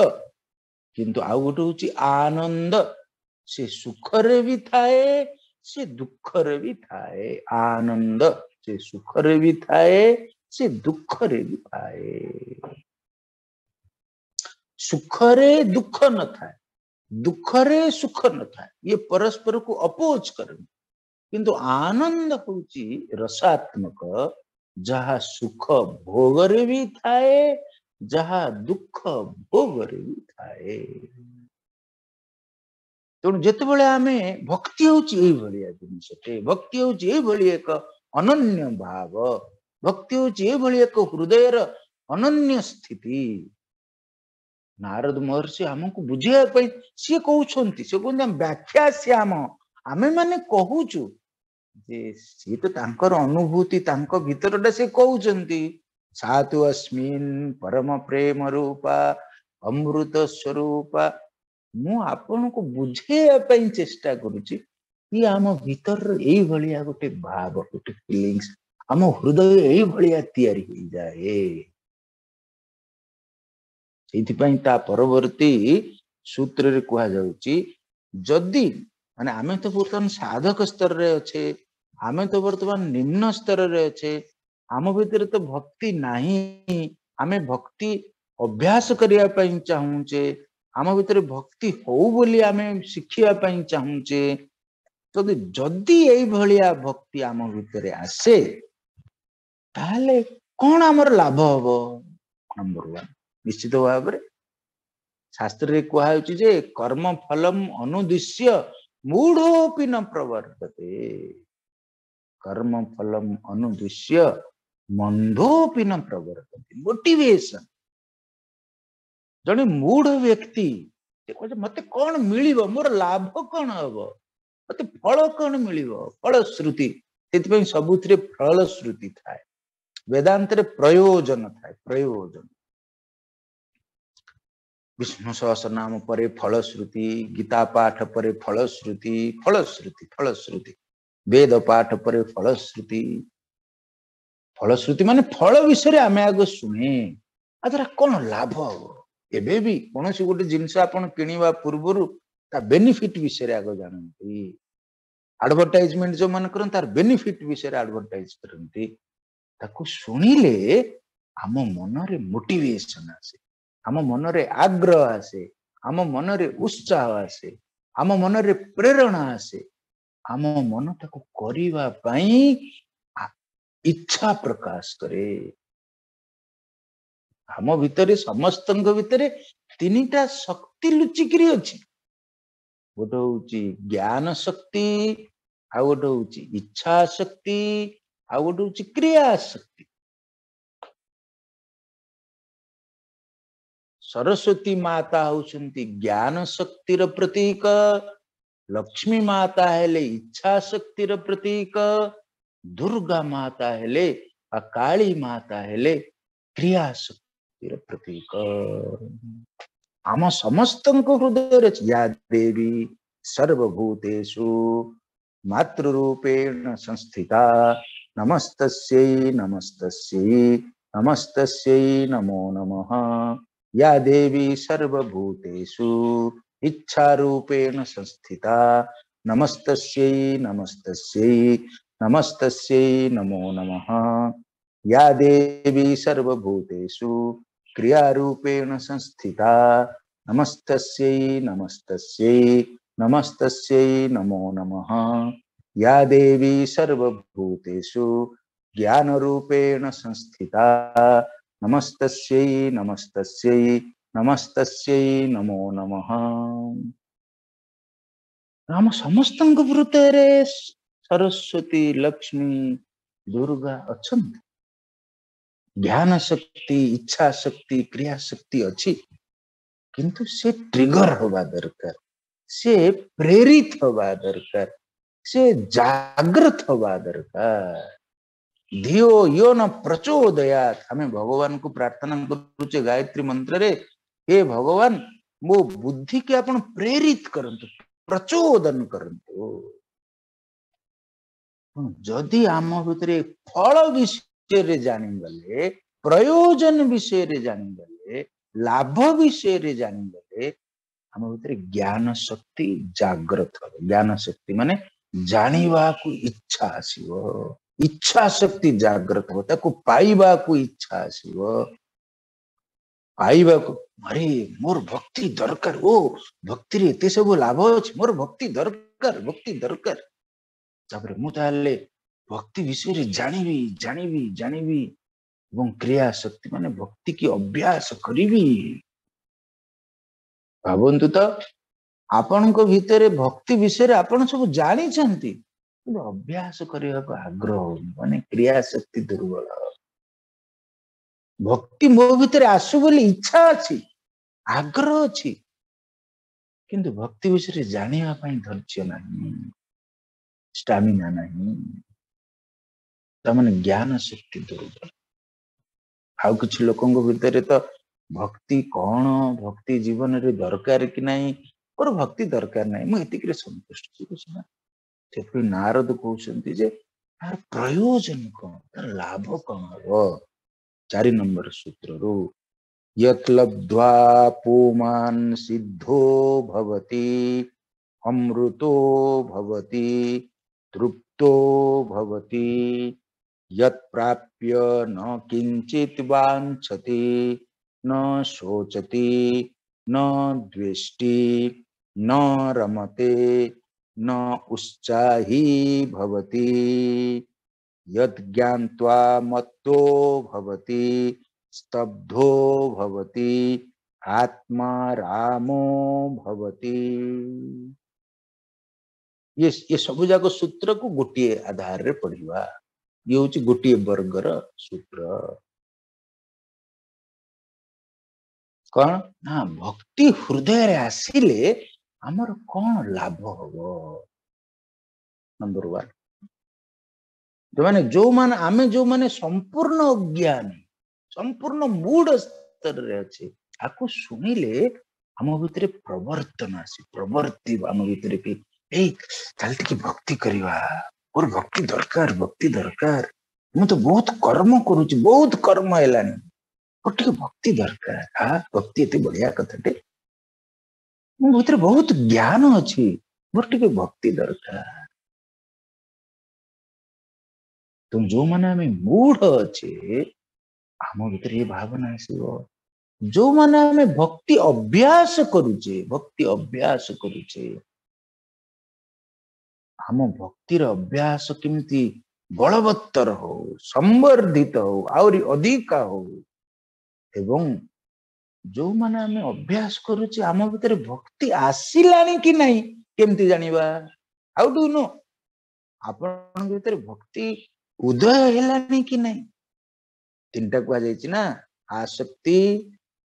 କିନ୍ତୁ ଆଉ ଗୋଟେ ହଉଛି ଆନନ୍ଦ। ସେ ସୁଖରେ ବି ଥାଏ, ସେ ଦୁଃଖରେ ବି ଥାଏ ଆନନ୍ଦ। ସେ ସୁଖରେ ବି ଥାଏ, ସେ ଦୁଃଖରେ ବି ଥାଏ। ସୁଖରେ ଦୁଃଖ ନଥାଏ, ଦୁଃଖରେ ସୁଖ ନଥାଏ, ଇଏ ପରସ୍ପରକୁ ଅପୋଜ କରନ୍ତି। କିନ୍ତୁ ଆନନ୍ଦ ହଉଛି ରସାତ୍ମକ, ଯାହା ସୁଖ ଭୋଗରେ ବି ଥାଏ, ଯାହା ଦୁଃଖ ଭୋଗରେ ବି ଥାଏ। ତେଣୁ ଯେତେବେଳେ ଆମେ ଭକ୍ତି ହଉଛି ଏଇଭଳିଆ ଜିନିଷଟେ, ଭକ୍ତି ହଉଛି ଏଇଭଳି ଏକ ଅନନ୍ୟ ଭାବ, ଭକ୍ତି ହଉଛି ଏଇଭଳି ଏକ ହୃଦୟର ଅନନ୍ୟ ସ୍ଥିତି। ନାରଦ ମହର୍ଷି ଆମକୁ ବୁଝେଇବା ପାଇଁ ସିଏ କହୁଛନ୍ତି, ସେ କହୁଛନ୍ତି ଆମେ ବ୍ୟାଖ୍ୟା ଶ୍ୟାମ, ଆମେ ମାନେ କହୁଛୁ ଯେ ସିଏ ତ ତାଙ୍କର ଅନୁଭୂତି, ତାଙ୍କ ଭିତରଟା ସେ କହୁଛନ୍ତି। ସାତୁ ଅସ୍ମିନ୍ ପରମ ପ୍ରେମ ରୂପା ଅମୃତ ସ୍ୱରୂପା। ମୁଁ ଆପଣଙ୍କୁ ବୁଝେଇବା ପାଇଁ ଚେଷ୍ଟା କରୁଛି କି ଆମ ଭିତରର ଏଇଭଳିଆ ଗୋଟେ ଭାବ, ଗୋଟେ ଫିଲିଙ୍ଗସ, ଆମ ହୃଦୟ ଏଇଭଳିଆ ତିଆରି ହେଇଯାଏ। ସେଇଥିପାଇଁ ତା ପରବର୍ତ୍ତୀ ସୂତ୍ରରେ କୁହାଯାଉଛି, ଯଦି ମାନେ ଆମେ ତ ବର୍ତ୍ତମାନ ସାଧକ ସ୍ତରରେ ଅଛେ, ଆମେ ତ ବର୍ତ୍ତମାନ ନିମ୍ନ ସ୍ତରରେ ଅଛେ, ଆମ ଭିତରେ ତ ଭକ୍ତି ନାହିଁ, ଆମେ ଭକ୍ତି ଅଭ୍ୟାସ କରିବା ପାଇଁ ଚାହୁଁଛେ, ଆମ ଭିତରେ ଭକ୍ତି ହଉ ବୋଲି ଆମେ ଶିଖିବା ପାଇଁ ଚାହୁଁଛେ, ଯଦି ଏଇଭଳିଆ ଭକ୍ତି ଆମ ଭିତରେ ଆସେ ତାହେଲେ କଣ ଆମର ଲାଭ ହବ? ନମ୍ବର 1, ନିଶ୍ଚିତ ଭାବରେ ଶାସ୍ତ୍ରରେ କୁହାଯାଉଛି ଯେ କର୍ମ ଫଲମ ଅନୁଦ୍ଦିଶ୍ୟ ମୂଢୋପି ନ ପ୍ରବର୍ତ୍ତତେ, କର୍ମ ଫଲମ ଅନୁଦ୍ଦିଶ୍ୟ ମନ୍ଧୋପି ନ ପ୍ରବର୍ତ୍ତତେ। ମୋଟିଭେସନ, ଜଣେ ମୂଢ ବ୍ୟକ୍ତି ସେ କହୁଛି ମତେ କଣ ମିଳିବ, ମୋର ଲାଭ କଣ ହବ, ମତେ ଫଳ କଣ ମିଳିବ, ଫଳଶ୍ରୁତି। ସେଥିପାଇଁ ସବୁଥିରେ ଫଳଶ୍ରୁତି ଥାଏ, ବେଦାନ୍ତରେ ପ୍ରୟୋଜନ ଥାଏ, ପ୍ରୟୋଜନ। ବିଷ୍ଣୁ ସହସ୍ର ନାମ ପରେ ଫଳଶ୍ରୁତି, ଗୀତା ପାଠ ପରେ ଫଳଶ୍ରୁତି, ଫଳଶ୍ରୁତି, ଫଳଶ୍ରୁତି, ବେଦ ପାଠ ପରେ ଫଳଶ୍ରୁତି। ଫଳଶ୍ରୁତି ମାନେ ଫଳ ବିଷୟରେ ଆମେ ଆଗ ଶୁଣେ, ଆ ଦ୍ୱାରା କଣ ଲାଭ ହବ। ଏବେ ବି କୌଣସି ଗୋଟେ ଜିନିଷ ଆପଣ କିଣିବା ପୂର୍ବରୁ ତା ବେନିଫିଟ ବିଷୟରେ ଆଗ ଜାଣନ୍ତି। ଆଡଭର୍ଟାଇଜମେଣ୍ଟ ଯୋଉମାନେ କରନ୍ତି ତାର ବେନିଫିଟ ବିଷୟରେ ଆଡଭର୍ଟାଇଜ କରନ୍ତି। ତାକୁ ଶୁଣିଲେ ଆମ ମନରେ ମୋଟିଭେସନ ଆସେ, ଆମ ମନରେ ଆଗ୍ରହ ଆସେ, ଆମ ମନରେ ଉତ୍ସାହ ଆସେ, ଆମ ମନରେ ପ୍ରେରଣା ଆସେ, ଆମ ମନ ତାକୁ କରିବା ପାଇଁ ଇଚ୍ଛା ପ୍ରକାଶ କରେ। ଆମ ଭିତରେ, ସମସ୍ତଙ୍କ ଭିତରେ ତିନିଟା ଶକ୍ତି ଲୁଚିକିରି ଅଛି। ଗୋଟେ ହଉଛି ଜ୍ଞାନ ଶକ୍ତି, ଆଉ ଗୋଟେ ହଉଛି ଇଚ୍ଛା ଶକ୍ତି, ଆଉ ଗୋଟେ ହଉଛି କ୍ରିୟା ଶକ୍ତି। ସରସ୍ୱତୀ ମାତା ହଉଛନ୍ତି ଜ୍ଞାନ ଶକ୍ତିର ପ୍ରତୀକ, ଲକ୍ଷ୍ମୀ ମାତା ହେଲେ ଇଚ୍ଛା ଶକ୍ତିର ପ୍ରତୀକ, ଦୁର୍ଗା ମାତା ହେଲେ ବା କାଳୀ ମାତା ହେଲେ କ୍ରିୟା ଶକ୍ତିର ପ୍ରତୀକ। ଆମ ସମସ୍ତଙ୍କ ହୃଦୟରେ ଅଛି ୟା ଦେବୀ ସର୍ବଭୂତେଷୁ ମାତୃରୂପେଣ ସଂସ୍ଥିତା ନମସ୍ତସ୍ୟୈ ନମସ୍ତସ୍ୟୈ ନମସ୍ତସ୍ୟୈ ନମୋ ନମଃ। ୟା ଦେବୀ ସର୍ବଭୂତେଷୁ ଇଚ୍ଛାରୂପେଣ ସଂସ୍ଥିତା ନମସ୍ତସ୍ୟୈ ନମସ୍ତସ୍ୟୈ ନମସ୍ତସ୍ୟୈ ନମୋ ନମଃ। ୟା ଦେବୀ ସର୍ବଭୂତେଷୁ କ୍ରିୟାରୂପେଣ ସଂସ୍ଥିତା ନମସ୍ତସ୍ୟୈ ନମସ୍ତସ୍ୟୈ ନମସ୍ତସ୍ୟୈ ନମୋ ନମଃ। ୟା ଦେବୀ ସର୍ବଭୂତେଷୁ ଜ୍ଞାନରୂପେଣ ସଂସ୍ଥିତା ନମସ୍ତସ୍ୟୈ ନମସ୍ତସ୍ୟୈ ନମସ୍ତସ୍ୟୈ ନମୋ ନମଃ। ଆମ ସମସ୍ତଙ୍କ ହୃଦୟରେ ସରସ୍ୱତୀ, ଲକ୍ଷ୍ମୀ, ଦୁର୍ଗା ଅଛନ୍ତି। ଜ୍ଞାନ ଶକ୍ତି, ଇଚ୍ଛା ଶକ୍ତି, କ୍ରିୟା ଶକ୍ତି ଅଛି, କିନ୍ତୁ ସେ ଟ୍ରିଗର ହବା ଦରକାର, ସେ ପ୍ରେରିତ ହବା ଦରକାର, ସେ ଜାଗ୍ରତ ହବା ଦରକାର। ଧିଓ ୟୋ ନ ପ୍ରଚୋଦୟାତ୍। ଆମେ ଭଗବାନଙ୍କୁ ପ୍ରାର୍ଥନା କରୁଛେ ଗାୟତ୍ରୀ ମନ୍ତ୍ରରେ, ହେ ଭଗବାନ ମୋ ବୁଦ୍ଧିକି ଆପଣ ପ୍ରେରିତ କରନ୍ତୁ, ପ୍ରଚୋଦନ କରନ୍ତୁ। ଯଦି ଆମ ଭିତରେ ଫଳ ବିଷୟରେ ଜାଣିଗଲେ, ପ୍ରୟୋଜନ ବିଷୟରେ ଜାଣିଗଲେ, ଲାଭ ବିଷୟରେ ଜାଣିଗଲେ, ଆମ ଭିତରେ ଜ୍ଞାନ ଶକ୍ତି ଜାଗ୍ରତ ହବ। ଜ୍ଞାନ ଶକ୍ତି ମାନେ ଜାଣିବାକୁ ଇଚ୍ଛା ଆସିବ। ଇଚ୍ଛା ଶକ୍ତି ଜାଗ୍ରତ ହବ, ତାକୁ ପାଇବାକୁ ଇଚ୍ଛା ଆସିବ, ପାଇବାକୁ। ଆରେ ମୋର ଭକ୍ତି ଦରକାର, ଓ ଭକ୍ତିରେ ଏତେ ସବୁ ଲାଭ ଅଛି, ମୋର ଭକ୍ତି ଦରକାର, ଭକ୍ତି ଦରକାର। ତାପରେ ମୁଁ ତାହେଲେ ଭକ୍ତି ବିଷୟରେ ଜାଣିବି, ଜାଣିବି, ଜାଣିବି ଏବଂ କ୍ରିୟା ଶକ୍ତି ମାନେ ଭକ୍ତି କି ଅଭ୍ୟାସ କରିବି। ଭାବନ୍ତୁ ତ, ଆପଣଙ୍କ ଭିତରେ ଭକ୍ତି ବିଷୟରେ ଆପଣ ସବୁ ଜାଣିଛନ୍ତି, କିନ୍ତୁ ଅଭ୍ୟାସ କରିବାକୁ ଆଗ୍ରହ ହଉନି, ମାନେ କ୍ରିୟା ଶକ୍ତି ଦୁର୍ବଳ। ଭକ୍ତି ମୋ ଭିତରେ ଆସୁ ବୋଲି ଇଚ୍ଛା ଅଛି, ଆଗ୍ରହ ଅଛି, କିନ୍ତୁ ଭକ୍ତି ବିଷୟରେ ଜାଣିବା ପାଇଁ ଧୈର୍ଯ୍ୟ ନାହିଁ, ଷ୍ଟାମିନା ନାହିଁ, ତାମାନେ ଜ୍ଞାନ ଶକ୍ତି ଦୁର୍ବଳ। ଆଉ କିଛି ଲୋକଙ୍କ ଭିତରେ ତ ଭକ୍ତି କଣ, ଭକ୍ତି ଜୀବନରେ ଦରକାର କି ନାହିଁ, ମୋର ଭକ୍ତି ଦରକାର ନାହିଁ, ମୁଁ ଏତିକିରେ ସନ୍ତୁଷ୍ଟ। ସେଥିପାଇଁ ନାରଦ କହୁଛନ୍ତି ଯେ ତାର ପ୍ରୟୋଜନ କଣ, ତାର ଲାଭ କଣ ହବ। 4 ନମ୍ବର ସୂତ୍ରରୁ ୟତ୍ ଲବ୍ଧ୍ୱା ପୁମାନ୍ ସିଦ୍ଧୋ ଭବତି ଅମୃତୋ ଭବତି ତୃପ୍ତୋ ଭବତି ଯତ୍ ପ୍ରାପ୍ୟ ନ କିଞ୍ଚିତ୍ ବାଞ୍ଛତି ନ ଶୋଚତି ନ ଦ୍ୱେଷ୍ଟି ନ ରମତେ ନ ଉତ୍ସାହୀ ଭବତି ଯଦ୍ ଜ୍ଞାତ୍ୱା ମତ୍तो ଭବତି ସ୍ତବ୍ଧୋ ଭବତି ଆତ୍ମା ରାମୋ ଭବତି। ये ସବୁ ଯାକ ସୂତ୍ରକୁ ଗୋଟିଏ ଆଧାରରେ ପଢିବା। ଇଏ ହଉଛି ଗୋଟିଏ ବର୍ଗର ସୂତ୍ର। କଣ ନା ଭକ୍ତି ହୃଦୟରେ ଆସିଲେ ଆମର କଣ ଲାଭ ହବ। ନମ୍ବର 1, ଯୋଉମାନେ ଆମେ ଯୋଉମାନେ ସମ୍ପୂର୍ଣ୍ଣ ଅଜ୍ଞାନୀ, ସମ୍ପୂର୍ଣ୍ଣ ମୂଢ ସ୍ତରରେ ଅଛି, ଆକୁ ଶୁଣିଲେ ଆମ ଭିତରେ ପ୍ରବର୍ତ୍ତନ ଆସେ, ପ୍ରବର୍ତ୍ତିବ ଆମ ଭିତରେ କି ଏଇ ଚାଲ ଟିକେ ଭକ୍ତି କରିବା, ମୋର ଭକ୍ତି ଦରକାର, ଭକ୍ତି ଦରକାର, ମୁଁ ତ ବହୁତ କର୍ମ କରୁଛି, ବହୁତ କର୍ମ ହେଲାଣି, ମୋର ଟିକେ ଭକ୍ତି ଦରକାର। ଭକ୍ତି ଏତେ ବଢିଆ କଥାଟେ, ମୋ ଭିତରେ ବହୁତ ଜ୍ଞାନ ଅଛି, ମୋର ଟିକେ ଭକ୍ତି ଦରକାର। ତ ଯୋଉମାନେ ଆମେ ମୂଢ ଅଛେ, ଆମ ଭିତରେ ଏ ଭାବନା ଆସିବ। ଯୋଉମାନେ ଆମେ ଭକ୍ତି ଅଭ୍ୟାସ କରୁଛେ, ଭକ୍ତି ଅଭ୍ୟାସ କରୁଛେ, ଆମ ଭକ୍ତିର ଅଭ୍ୟାସ କେମିତି ବଳବତ୍ତର ହଉ, ସମ୍ବର୍ଦ୍ଧିତ ହଉ, ଆହୁରି ଅଧିକା ହଉ। ଏବଂ ଯୋଉମାନେ ଆମେ ଅଭ୍ୟାସ କରୁଛେ, ଆମ ଭିତରେ ଭକ୍ତି ଆସିଲାଣି କି ନାହିଁ କେମିତି ଜାଣିବା? ହାଉ do no ଆପଣଙ୍କ ଭିତରେ ଭକ୍ତି ଉଦୟ ହେଲାଣି କି ନାହିଁ? 3ଟା କୁହାଯାଇଛି ନା, ଆସକ୍ତି,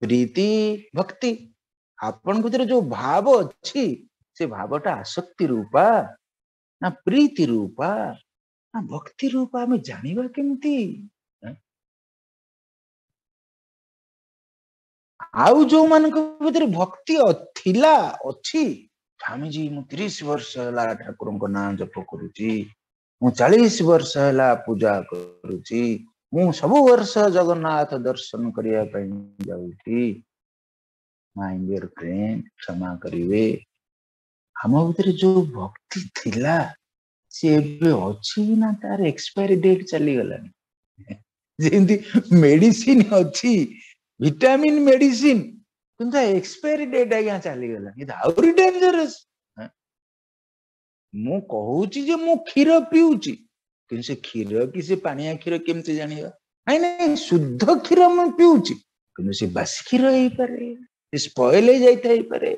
ପ୍ରୀତି, ଭକ୍ତି। ଆପଣଙ୍କ ଭିତରେ ଯୋଉ ଭାବ ଅଛି, ସେ ଭାବଟା ଆସକ୍ତି ରୂପା ନା ପ୍ରୀତି ରୂପା ନା ଭକ୍ତି ରୂପା, ଆମେ ଜାଣିବା କେମିତି? ଆଉ ଯୋଉମାନଙ୍କ ଭିତରେ ଭକ୍ତି ଥିଲା, ଅଛି, ସ୍ୱାମୀଜୀ ମୁଁ 30 ବର୍ଷ ହେଲା ଠାକୁରଙ୍କ ନାଁ ଜପ କରୁଛି, ମୁଁ 40 ବର୍ଷ ହେଲା ପୂଜା କରୁଛି, ମୁଁ ସବୁ ବର୍ଷ ଜଗନ୍ନାଥ ଦର୍ଶନ କରିବା ପାଇଁ ଯାଉଛି। ମାଇ ଡିୟର ଫ୍ରେଣ୍ଡ, କ୍ଷମା କରିବେ, ଆମ ଭିତରେ ଯୋଉ ଭକ୍ତି ଥିଲା ସେ ଏବେ ଅଛି ନା ତାର ଏକ୍ସପାୟରି ଡେଟ୍ ଚାଲିଗଲାଣି? ଯେମିତି ମେଡିସିନ ଅଛି, ଭିଟାମିନ ମେଡିସିନ, କିନ୍ତୁ ଏକ୍ସପାୟରି ଡେଟ୍ ଆଜ୍ଞା ଚାଲିଗଲାଣି, ଏ ତ ଆହୁରି ଡେଞ୍ଜରସ୍। ମୁଁ କହୁଛି ଯେ ମୁଁ କ୍ଷୀର ପିଉଛି, କିନ୍ତୁ ସେ କ୍ଷୀର କି ସେ ପାଣିଆ କ୍ଷୀର କେମିତି ଜାଣିବା? ନାଇଁ ନାଇଁ, ଶୁଦ୍ଧ କ୍ଷୀର ମୁଁ ପିଉଛି, କିନ୍ତୁ ସେ ବାସି କ୍ଷୀର ହେଇପାରେ, ସେ ସ୍ପଏଲ ହେଇଯାଇଥାଇପାରେ,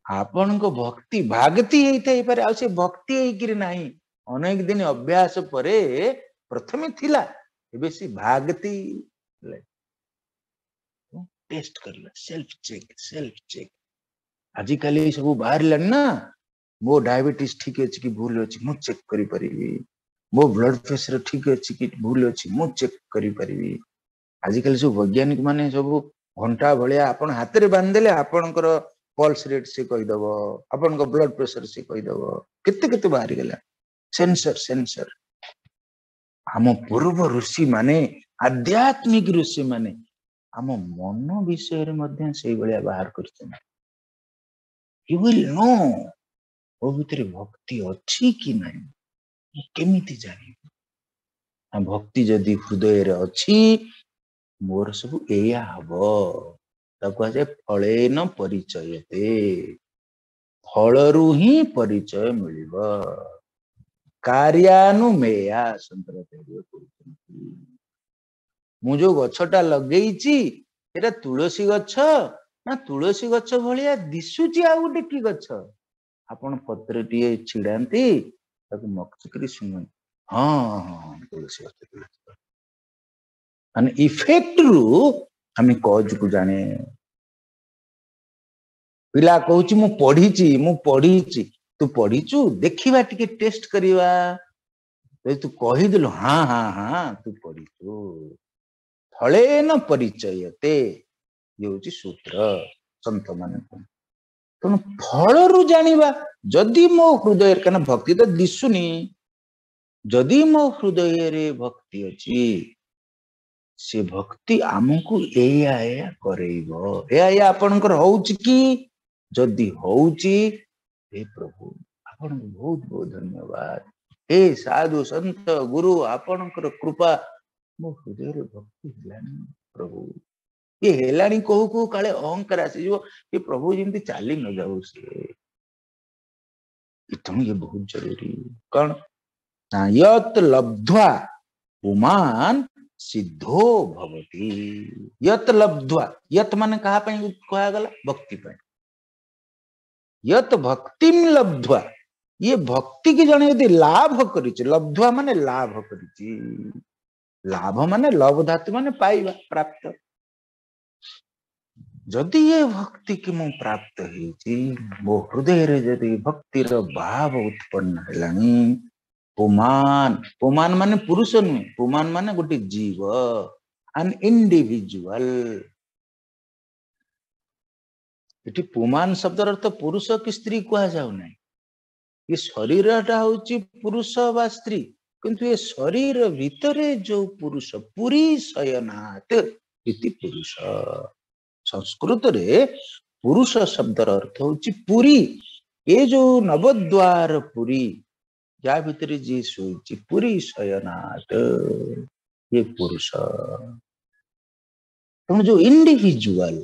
ଆପଣଙ୍କ ଭକ୍ତି ଭାଗତି ହେଇଥାଇପାରେ, ଆଉ ସେ ଭକ୍ତି ହେଇକିରି ନାହିଁ। ଅନେକ ଦିନ ଅଭ୍ୟାସ ପରେ ପ୍ରଥମେ ଥିଲା, ଏବେ ସେ ଭାଗତି। ଟେଷ୍ଟ କରିବା, ସେଲ୍ଫ ଚେକ୍, ସେଲ୍ଫ ଚେକ୍। ଆଜିକାଲି ସବୁ ବାହାରିଲାଣି ନା, ମୋ ଡାଇବେଟିସ୍ ଠିକ ଅଛି କି ଭୁଲ ଅଛି ମୁଁ ଚେକ୍ କରିପାରିବି, ମୋ ବ୍ଲଡ ପ୍ରେସର ଠିକ ଅଛି କି ଭୁଲ ଅଛି ମୁଁ ଚେକ୍ କରିପାରିବି। ଆଜିକାଲି ସବୁ ବୈଜ୍ଞାନିକ ମାନେ ସବୁ ଘଣ୍ଟା ଭଳିଆ ଆପଣ ହାତରେ ବାନ୍ଧିଦେଲେ ଆପଣଙ୍କର ପଲ୍ସ ରେଟ୍ ସେ କହିଦବ, ଆପଣଙ୍କ ବ୍ଲଡ ପ୍ରେସର ସେ କହିଦବ, କେତେ କେତେ ବାହାରିଗଲା ସେନ୍ସର ସେନ୍ସର। ଆମ ପୂର୍ବ ଋଷି ମାନେ, ଆଧ୍ୟାତ୍ମିକ ଋଷି ମାନେ ଆମ ମନ ବିଷୟରେ ମଧ୍ୟ ସେଇଭଳିଆ ବାହାର କରିଛନ୍ତି। You will know ମୋ ଭିତରେ ଭକ୍ତି ଅଛି କି ନାହିଁ, ମୁଁ କେମିତି ଜାଣିବି? ଭକ୍ତି ଯଦି ହୃଦୟରେ ଅଛି, ମୋର ସବୁ ଏଇଆ ହବ। ତାକୁ କୁହାଯାଏ ଫଳେନ ପରିଚୟତେ, ଫଳରୁ ହିଁ ପରିଚୟ ମିଳିବ। କାର୍ଯ୍ୟାନୁମେୟା ଶଙ୍କରାଚାର୍ଯ୍ୟ କହୁଛନ୍ତି, ମୁଁ ଯୋଉ ଗଛଟା ଲଗେଇଛି ସେଟା ତୁଳସୀ ଗଛ ନା ତୁଳସୀ ଗଛ ଭଳିଆ ଦିଶୁଛି ଆଉ ଗୋଟେ କି ଗଛ? ଆପଣ ପତ୍ରଟିଏ ଛିଡାନ୍ତି, ତାକୁ ମକଚିକିରି ଶୁଣନ୍ତି, ହଁ ହଁ ହଁ ତୁଳସୀ ଗଛ, ତୁଳସୀ ଗଛ। ମାନେ ଇଫେକ୍ଟ ରୁ ଆମେ କଜକୁ ଜାଣେ। ପିଲା କହୁଛି ମୁଁ ପଢିଛି, ମୁଁ ପଢିଛି। ତୁ ପଢିଛୁ, ଦେଖିବା ଟିକେ ଟେଷ୍ଟ କରିବା। ଯଦି ତୁ କହିଦେଲୁ ହଁ ହଁ ହଁ ତୁ ପଢିଛୁ, ଫଳେନ ପରିଚୟତେ, ଇଏ ହଉଛି ସୂତ୍ର ସନ୍ଥ ମାନେ କୁହନ୍ତି। ତେଣୁ ଫଳରୁ ଜାଣିବା। ଯଦି ମୋ ହୃଦୟରେ, କାରଣ ଭକ୍ତି ତ ଦିଶୁନି, ଯଦି ମୋ ହୃଦୟରେ ଭକ୍ତି ଅଛି, ସେ ଭକ୍ତି ଆମକୁ ଏଇଆ ଏଇଆ କରେଇବ। ଏଇଆ ଏଇଆ ଆପଣଙ୍କର ହଉଛି କି? ଯଦି ହଉଛି, ହେ ପ୍ରଭୁ ଆପଣଙ୍କୁ ବହୁତ ବହୁତ ଧନ୍ୟବାଦ। ହେ ସାଧୁ ସନ୍ଥ ଗୁରୁ, ଆପଣଙ୍କର କୃପା ମୋ ହୃଦୟରେ ଭକ୍ତି ହେଲାଣି ପ୍ରଭୁ। ଇଏ ହେଲାଣି କହୁ କହୁ କାଳେ ଅହଙ୍କାର ଆସିଯିବ, ଏ ପ୍ରଭୁ ଯେମିତି ଚାଲି ନ ଯାଉ ସିଏ। ତେଣୁ ଇଏ ବହୁତ ଜରୁରୀ। କଣ ନା ୟତ୍ ଲବ୍ଧ୍ୱା ପୁମାନ୍ ସିଦ୍ଧୋ ଭବତି। ୟତ୍ ଲବ୍ଧ୍ୱା, ୟତ୍ ମାନେ କାହା ପାଇଁ କୁହାଗଲା? ଭକ୍ତି ପାଇଁ। ୟତ୍ ଭକ୍ତିಂ ଲବ୍ଧ୍ୱା, ଇଏ ଭକ୍ତି କି ଜଣେ ଯଦି ଲାଭ କରିଛି, ଲବ୍ଧ୍ୱା ମାନେ ଲାଭ କରିଛି, ଲାଭ ମାନେ ଲଭ ଧାତୁ ମାନେ ପାଇବା, ପ୍ରାପ୍ତ। ଯଦି ଏ ଭକ୍ତି କି ମୁଁ ପ୍ରାପ୍ତ ହେଇଛି, ମୋ ହୃଦୟରେ ଯଦି ଭକ୍ତିର ଭାବ ଉତ୍ପନ୍ନ ହେଲାଣି, ପୁମାନ, ପୁମାନ ମାନେ ପୁରୁଷ ନୁହେଁ, ପୁମାନ ମାନେ ଗୋଟେ ଜୀବ, ଆନ୍ ଇଣ୍ଡିଭିଜୁଆଲ। ଏଠି ପୁମାନ ଶବ୍ଦର ଅର୍ଥ ପୁରୁଷ କି ସ୍ତ୍ରୀ କୁହାଯାଉ ନାହିଁ। ଏ ଶରୀରଟା ହଉଛି ପୁରୁଷ ବା ସ୍ତ୍ରୀ, କିନ୍ତୁ ଏ ଶରୀର ଭିତରେ ଯୋଉ ପୁରୁଷ, ପୁରୀ ଶୟନାଥ ଇତି ପୁରୁଷ। ସଂସ୍କୃତରେ ପୁରୁଷ ଶବ୍ଦର ଅର୍ଥ ହଉଛି ପୁରୀ। ଏ ଯୋଉ ନବଦ୍ୱାର ପୁରୀ, ଯାହା ଭିତରେ ଯିଏ ଶୋଇଛି, ପୁରୀ ଶୟନାଥ, ଇଏ ପୁରୁଷ। ତେଣୁ ଯୋଉ ଇଣ୍ଡିଭିଜୁଆଲ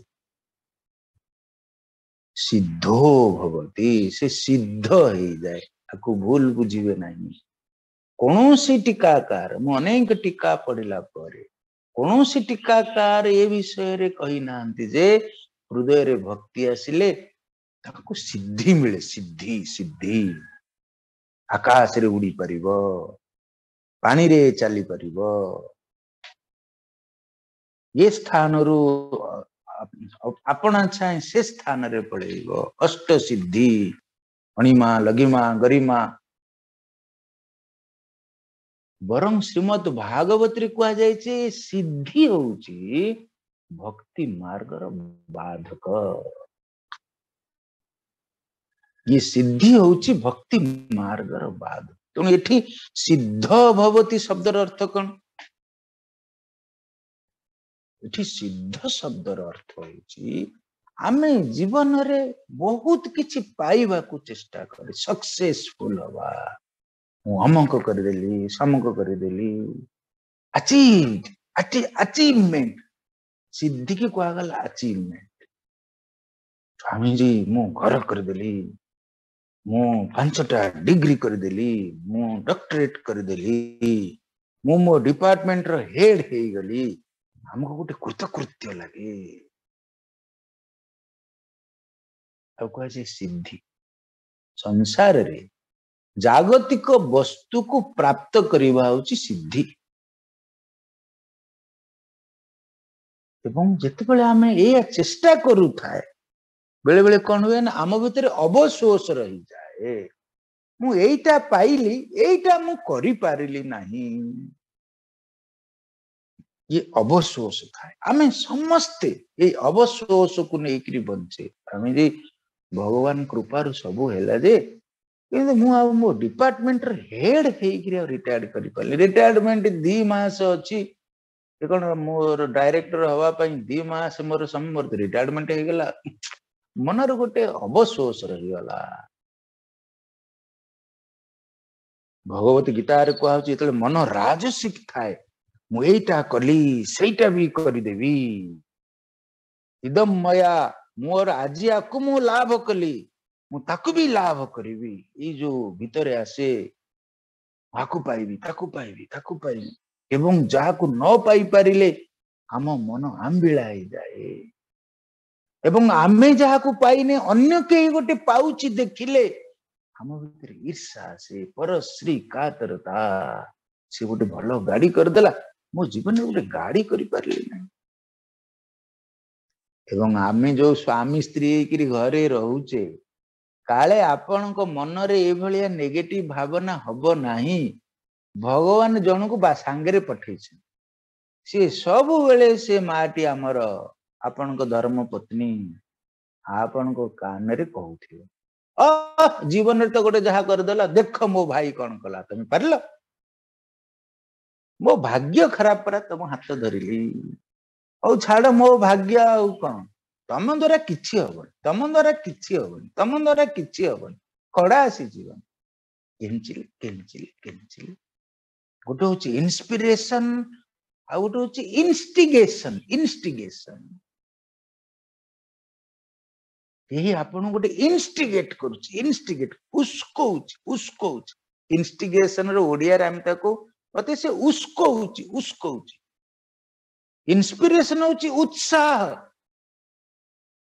ସିଦ୍ଧୋ ଭବତି, ସେ ସିଦ୍ଧ ହେଇଯାଏ। ତାକୁ ଭୁଲ ବୁଝିବେ ନାହିଁ। କୌଣସି ଟୀକାକାର, ମୁଁ ଅନେକ ଟୀକା ପଢିଲା ପରେ କୌଣସି ଟୀକାକାର ଏ ବିଷୟରେ କହିନାହାନ୍ତି ଯେ ହୃଦୟରେ ଭକ୍ତି ଆସିଲେ ତାକୁ ସିଦ୍ଧି ମିଳେ। ସିଦ୍ଧି, ସିଦ୍ଧି, ଆକାଶରେ ଉଡି ପାରିବ, ପାଣିରେ ଚାଲିପାରିବ, ଏ ସ୍ଥାନରୁ ଆପଣା ଛାଏଁ ସେ ସ୍ଥାନରେ ପଳେଇବ। ଅଷ୍ଟ ସିଦ୍ଧି, ଅଣିମା, ଲଘିମା, ଗରିମା। ବରଂ ଶ୍ରୀମଦ୍ ଭାଗବତରେ କୁହାଯାଇଛି ସିଦ୍ଧି ହଉଛି ଭକ୍ତି ମାର୍ଗର ବାଧକ। ଇଏ ସିଦ୍ଧି ହଉଛି ଭକ୍ତି ମାର୍ଗର ବାଧକ। ତେଣୁ ଏଠି ସିଦ୍ଧ ଭବତି ଶବ୍ଦର ଅର୍ଥ କଣ? ଏଠି ସିଦ୍ଧ ଶବ୍ଦର ଅର୍ଥ ହଉଛି ଆମେ ଜୀବନରେ ବହୁତ କିଛି ପାଇବାକୁ ଚେଷ୍ଟା କରେ, ସକ୍ସେସଫୁଲ ହବା। ମୁଁ ଅମକ କରିଦେଲି, ସମକ କରିଦେଲି, ଆଚିଭମେଣ୍ଟ। ସିଦ୍ଧିକି କୁହାଗଲା ଆଚିଭମେଣ୍ଟ। ସ୍ୱାମୀଜୀ ମୁଁ ଘର କରିଦେଲି, ମୁଁ 5ଟା ଡିଗ୍ରୀ କରିଦେଲି, ମୁଁ ଡକ୍ଟରେଟ କରିଦେଲି, ମୁଁ ମୋ ଡିପାର୍ଟମେଣ୍ଟର ହେଡ ହେଇଗଲି, ଆମକୁ ଗୋଟେ କୃତକୃତ୍ୟ ଲାଗେ। ଆଉ କୁହାଯାଏ ସିଦ୍ଧି। ସଂସାରରେ ଜାଗତିକ ବସ୍ତୁକୁ ପ୍ରାପ୍ତ କରିବା ହଉଛି ସିଦ୍ଧି। ଏବଂ ଯେତେବେଳେ ଆମେ ଏଇଆ ଚେଷ୍ଟା କରୁଥାଏ, ବେଳେ ବେଳେ କଣ ହୁଏ ନା ଆମ ଭିତରେ ଅବଶୋଷ ରହିଯାଏ। ମୁଁ ଏଇଟା ପାଇଲି, ଏଇଟା ମୁଁ କରିପାରିଲି ନାହିଁ, ଇଏ ଅବଶୋଷ ଥାଏ। ଆମେ ସମସ୍ତେ ଏଇ ଅବଶୋଷକୁ ନେଇକିରି ବଞ୍ଚେ। ଆମେ ଯେ ଭଗବାନ କୃପାରୁ ସବୁ ହେଲା ଯେ, କିନ୍ତୁ ମୁଁ ଆଉ ମୋ ଡିପାର୍ଟମେଣ୍ଟର ହେଡ ହେଇକିରି ଆଉ ରିଟାୟାର୍ଡ କରିପାରିଲି। ରିଟାୟାରମେଣ୍ଟ 2 ମାସ ଅଛି, ସେ କଣ ମୋର ଡାଇରେକ୍ଟର ହବା ପାଇଁ 2 ମାସ ମୋର ସମୟ, ମୋର ରିଟାୟାରମେଣ୍ଟ ହେଇଗଲା। ମନରେ ଗୋଟେ ଅବଶୋଷ ରହିଗଲା। ଭଗବତ ଗୀତାରେ କୁହାହଉଛି ଯେତେବେଳେ ମନ ରାଜସିକ ଥାଏ, ମୁଁ ଏଇଟା କଲି ସେଇଟା ବି କରିଦେବି, ଇଦମ୍ ମୟା, ମୋର ଆଜି ଆକୁ ମୁଁ ଲାଭ କଲି, ମୁଁ ତାକୁ ବି ଲାଭ କରିବି। ଏଇ ଯୋଉ ଭିତରେ ଆସେ ଆକୁ ପାଇବି ତାକୁ ପାଇବି ତାକୁ ପାଇବି, ଏବଂ ଯାହାକୁ ନ ପାଇପାରିଲେ ଆମ ମନ ଆମ୍ବିଳା ହେଇଯାଏ। ଏବଂ ଆମେ ଯାହାକୁ ପାଇନେ ଅନ୍ୟ କେହି ଗୋଟେ ପାଉଛି ଦେଖିଲେ ଆମ ଭିତରେ ଈର୍ଷା ଆସେ, ପରଶ୍ରୀ କାତରତା। ସେ ଗୋଟେ ଭଲ ଗାଡି କରିଦେଲା, ମୋ ଜୀବନରେ ଗୋଟେ ଗାଡି କରିପାରିଲି ନାହିଁ। ଏବଂ ଆମେ ଯୋଉ ସ୍ୱାମୀ ସ୍ତ୍ରୀ ହେଇକିରି ଘରେ ରହୁଛେ, କାଳେ ଆପଣଙ୍କ ମନରେ ଏଇଭଳିଆ ନେଗେଟିଭ ଭାବନା ହବ ନାହିଁ। ଭଗବାନ ଜଣକୁ ବା ସାଙ୍ଗରେ ପଠେଇଛନ୍ତି, ସିଏ ସବୁବେଳେ ସେ ମାଟି ଆମର ଆପଣଙ୍କ ଧର୍ମ ପତ୍ନୀ ଆପଣଙ୍କ କାନରେ କହୁଥିବ, ଅ ଜୀବନରେ ତ ଗୋଟେ ଯାହା କରିଦେଲା, ଦେଖ ମୋ ଭାଇ କଣ କଲା, ତମେ ପାରିଲ, ମୋ ଭାଗ୍ୟ ଖରାପ ପରା ତମ ହାତ ଧରିଲି, ହଉ ଛାଡ ମୋ ଭାଗ୍ୟ ଆଉ କଣ, ତମ ଦ୍ୱାରା କିଛି ହବନି, ତମ ଦ୍ୱାରା କିଛି ହବନି, ତମ ଦ୍ୱାରା କିଛି ହବନି, ଖଡା ଆସିଯିବ। କେଞ୍ଚିଲି କେଞ୍ଚିଲି କେଞ୍ଚିଲି। ଗୋଟେ ହଉଛି ଇନ୍ସପିରେସନ, ଆଉ ଗୋଟେ ହଉଛି ଇନଷ୍ଟିଗେସନ। ଇନଷ୍ଟିଗେସନ କେହି ଆପଣଙ୍କୁ ଗୋଟେ ଇନଷ୍ଟିଗେଟ କରୁଛି, ଇନଷ୍ଟିଗେଟ ଉସ୍କଉଛି, ଉସ୍କଉଛି। ଇନଷ୍ଟିଗେସନ ର ଓଡିଆରେ ଆମେ ତାକୁ ମତେ ସେ ଉସ୍କଉଛି, ଉସ୍କଉଛି। ଇନ୍ସପିରେସନ ହଉଛି ଉତ୍ସାହ,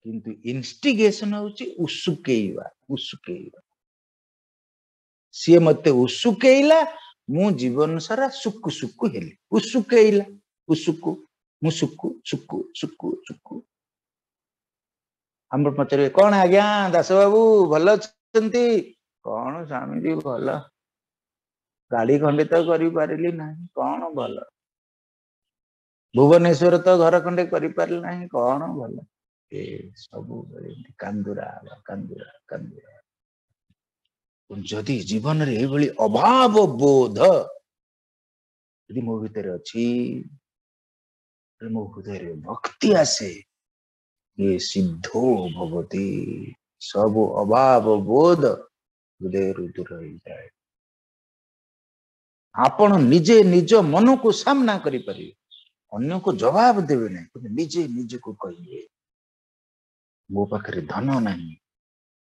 କିନ୍ତୁ ଇନଷ୍ଟିଗେସନ ହଉଛି ଉସୁକେଇବା, ଉସୁକେଇବା। ସିଏ ମତେ ଉସୁକେଇଲା, ମୁଁ ଜୀବନ ସାରା ସୁକୁ ସୁକୁ ହେଲି। ଉସୁକେଇଲା, ଉସୁକୁ, ମୁଁ ସୁକୁ ସୁକୁ ସୁକୁ ସୁକୁ। ଆମର ପଚାରିବେ କଣ ଆଜ୍ଞା ଦାସ ବାବୁ ଭଲ ଅଛନ୍ତି? କଣ ସ୍ୱାମୀଜୀ ଭଲ, ଗାଡି ଖଣ୍ଡେ ତ କରିପାରିଲି ନାହିଁ, କଣ ଭଲ, ଭୁବନେଶ୍ୱର ତ ଘର ଖଣ୍ଡେ କରିପାରିଲି ନାହିଁ, କଣ ଭଲ। ଏ ସବୁବେଳେ ଏମିତି କାନ୍ଦୁରା ହବା, କାନ୍ଦୁରା କାନ୍ଦୁରା। ଯଦି ଜୀବନରେ ଏଇଭଳି ଅଭାବ ବୋଧ ଯଦି ମୋ ଭିତରେ ଅଛି, ମୋ ହୃଦୟରେ ଭକ୍ତି ଆସେ, ଇଏ ସିଦ୍ଧୋ ଭବତି, ସବୁ ଅଭାବ ବୋଧ ହୃଦୟରୁ ଦୂର ହେଇଯାଏ। ଆପଣ ନିଜେ ନିଜ ମନକୁ ସାମ୍ନା କରିପାରିବେ, ଅନ୍ୟକୁ ଜବାବ ଦେବେ ନାହିଁ, କିନ୍ତୁ ନିଜେ ନିଜକୁ କହିବେ ମୋ ପାଖରେ ଧନ ନାହିଁ,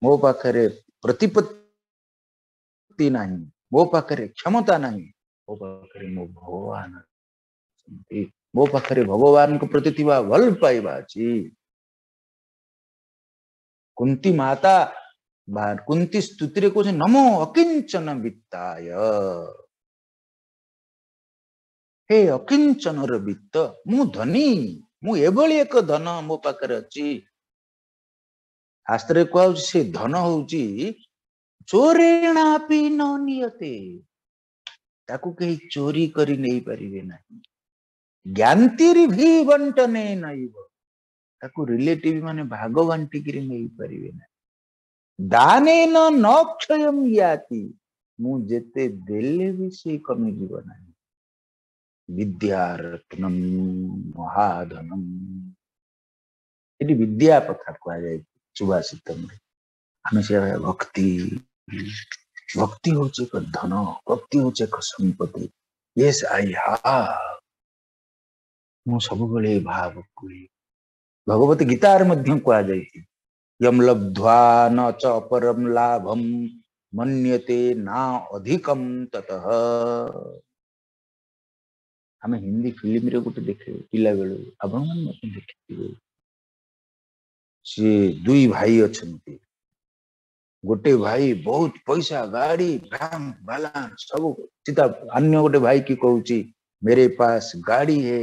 ମୋ ପାଖରେ ପ୍ରତିପତ୍ତି ନାହିଁ, ମୋ ପାଖରେ କ୍ଷମତା ନାହିଁ, ମୋ ପାଖରେ ମୋ ଭଗବାନ ଅଛନ୍ତି, ମୋ ପାଖରେ ଭଗବାନଙ୍କ ପ୍ରତି ଥିବା ଭଲ ପାଇବା ଅଛି। କୁନ୍ତି ମାତା ବା କୁନ୍ତି ସ୍ତୁତିରେ କହୁଛନ୍ତି ନମୋ ଅକିଞ୍ଚନ ବିତ୍ତାୟ, ହେ ଅକିଞ୍ଚନର ବିତ୍ତ, ମୁଁ ଧନୀ, ମୁଁ ଏଭଳି ଏକ ଧନ ମୋ ପାଖରେ ଅଛି। ଶାସ୍ତ୍ରରେ କୁହାହଉଛି ସେ ଧନ ହଉଛି ଚୋରେଣାପି ନ ନିୟତେ, ତାକୁ କେହି ଚୋରି କରି ନେଇପାରିବେ ନାହିଁ। ଜ୍ଞାତିରି ଭି ବଣ୍ଟନେ ନୈବ, ତାକୁ ରିଲେଟିଭ ମାନେ ଭାଗ ବାଣ୍ଟିକିରି ନେଇପାରିବେ ନାହିଁ। ଦାନେନ ନ କ୍ଷୟಂ ୟାତି, ମୁଁ ଯେତେ ଦେଲେ ବି ସେ କମିଯିବ ନାହିଁ। ବିଦ୍ୟା ରତ୍ନମ ମହାଧନମ, ଏଠି ବିଦ୍ୟା କଥା କୁହାଯାଇଛି ସୁଭାଷିତମରେ। ଆମେ ସେ ଭକ୍ତି, ଭକ୍ତି ହଉଛି ଏକ ଧନ, ଭକ୍ତି ହଉଛି ଏକ ସମ୍ପତ୍ତି। ୟେସ୍ I have, ମୁଁ ସବୁବେଳେ ଏ ଭାବ କୁହେ। ଭଗବତ ଗୀତାରେ ମଧ୍ୟ କୁହାଯାଇଛି ୟମ ଲବ୍ଧ୍ୱା ନ ଚ ଅପରମ ଲାଭମ ମନ୍ୟତେ ନା ଅଧିକମ ତତଃ। ଆମେ ହିନ୍ଦୀ ଫିଲ୍ମରେ ଗୋଟେ ଦେଖେ ପିଲାବେଳୁ, ଆପଣମାନେ ମଧ୍ୟ ଦେଖିଥିବେ। ସିଏ ଦୁଇ ଭାଇ ଅଛନ୍ତି, ଗୋଟେ ଭାଇ ବହୁତ ପଇସା, ଗାଡି, ବ୍ୟାଙ୍କ ବାଲାନ୍ସ ସବୁ ଚିନ୍ତା, ଅନ୍ୟ ଗୋଟେ ଭାଇ କି କହୁଛି ମେରେ ପାସ ଗାଡି ହେ,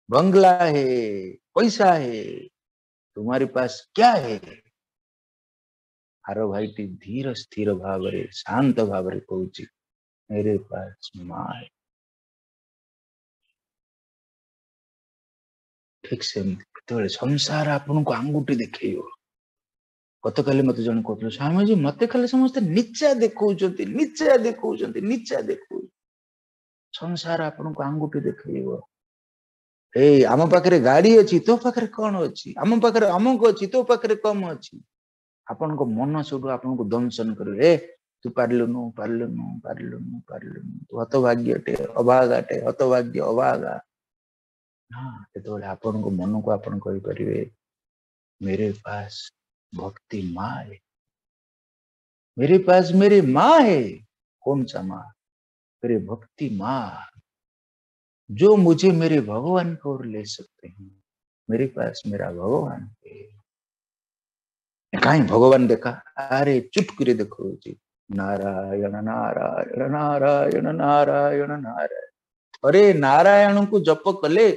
ବଙ୍ଗଲା ହେ, ପଇସା ହେ, ତୁମାରେ ପାସ କ୍ୟା ହେ। ଆର ଭାଇଟି ଧୀର ସ୍ଥିର ଭାବରେ ଶାନ୍ତ ଭାବରେ କହୁଛି ମେରେ ପାସ ମା ହେ। ଠିକ ସେମିତି କେତେବେଳେ ସଂସାର ଆପଣଙ୍କୁ ଆଙ୍ଗୁଠି ଦେଖେଇବ। ଗତକାଲି ମତେ ଜଣେ କହୁଥିଲେ, ସ୍ୱାମୀଜୀ ମତେ ଖାଲି ସମସ୍ତେ ନିଚା ଦେଖଉଛନ୍ତି, ନିଚା ଦେଖଉଛନ୍ତି, ନିଚା ଦେଖଉଛନ୍ତି। ସଂସାର ଆପଣଙ୍କୁ ଆଙ୍ଗୁଠି ଦେଖେଇବ। ଏଇ ଆମ ପାଖରେ ଗାଡି ଅଛି, ତୋ ପାଖରେ କଣ ଅଛି? ଆମ ପାଖରେ ଅମୁକ ଅଛି, ତୋ ପାଖରେ କମ ଅଛି। ଆପଣଙ୍କ ମନ ସେଠୁ ଆପଣଙ୍କୁ ଦଂଶନ କରିବ, ଏ ତୁ ପାରିଲୁନୁ ପାରିଲୁନୁ ପାରିଲୁନୁ ପାରିଲୁନୁ, ତୁ ହତଭାଗ୍ୟଟେ, ଅଭାଗାଟେ, ହତଭାଗ୍ୟ, ଅଭାଗା। ନା, ଯେତେବେଳେ ଆପଣଙ୍କ ମନକୁ ଆପଣ କହିପାରିବେ मेरे पास भक्ति माँ है, मेरे पास मेरी माँ है। कौन सा माँ? मेरे भक्ति माँ, जो मुझे मेरे भगवान को ओर ले सकते हैं। मेरे पास मेरा भगवान है। काहीं भगवान देखा? अरे चुटकुरे देखो जी, नारायण नारायण नारायण नारायण नारायण। अरे नारायण को जप कले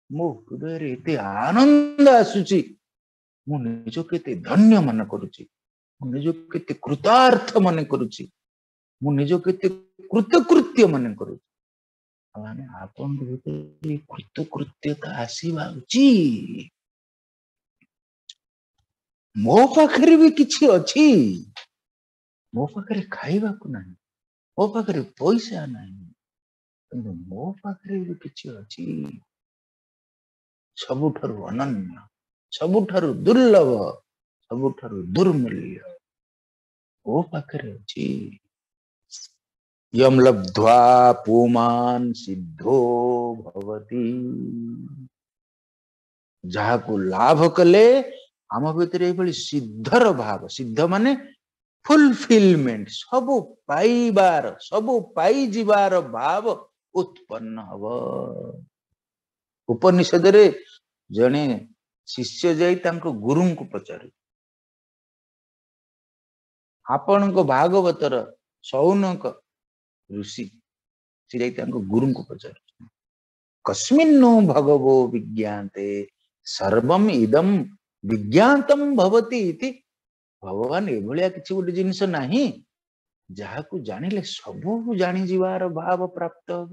मो हृदय रे एते आनंद आसुची, मु ନିଜକୁ କେତେ ଧନ୍ୟ ମନେ କରୁଛି, ମୁଁ ନିଜକୁ କେତେ କୃତାର୍ଥ ମନେ କରୁଛି, ମୁଁ ନିଜକୁ କେତେ କୃତକୃତ୍ୟ ମନେ କରୁଛି। ମାନେ ଆପଣଙ୍କ ଭିତରେ କୃତକୃତ୍ୟତା ଆସିବା ଉଚିତ। ମୋ ପାଖରେ ବି କିଛି ଅଛି, ମୋ ପାଖରେ ଖାଇବାକୁ ନାହିଁ, ମୋ ପାଖରେ ପଇସା ନାହିଁ, କିନ୍ତୁ ମୋ ପାଖରେ ବି କିଛି ଅଛି ସବୁଠାରୁ ଅନନ୍ୟ, ସବୁଠାରୁ ଦୁର୍ଲଭ, ସବୁଠାରୁ ଦୁର୍ମୂଲ୍ୟ ମୋ ପାଖରେ ଅଛି। ୟମ ଲବ୍ଧ୍ୱା ପୁମାନ ସିଦ୍ଧୋ ଭବତି। ଯାହାକୁ ଲାଭ କଲେ ଆମ ଭିତରେ ଏଇଭଳି ସିଦ୍ଧର ଭାବ, ସିଦ୍ଧ ମାନେ ଫୁଲଫିଲମେଣ୍ଟ, ସବୁ ପାଇବାର, ସବୁ ପାଇଯିବାର ଭାବ ଉତ୍ପନ୍ନ ହବ। ଉପନିଷଦରେ ଜଣେ ଶିଷ୍ୟ ଯାଇ ତାଙ୍କ ଗୁରୁଙ୍କୁ ପଚାରୁ, ଆପଣଙ୍କ ଭାଗବତର ଶୌନକ ଋଷି, ସେ ଯାଇ ତାଙ୍କ ଗୁରୁଙ୍କୁ ପଚାରୁ, କସ୍ମିନ୍ନୁ ଭଗବୋ ବିଜ୍ଞାତେ ସର୍ବମ ଇଦମ ବିଜ୍ଞାତମ ଭବତି ଇତି। ଭଗବାନ ଏଭଳିଆ କିଛି ଗୋଟେ ଜିନିଷ ନାହିଁ ଯାହାକୁ ଜାଣିଲେ ସବୁ ଜାଣିଯିବାର ଭାବ ପ୍ରାପ୍ତ ହବ।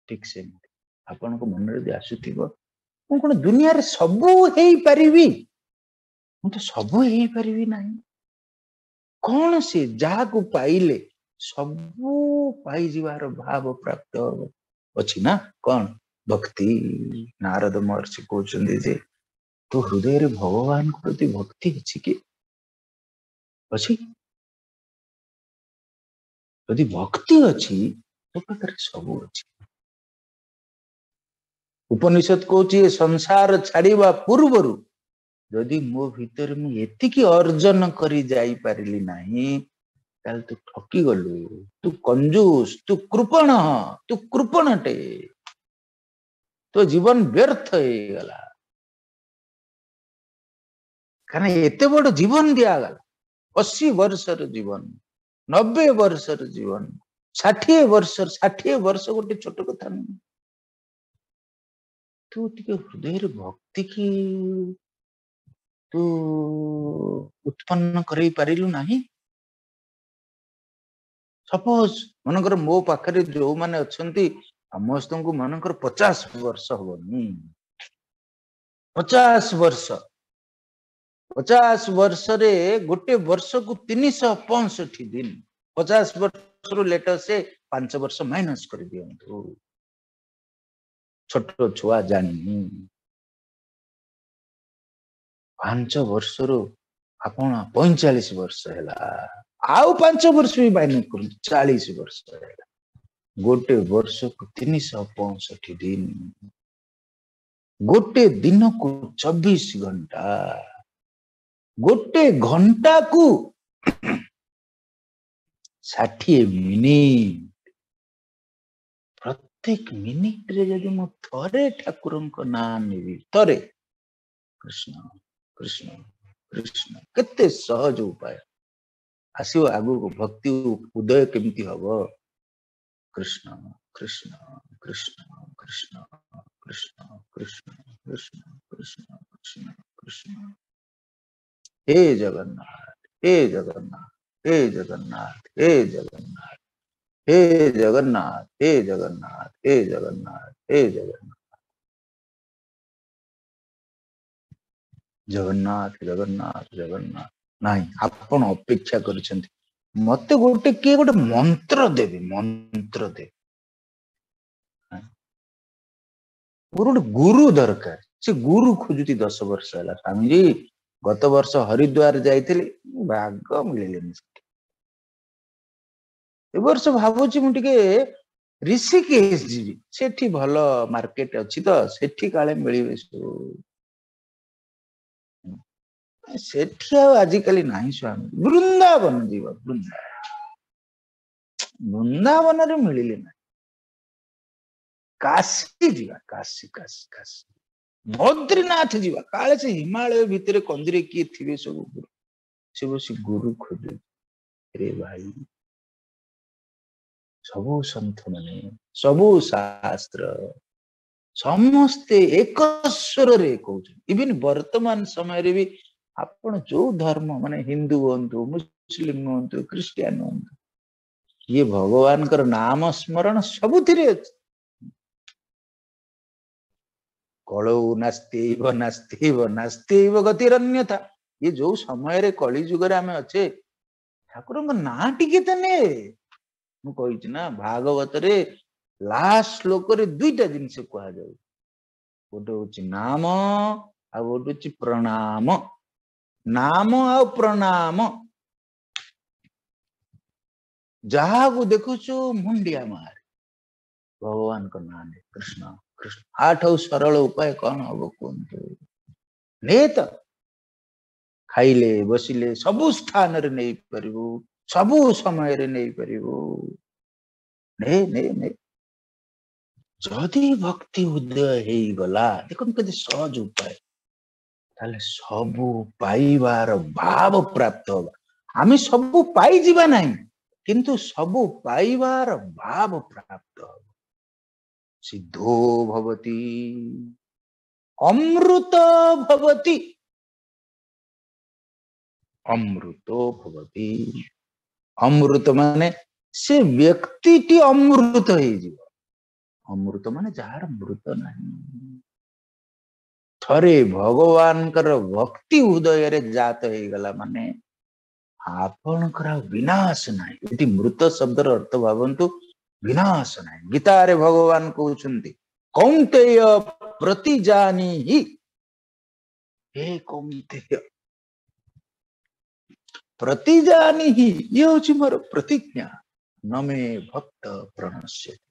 ଠିକ ସେମିତି ଆପଣଙ୍କ ମନରେ ଯଦି ଆସୁଥିବ ମୁଁ କଣ ଦୁନିଆରେ ସବୁ ହେଇପାରିବି, ମୁଁ ତ ସବୁ ହେଇପାରିବି ନାହିଁ। କଣ ସେ ଯାହାକୁ ପାଇଲେ ସବୁ ପାଇଯିବାର ଭାବ ପ୍ରାପ୍ତ ହବ ଅଛି ନା? କଣ ଭକ୍ତି। ନାରଦ ମହର୍ଷି କହୁଛନ୍ତି ଯେ ତୋ ହୃଦୟରେ ଭଗବାନଙ୍କ ପ୍ରତି ଭକ୍ତି ଅଛି କି? ଅଛି। ଯଦି ଭକ୍ତି ଅଛି ତୋ ପାଖରେ ସବୁ ଅଛି। ଉପନିଷଦ କହୁଛି ଏ ସଂସାର ଛାଡିବା ପୂର୍ବରୁ ଯଦି ମୋ ଭିତରେ ମୁଁ ଏତିକି ଅର୍ଜନ କରି ଯାଇପାରିଲି ନାହିଁ, ତାହେଲେ ତୁ ଠକିଗଲୁ, ତୁ କଞ୍ଜୁସ, ତୁ କୃପଣ, ତୁ କୃପଣଟେ, ତୋ ଜୀବନ ବ୍ୟର୍ଥ ହେଇଗଲା। କାରଣ ଏତେ ବଡ ଜୀବନ ଦିଆଗଲା, 80 ବର୍ଷର ଜୀବନ, 90 ବର୍ଷର ଜୀବନ, 60 ବର୍ଷ, 60 ବର୍ଷ ଗୋଟେ ଛୋଟ କଥା ନୁହେଁ। ତୁ ଟିକେ ହୃଦୟରେ ଭକ୍ତି କି ତୁ ଉତ୍ପନ୍ନ କରେଇ ପାରିଲୁ ନାହିଁ। ସପୋଜ ମନେକର ମୋ ପାଖରେ ଯୋଉମାନେ ଅଛନ୍ତି ସମସ୍ତଙ୍କୁ ମନେକର 50 ବର୍ଷ ହବନି, 50 ବର୍ଷ, 50 ବର୍ଷରେ ଗୋଟେ ବର୍ଷକୁ 365 ଦିନ, 50 ବର୍ଷରୁ ଲେଟର ସେ 5 ବର୍ଷ ମାଇନସ କରିଦିଅନ୍ତୁ। ଛୋଟ ଛୁଆ ଜାଣିନି, 5 ବର୍ଷରୁ ଆପଣ 45 ବର୍ଷ ହେଲା, ଆଉ 5 ବର୍ଷ ବି ମାଇନସ କରନ୍ତୁ, 40 ବର୍ଷ ହେଲା। ଗୋଟେ ବର୍ଷକୁ 365 ଦିନ, ଗୋଟେ ଦିନକୁ 24 ଘଣ୍ଟା, ଗୋଟେ ଘଣ୍ଟାକୁ 60 ମିନିଟ। ପ୍ରତ୍ୟେକ ମିନିଟରେ ଯଦି ମୁଁ ଥରେ ଠାକୁରଙ୍କ ନାଁ ନେବି, ଥରେ କୃଷ୍ଣ କୃଷ୍ଣ କୃଷ୍ଣ, କେତେ ସହଜ ଉପାୟ ଆସିବ ଆଗକୁ ଭକ୍ତି ଉଦୟ କେମିତି ହବ। କୃଷ୍ଣ କୃଷ୍ଣ କୃଷ୍ଣ କୃଷ୍ଣ କୃଷ୍ଣ କୃଷ୍ଣ କୃଷ୍ଣ କୃଷ୍ଣ କୃଷ୍ଣ କୃଷ୍ଣ, ହେ ଜଗନ୍ନାଥ, ହେ ଜଗନ୍ନାଥ, ହେ ଜଗନ୍ନାଥ, ହେ ଜଗନ୍ନାଥ, ହେ ଜଗନ୍ନାଥ, ହେ ଜଗନ୍ନାଥ, ହେ ଜଗନ୍ନାଥ, ହେ ଜଗନ୍ନାଥ, ଜଗନ୍ନାଥ ଜଗନ୍ନାଥ ଜଗନ୍ନାଥ। ନାଇଁ, ଆପଣ ଅପେକ୍ଷା କରିଛନ୍ତି ମତେ ଗୋଟେ କିଏ ଗୋଟେ ମନ୍ତ୍ର ଦେବେ, ମନ୍ତ୍ର ଦେବେ। ମୋର ଗୋଟେ ଗୁରୁ ଦରକାର। ସେ ଗୁରୁ ଖୋଜୁଛି 10 ବର୍ଷ ହେଲା। ସ୍ୱାମୀଜୀ ଗତ ବର୍ଷ ହରିଦ୍ୱାର ଯାଇଥିଲି, ଭାଗ ମିଳିଲେନି ସେଠି। ଏ ବର୍ଷ ଭାବୁଛି ମୁଁ ଟିକେ ଋଷିକେଶ ଯିବି, ସେଠି ଭଲ ମାର୍କେଟ ଅଛି ତ, ସେଠି କାଳେ ମିଳିବେ ସବୁ। ସେଠି ଆଉ ଆଜିକାଲି ନାହିଁ ସ୍ୱାମୀ। ବୃନ୍ଦାବନ ଯିବ, ବୃନ୍ଦାବନ, ବୃନ୍ଦାବନରେ ମିଳିଲେ ନାହିଁ। କାଶୀ ଯିବା, କାଶୀ କାଶୀ କାଶୀ, ବଦ୍ରିନାଥ ଯିବା, କାଳେ ସେ ହିମାଳୟ ଭିତରେ କନ୍ଦିରେ କିଏ ଥିବେ ସବୁ ଗୁରୁ, ସେ ବସି ଗୁରୁ ଖୋଜୁ। ରେ ଭାଇ, ସବୁ ସନ୍ଥ ମାନେ, ସବୁ ଶାସ୍ତ୍ର, ସମସ୍ତେ ଏକ ସ୍ୱରରେ କହୁଛନ୍ତି। ଇଭିନ୍ ବର୍ତ୍ତମାନ ସମୟରେ ବି ଆପଣ ଯୋଉ ଧର୍ମ, ମାନେ ହିନ୍ଦୁ ହୁଅନ୍ତୁ, ମୁସଲିମ ହୁଅନ୍ତୁ, ଖ୍ରୀଷ୍ଟିଆନ ହୁଅନ୍ତୁ, ଇଏ ଭଗବାନଙ୍କର ନାମ ସ୍ମରଣ ସବୁଥିରେ ଅଛି। କଳଉ ନାସ୍ତିବ ନାସ୍ତିବ ନାସ୍ତିବ ଗତିରନ୍ୟଥା। ଇଏ ଯୋଉ ସମୟରେ କଳି ଯୁଗରେ ଆମେ ଅଛେ, ଠାକୁରଙ୍କ ନାଁ ଟିକେ ତ ନେ। ମୁଁ କହିଛି ନା, ଭାଗବତରେ ଲାଷ୍ଟ ଶ୍ଲୋକରେ ଦୁଇଟା ଜିନିଷ କୁହାଯାଉଛି, ଗୋଟେ ହଉଛି ନାମ ଆଉ ଗୋଟେ ହଉଛି ପ୍ରଣାମ। ନାମ ଆଉ ପ୍ରଣାମ, ଯାହାକୁ ଦେଖୁଛୁ ମୁଣ୍ଡିଆ ମାରେ, ଭଗବାନଙ୍କ ନାଁ ନେ, କୃଷ୍ଣ କୃଷ୍ଣ। ଆଠୁ ସରଳ ଉପାୟ କଣ ହବ କୁହନ୍ତୁ? ନେ ତ, ଖାଇଲେ ବସିଲେ ସବୁ ସ୍ଥାନରେ ନେଇପାରିବୁ, ସବୁ ସମୟରେ ନେଇପାରିବୁ। ନେ ନେ ନେ। ଯଦି ଭକ୍ତି ଉଦୟ ହେଇଗଲା, ଦେଖନ୍ତୁ କେତେ ସହଜ ଉପାୟ, ତାହେଲେ ସବୁ ପାଇବାର ଭାବ ପ୍ରାପ୍ତ ହବା। ଆମେ ସବୁ ପାଇଯିବା ନାହିଁ, କିନ୍ତୁ ସବୁ ପାଇବାର ଭାବ ପ୍ରାପ୍ତ ହବ। ସିଦ୍ଧୋ ଭବତି, ଅମୃତ ଭବତି, ଅମୃତ ଭବତି। ଅମୃତ ମାନେ ସେ ବ୍ୟକ୍ତିଟି ଅମୃତ ହେଇଯିବ। ଅମୃତ ମାନେ ଯାହାର ମୃତ ନାହିଁ। ଥରେ ଭଗବାନଙ୍କର ଭକ୍ତି ହୃଦୟରେ ଜାତ ହେଇଗଲା ମାନେ ଆପଣଙ୍କର ଆଉ ବିନାଶ ନାହିଁ। ଏଠି ମୃତ ଶବ୍ଦର ଅର୍ଥ ଭାବନ୍ତୁ, ବିନାଶ ନାହିଁ। ଗୀତାରେ ଭଗବାନ କହୁଛନ୍ତି, କୌନ୍ତେୟ ପ୍ରତିଜାନିହି। ହେ କୌନ୍ତେୟ, ପ୍ରତିଜାନିହି, ଇଏ ହଉଛି ମୋର ପ୍ରତିଜ୍ଞା, ନମେ ଭକ୍ତ ପ୍ରଣଶ୍ୟତି,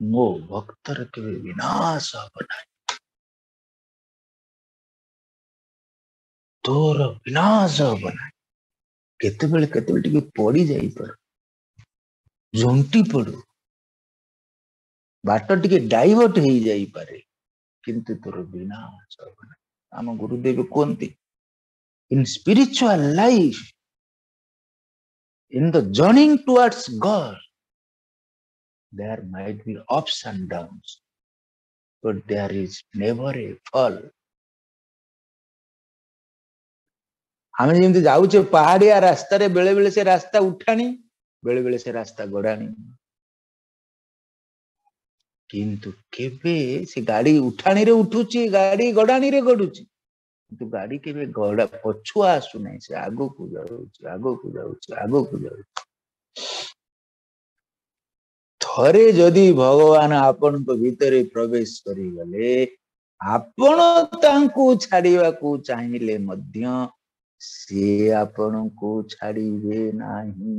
ମୋ ଭକ୍ତର କେବେ ବିନାଶ ହବ ନାହିଁ। ତୋର ବିନାଶ ହବ ନାହିଁ। କେତେବେଳେ କେତେବେଳେ ଟିକେ ପଡି ଯାଇପାରୁ, ଝୁଣ୍ଟି ପଡୁ, ବାଟ ଟିକେ ଡାଇଭର୍ଟ ହେଇଯାଇପାରେ, କିନ୍ତୁ ତୋର ବିନାଶ ହବ ନାହିଁ। ଆମ ଗୁରୁଦେବ କୁହନ୍ତି, in spiritual life, in the journey towards God, there might be ups and downs, but there is never a fall. ଆମେ ଯେମିତି ଯାଉଛେ ପାହାଡିଆ ରାସ୍ତାରେ, ବେଳେ ବେଳେ ସେ ରାସ୍ତା ଉଠାଣି, ବେଳେ ବେଳେ ସେ ରାସ୍ତା ଗଡାଣି, କିନ୍ତୁ କେବେ ସେ ଗାଡି ଉଠାଣିରେ ଉଠୁଛି, ଗାଡି ଗଡାଣିରେ ଗଡୁଛି, କିନ୍ତୁ ଗାଡି କେବେ ଗଡା ପଛୁଆ ଆସୁନାହିଁ, ସେ ଆଗକୁ ଯାଉଛି, ଆଗକୁ ଯାଉଛି, ଆଗକୁ ଯାଉଛି। ଥରେ ଯଦି ଭଗବାନ ଆପଣଙ୍କ ଭିତରେ ପ୍ରବେଶ କରିଗଲେ, ଆପଣ ତାଙ୍କୁ ଛାଡିବାକୁ ଚାହିଁଲେ ମଧ୍ୟ ସେ ଆପଣଙ୍କୁ ଛାଡିବେ ନାହିଁ।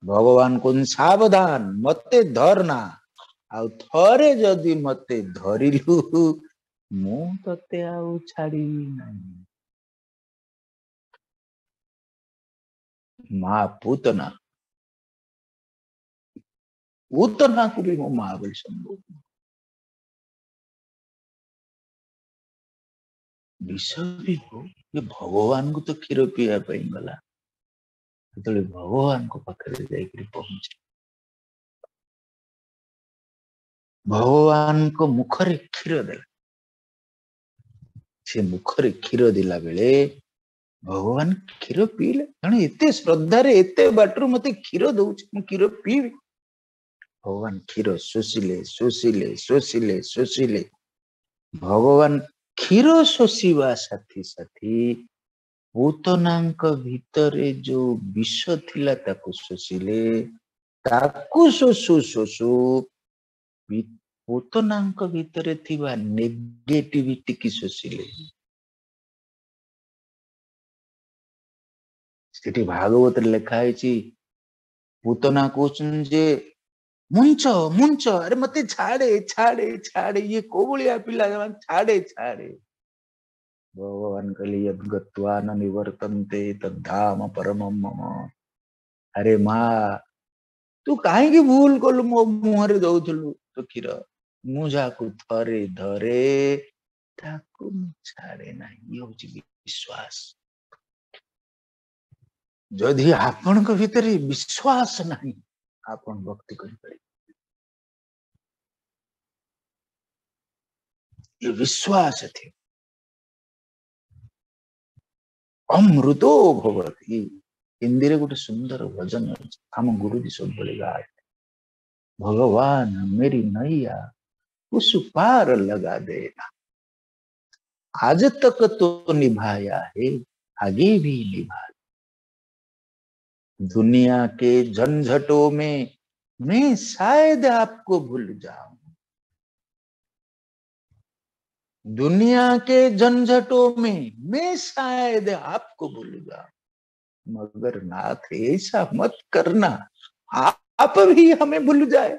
ଭଗବାନ କହୁଛନ୍ତି ସାବଧାନ, ମତେ ଧରନା, ଆଉ ଥରେ ଯଦି ମତେ ଧରିଲୁ ମୁଁ ତତେ ଆଉ ଛାଡିବି ନାହିଁ। ମା ପୂତନା, ପୂତନାକୁ ବି ମୋ ମା ବୋଲି ସମ୍ବୋଧନ। ବିଷ ବି ହଉ, ଏ ଭଗବାନଙ୍କୁ ତ କ୍ଷୀର ପିଇବା ପାଇଁ ଗଲା, ଯେତେବେଳେ ଭଗବାନଙ୍କ ପାଖରେ ଯାଇକରି ପହଞ୍ଚି ଭଗବାନଙ୍କ ମୁଖରେ କ୍ଷୀର ଦେଲା। ସେ ମୁଖରେ କ୍ଷୀର ଦେଲା ବେଳେ ଭଗବାନ କ୍ଷୀର ପିଇଲେ। ଜଣେ ଏତେ ଶ୍ରଦ୍ଧାରେ ଏତେ ବାଟରୁ ମତେ କ୍ଷୀର ଦଉଛି, ମୁଁ କ୍ଷୀର ପିଇବି। ଭଗବାନ କ୍ଷୀର ଶୋଷିଲେ, ଶୋଷିଲେ, ଶୋଷିଲେ, ଶୋଷିଲେ। ଭଗବାନ କ୍ଷୀର ଶୋଷିବା ସାଥି ସାଥି ପୂତନାଙ୍କ ଭିତରେ ଯୋଉ ବିଷ ଥିଲା ତାକୁ ଶୋଷିଲେ। ତାକୁ ଶୋଷୁ ଶୋଷୁ ପୂତନାଙ୍କ ଭିତରେ ଥିବା ନେଗେଟିଭିଟି କି ଶୋଷିଲେ। ସେଠି ଭାଗବତରେ ଲେଖା ହେଇଛି, ପୁତନା କହୁଛନ୍ତି ଯେ ମୁଞ୍ଚ ମୁଞ୍ଚ, ଆରେ ମତେ ଛାଡେ ଛାଡେ ଛାଡେ, ଇଏ କୋଉ ଭଳିଆ ପିଲା, ଛାଡେ ଛାଡେ। ଭଗବାନ କହିଲେ ୟଦ୍ ଗତ୍ୱା ନ ନିବର୍ତ୍ତନ୍ତେ ତଦ୍ଧାମ ପରମମ୍ ମମ। ଆରେ ମା, ତୁ କାହିଁକି ଭୁଲ କଲୁ, ମୋ ମୁହଁରେ ଦଉଥିଲୁ ତୋ କ୍ଷୀର, ମୁଁ ଯାହାକୁ ଥରେ ଧରେ ତାକୁ ମୁଁ ଛାଡେ ନାହିଁ। ଇଏ ହଉଛି ବିଶ୍ୱାସ। ଯଦି ଆପଣଙ୍କ ଭିତରେ ବିଶ୍ୱାସ ନାହିଁ, ଆପଣ ଭକ୍ତି କରିପାରିବେ। ଏ ବିଶ୍ୱାସ ଥିବ। ଅମୃତୋ ଭବତି। ହିନ୍ଦୀରେ ଗୋଟେ ସୁନ୍ଦର ଭଜନ ଅଛି, ଆମ ଗୁରୁଜୀ ସବୁବେଳେ ଗାଏ, ଭଗବାନ ମେରି ନୈୟା ଉସ ପାର ଲଗା ଦେନା, आज तक तो निभाया है आगे भी निभा। दुनिया के झंझटों में मैं शायद आपको भूल जाऊं, दुनिया के झंझटों में मैं शायद आपको भूल जाऊं, मगर नाथ ऐसा मत करना, आप भी हमें भूल जाए।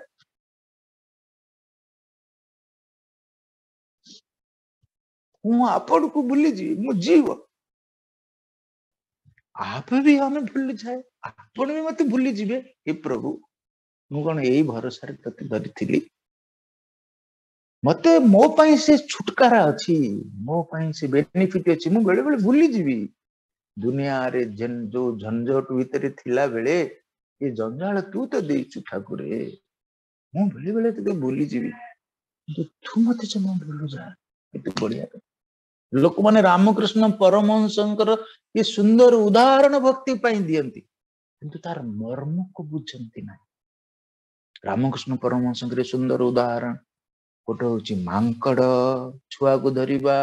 ମୁଁ ଆପଣଙ୍କୁ ଭୁଲିଯିବି, ମୁଁ ଜୀବ, आप भी हमें भूल जाए, ଆପଣ ବି ମତେ ଭୁଲିଯିବେ। ହେ ପ୍ରଭୁ, ମୁଁ କଣ ଏଇ ଭରସାରେ ତତେ ଧରିଥିଲି? ମତେ ମୋ ପାଇଁ ସେ ଛୁଟକାରା ଅଛି, ମୋ ପାଇଁ ସେ ବେନିଫିଟ ଅଛି। ମୁଁ ବେଳେ ବେଳେ ଭୁଲିଯିବି। ଦୁନିଆରେ ଯୋଉ ଝଞ୍ଝଟ ଭିତରେ ଥିଲା ବେଳେ ଏ ଜଞ୍ଜାଳ ତୁ ତ ଦେଇଛୁ ଠାକୁରେ, ମୁଁ ବେଳେ ବେଳେ ତତେ ଭୁଲିଯିବି, କିନ୍ତୁ ତୁ ମତେ ଜମା ଭୁଲୁ ଯା। କେତେ ବଢିଆ କଥା। ଲୋକମାନେ ରାମକୃଷ୍ଣ ପରମହଂସଙ୍କର ଏ ସୁନ୍ଦର ଉଦାହରଣ ଭକ୍ତି ପାଇଁ ଦିଅନ୍ତି, କିନ୍ତୁ ତାର ମର୍ମକୁ ବୁଝନ୍ତି ନାହିଁ। ରାମକୃଷ୍ଣ ପରମହଂସଙ୍କର ଏ ସୁନ୍ଦର ଉଦାହରଣ, ଗୋଟେ ହଉଛି ମାଙ୍କଡ ଛୁଆକୁ ଧରିବା,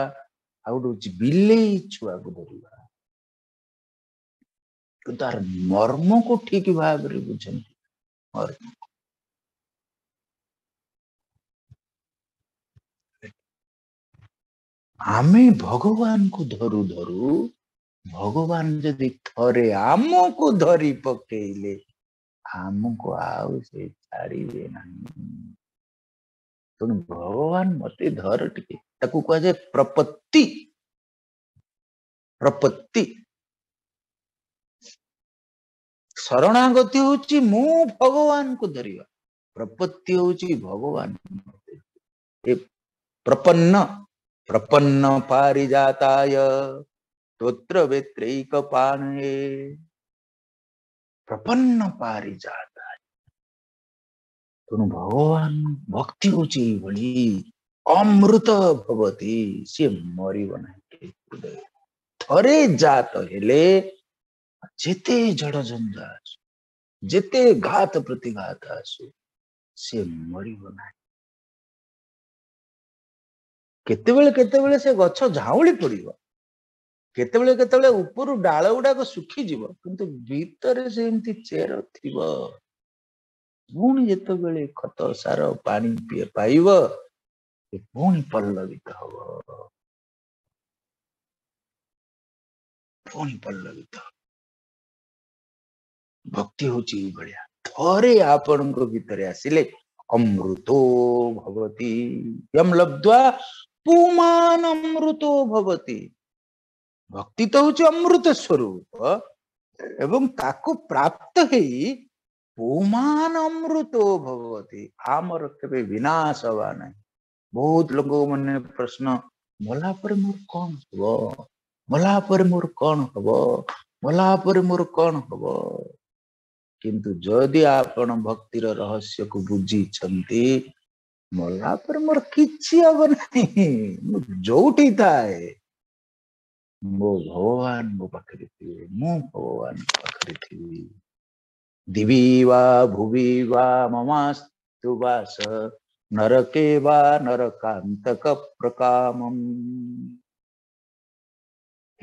ଆଉ ଗୋଟେ ହଉଛି ବିଲେଇ ଛୁଆକୁ ଧରିବା, କିନ୍ତୁ ତାର ମର୍ମକୁ ଠିକ ଭାବରେ ବୁଝନ୍ତି। ମର୍ମ ଆମେ ଭଗବାନଙ୍କୁ ଧରୁ ଧରୁ ଭଗବାନ ଯଦି ଥରେ ଆମକୁ ଧରି ପକେଇଲେ, ଆମକୁ ଆଉ ସେ ଛାଡ଼ିବେ ନାହିଁ। ତେଣୁ ଭଗବାନ ମତେ ଧର ଟିକେ, ତାକୁ କୁହାଯାଏ ପ୍ରପତ୍ତି। ପ୍ରପତ୍ତି ଶରଣାଗତି ହଉଛି ମୁଁ ଭଗବାନଙ୍କୁ ଧରିବା, ପ୍ରପତ୍ତି ହଉଛି ଭଗବାନ ଏ ପ୍ରପନ୍ନ। ପ୍ରପନ୍ନ ପାରିଜାତାୟ ତୋତ୍ର ବେତ୍ରୈକ ପାଣେ, ପ୍ରପନ୍ନ ପାରିଜାତାୟ। ତେଣୁ ଭଗବାନ ଭକ୍ତି ହଉଛି ଏଇଭଳି ଅମୃତ ଭବତି, ସିଏ ମରିବ ନାହିଁ। ଥରେ ଜାତ ହେଲେ ଯେତେ ଜଡ଼ ଜଞ୍ଜା ଆସୁ, ଯେତେ ଘାତ ପ୍ରତିଘାତ ଆସୁ, ସିଏ ମରିବ ନାହିଁ। କେତେବେଳେ କେତେବେଳେ ସେ ଗଛ ଝାଉଁଳି ପଡିବ, କେତେବେଳେ କେତେବେଳେ ଉପରୁ ଡାଳ ଗୁଡାକ ଶୁଖିଯିବ, କିନ୍ତୁ ଭିତରେ ସେମିତି ଚେର ଥିବ। ପୁଣି ଯେତେବେଳେ ଖତ ସାର ପାଣି ପାଇବ, ସେ ପୁଣି ପଲ୍ଲବିତ ହବ, ପୁଣି ପଲ୍ଲବିତ ହବ। ଭକ୍ତି ହଉଛି ଏଇଭଳିଆ, ଥରେ ଆପଣଙ୍କ ଭିତରେ ଆସିଲେ ଅମୃତୋ ଭବତି, ୟମ ଲବ୍ଧ୍ୱା ପୁମାନ ଅମୃତୋ ଭବତି। ଭକ୍ତି ତ ହଉଛି ଅମୃତ ସ୍ୱରୂପ, ଏବଂ ତାକୁ ପ୍ରାପ୍ତ ହେଇ ପୁମାନ ଅମୃତୋ ଭବତି, ଆମର କେବେ ବିନାଶ ହବା ନାହିଁ। ବହୁତ ଲୋକଙ୍କ ମନେ ପ୍ରଶ୍ନ, ମଲା ପରେ ମୋର କଣ ହବ, ମଲା ପରେ ମୋର କଣ ହବ, ମଲା ପରେ ମୋର କଣ ହବ? କିନ୍ତୁ ଯଦି ଆପଣ ଭକ୍ତିର ରହସ୍ୟକୁ ବୁଝିଛନ୍ତି, ମଲା ପରେ ମୋର କିଛି ହବ ନାହିଁ, ମୁଁ ଯୋଉଠି ଥାଏ ମୋ ଭଗବାନ ମୋ ପାଖରେ ଥିବେ, ମୁଁ ଭଗବାନଙ୍କ ପାଖରେ ଥିବି। ଦିବି ବା ଭୁବି ବା ମମାସ୍ତୁ ବାସ ନରକେ ବା ନରକାନ୍ତକ ପ୍ରକାମମ୍।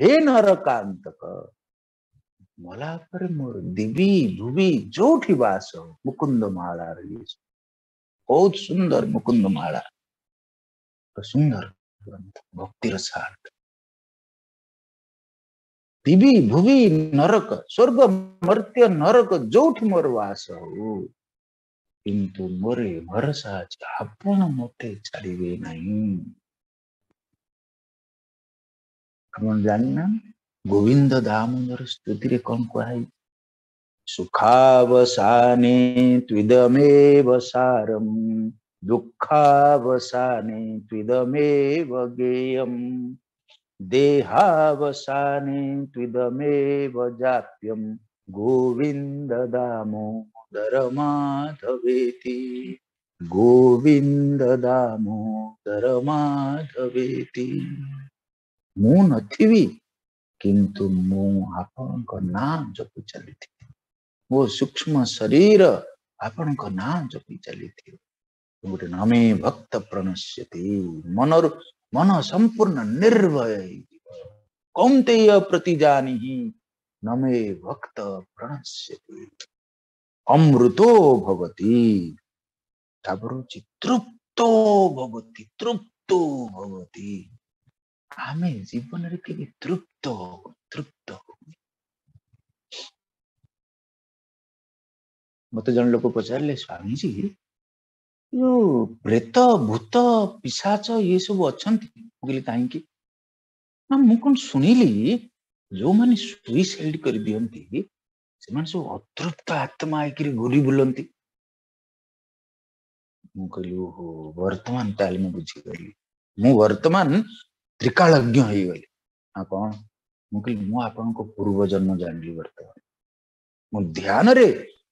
ହେ ନରକାନ୍ତକ, ମଲା ପରେ ମୋର ଦିବି ଭୁବି ଯୋଉଠି ବାସ, ମୁକୁନ୍ଦ ମାଳାର ଇଏ ବହୁତ ସୁନ୍ଦର ମୁକୁନ୍ଦ ମାଳା, ସୁନ୍ଦର ଗ୍ରନ୍ଥ ଭକ୍ତିର ସାର। ଦିବି ଭୁବି ନରକ, ସ୍ୱର୍ଗ ମର୍ତ୍ତ୍ୟ ନରକ ଯୋଉଠି ମୋର ବାସ ହଉ, କିନ୍ତୁ ମୋର ଏ ଭରସା ଅଛି ଆପଣ ମତେ ଛାଡ଼ିବେ ନାହିଁ। ଆପଣ ଜାଣିନାହାନ୍ତି ଗୋବିନ୍ଦ ଦାମୋଦର ସ୍ତୁତିରେ କଣ କୁହାଯାଇଛି? ସୁଖାବସାନେ ତ୍ୱିଦମେବ ସାରಂ, ଦୁଃଖାବସାନେ ତ୍ୱିଦମେବ ଗେୟಂ, ଦେହାବସାନେ ତ୍ୱିଦମେବ ଜାପ୍ୟಂ, ଗୋବିନ୍ଦ ଦାମୋଦର ମାଧବେତି, ଗୋବିନ୍ଦ ଦାମୋଦର ମାଧବେତି। ମୁଁ ନଥିବି କିନ୍ତୁ ମୁଁ ଆପଣଙ୍କ ନାଁ ଜପି ଚାଲିଥିବି, ମୋ ସୂକ୍ଷ୍ମ ଶରୀର ଆପଣଙ୍କ ନାଁ ଜପି ଚାଲିଥିବ। ଗୋଟେ ନମେ ଭକ୍ତ ପ୍ରଣଶ୍ୟତି, ମନରୁ ମନ ସମ୍ପୂର୍ଣ୍ଣ ନିର୍ଭୟ ହେଇଯିବ। କୌନ୍ତେୟ ପ୍ରତିଜାନିହି ନମେ ଭକ୍ତ ପ୍ରଣଶ୍ୟତି, ଅମୃତୋ ଭବତି। ତାପରେ ହଉଛି ତୃପ୍ତୋ ଭବତି, ତୃପ୍ତୋ ଭବତି। ଆମେ ଜୀବନରେ କେବେ ତୃପ୍ତ ହଉ, ତୃପ୍ତ ହଉ। ମତେ ଜଣେ ଲୋକ ପଚାରିଲେ, ସ୍ୱାମୀଜୀ ଯୋଉ ପ୍ରେତ ଭୂତ ପିଶାଚ ଇଏ ସବୁ ଅଛନ୍ତି? ମୁଁ କହିଲି କାହିଁକି? ନା ମୁଁ କଣ ଶୁଣିଲି ଯୋଉମାନେ ସୁଇସାଇଡ କରିଦିଅନ୍ତି ସେମାନେ ସବୁ ଅତୃପ୍ତ ଆତ୍ମା ହେଇକିରି ଘୁରି ବୁଲନ୍ତି। ମୁଁ କହିଲି ଓହୋ, ବର୍ତ୍ତମାନ ତାହେଲେ ମୁଁ ବୁଝିଗଲି, ମୁଁ ବର୍ତ୍ତମାନ ତ୍ରିକାଳଜ୍ଞ ହେଇଗଲି। ନା କଣ? ମୁଁ କହିଲି ମୁଁ ଆପଣଙ୍କ ପୂର୍ବ ଜନ୍ମ ଜାଣିଲି, ବର୍ତ୍ତମାନ ମୁଁ ଧ୍ୟାନରେ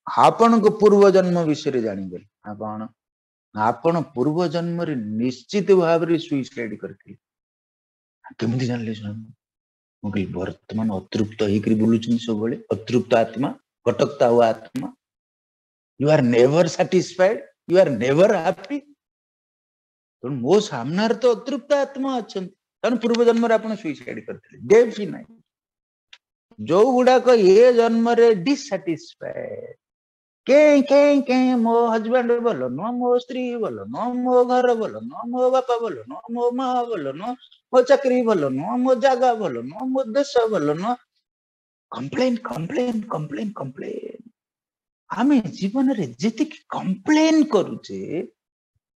ଆପଣଙ୍କ ପୂର୍ବ ଜନ୍ମ ବିଷୟରେ ଜାଣିଗଲି। ନା କଣ? ଆପଣ ପୂର୍ବ ଜନ୍ମରେ ନିଶ୍ଚିତ ଭାବରେ ସୁଇସାଇଡ କରିଥିଲେ। କେମିତି ଜାଣିଲେ ସ୍ୱାମୀ? ମୁଁ କହିଲି ବର୍ତ୍ତମାନ ଅତୃପ୍ତ ହେଇକରି ବୁଲୁଛନ୍ତି ସବୁବେଳେ, ଅତୃପ୍ତ ଆତ୍ମା, ଭଟକତା ହୁଆ ଆତ୍ମା। You are never satisfied, you are never happy. ତେଣୁ ମୋ ସାମ୍ନାରେ ତ ଅତୃପ୍ତ ଆତ୍ମା ଅଛନ୍ତି, କାରଣ ପୂର୍ବ ଜନ୍ମରେ ଆପଣ ସୁଇସାଇଡ କରିଥିଲେ। ଡେଫିନାଇଟ ଯୋଉ ଗୁଡାକ ଏ ଜନ୍ମରେ ଡିସାଟିସ୍ଫାଏଡ, କେଁ କେଁ କେଁ, ମୋ ହଜବେଣ୍ଡ ଭଲ ନୁହଁ, ମୋ ସ୍ତ୍ରୀ ଭଲ ନୁହଁ, ମୋ ଘର ଭଲ ନୁହଁ, ମୋ ବାପା ଭଲ ନୁହଁ, ମୋ ମା ଭଲ ନୁହଁ, ମୋ ଚାକିରି ଭଲ ନୁହଁ, ମୋ ଜାଗା ଭଲ ନୁହଁ, ମୋ ଦେଶ ଭଲ ନୁହଁ, କମ୍ପ୍ଲେନ କମ୍ପ୍ଲେନ କମ୍ପ୍ଲେନ କମ୍ପ୍ଲେନ। ଆମେ ଜୀବନରେ ଯେତିକି କମ୍ପ୍ଲେନ କରୁଛେ,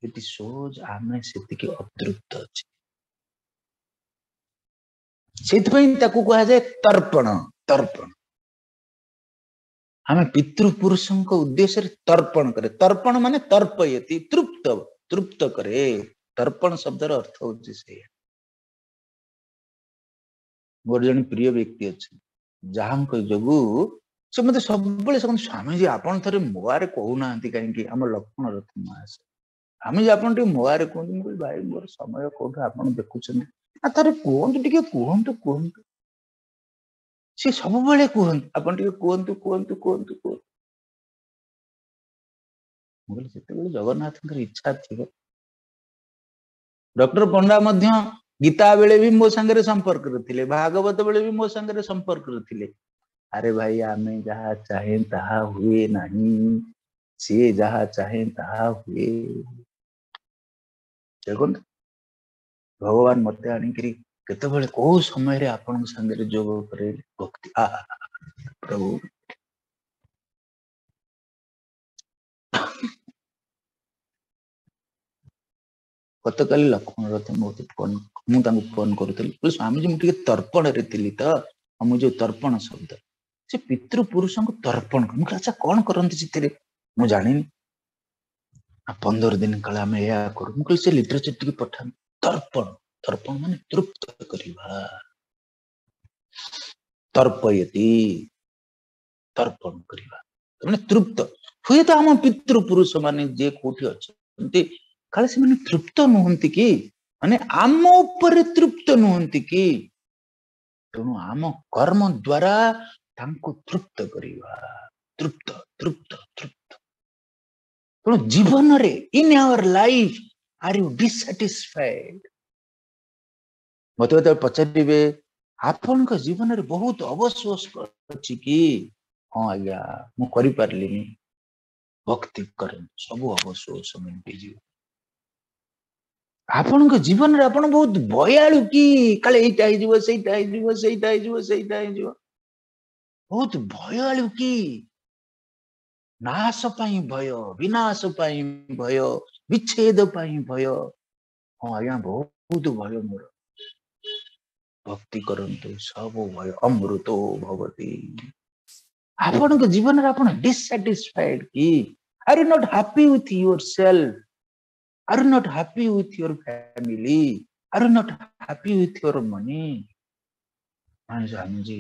ଇଟ ଶୋଜ ଆମେ ସେତିକି ଅତୃପ୍ତ ଅଛେ। ସେଇଥିପାଇଁ ତାକୁ କୁହାଯାଏ ତର୍ପଣ। ତର୍ପଣ ଆମେ ପିତୃପୁରୁଷଙ୍କ ଉଦ୍ଦେଶ୍ୟରେ ତର୍ପଣ କରେ। ତର୍ପଣ ମାନେ ତର୍ପୟତି, ତୃପ୍ତ, ତୃପ୍ତ କରେ। ତର୍ପଣ ଶବ୍ଦର ଅର୍ଥ ହଉଛି ସେଇଆ। ମୋର ଜଣେ ପ୍ରିୟ ବ୍ୟକ୍ତି ଅଛନ୍ତି, ଯାହାଙ୍କ ଯୋଗୁ ସେ ମତେ ସବୁବେଳେ ସେ କହନ୍ତି, ସ୍ୱାମୀଜୀ ଆପଣ ଥରେ ମୋଆରେ କହୁନାହାନ୍ତି କାହିଁକି? ଆମ ଲକ୍ଷ୍ମଣ ରଥ ମହାଶୟ, ସ୍ୱାମୀଜୀ ଆପଣ ଟିକେ ମୋଆରେ କୁହନ୍ତୁ। ମୁଁ କହିଲି ଭାଇ ମୋର ସମୟ କୋଉଠୁ, ଆପଣ ଦେଖୁଛନ୍ତି ନା, ଥରେ କୁହନ୍ତୁ ଟିକେ, କୁହନ୍ତୁ କୁହନ୍ତୁ। ସେ ସବୁବେଳେ କୁହନ୍ତି ଆପଣ ଟିକେ କୁହନ୍ତୁ କୁହନ୍ତୁ କୁହନ୍ତୁ କୁହନ୍ତୁ। ମୁଁ କହିଲି ଯେତେବେଳେ ଜଗନ୍ନାଥଙ୍କର ଇଚ୍ଛା ଥିବ। ଡକ୍ଟର ପଣ୍ଡା ମଧ୍ୟ ଗୀତା ବେଳେ ବି ମୋ ସାଙ୍ଗରେ ସମ୍ପର୍କରେ ଥିଲେ, ଭାଗବତ ବେଳେ ବି ମୋ ସାଙ୍ଗରେ ସମ୍ପର୍କରେ ଥିଲେ। ଆରେ ଭାଇ ଆମେ ଯାହା ଚାହେଁ ତାହା ହୁଏ ନାହିଁ, ସିଏ ଯାହା ଚାହେଁ ତାହା ହୁଏ। ଦେଖନ୍ତୁ ଭଗବାନ ମତେ ଆଣିକିରି କେତେବେଳେ କୋଉ ସମୟରେ ଆପଣଙ୍କ ସାଙ୍ଗରେ ଯୋଗ କରେଇଲେ ଭକ୍ତି। ଆହା ପ୍ରଭୁ, ଗତକାଲି ଲକ୍ଷ୍ମଣ ରଥ ମୋତେ ଫୋନ, ମୁଁ ତାଙ୍କୁ ଫୋନ କରୁଥିଲି, କହିଲି ସ୍ୱାମୀଜୀ ମୁଁ ଟିକେ ତର୍ପଣରେ ଥିଲି ତ, ଆଉ ମୁଁ ଯୋଉ ତର୍ପଣ ଶବ୍ଦ ସେ ପିତୃପୁରୁଷଙ୍କୁ ତର୍ପଣ କର। ମୁଁ କହିଲି ଆଚ୍ଛା କଣ କରନ୍ତି ସେଥିରେ ମୁଁ ଜାଣିନି। 15 ଦିନ କାଳେ ଆମେ ଏହା କରୁ। ମୁଁ କହିଲି ସେ ଲିଟରେଚର ଟିକେ ପଠାନ୍ତୁ। ତର୍ପଣ, ତର୍ପଣ ମାନେ ତୃପ୍ତ କରିବା, ତର୍ପୟତି ତର୍ପଣ କରିବା ମାନେ ତୃପ୍ତ। ହୁଏତ ଆମ ପିତୃପୁରୁଷ ମାନେ ଯିଏ କୋଉଠି ଅଛନ୍ତି କାଳେ ସେମାନେ ତୃପ୍ତ ନୁହନ୍ତି କି, ମାନେ ଆମ ଉପରେ ତୃପ୍ତ ନୁହନ୍ତି କି, ତେଣୁ ଆମ କର୍ମ ଦ୍ଵାରା ତାଙ୍କୁ ତୃପ୍ତ କରିବା। ତୃପ୍ତ ତୃପ୍ତ ତୃପ୍ତ। ତେଣୁ ଜୀବନରେ in our life are you dissatisfied? ମତେ ଯେତେବେଳେ ପଚାରିବେ ଆପଣଙ୍କ ଜୀବନରେ ବହୁତ ଅବସୋସ ଅଛି କି? ହଁ ଆଜ୍ଞା ମୁଁ କରିପାରିଲିନି। ଭକ୍ତି କରନ୍ତୁ, ସବୁ ଅବସୋସ ମେଣ୍ଟିଯିବ। ଆପଣଙ୍କ ଜୀବନରେ ଆପଣ ବହୁତ ଭୟାଳୁ କି? କାଳେ ଏଇଟା ହେଇଯିବ, ସେଇଟା ହେଇଯିବ, ସେଇଟା ହେଇଯିବ, ସେଇଟା ହେଇଯିବ। ବହୁତ ଭୟାଳୁ କି? ନାଶ ପାଇଁ ଭୟ, ବିନାଶ ପାଇଁ ଭୟ, ବିଚ୍ଛେଦ ପାଇଁ ଭୟ। ହଁ ଆଜ୍ଞା, ବହୁତ ଭୟ ମୋର। ଭକ୍ତି କରନ୍ତୁ, ସବୁ ଭୟ ଅମୃତ ଭବତି। ଆପଣଙ୍କ ଜୀବନରେ ଆପଣ ଡିସସାଟିସ୍ଫାଏଡ କି? Are you not happy with yourself? Are you not happy with your family? Are you not happy with your money? Swamiji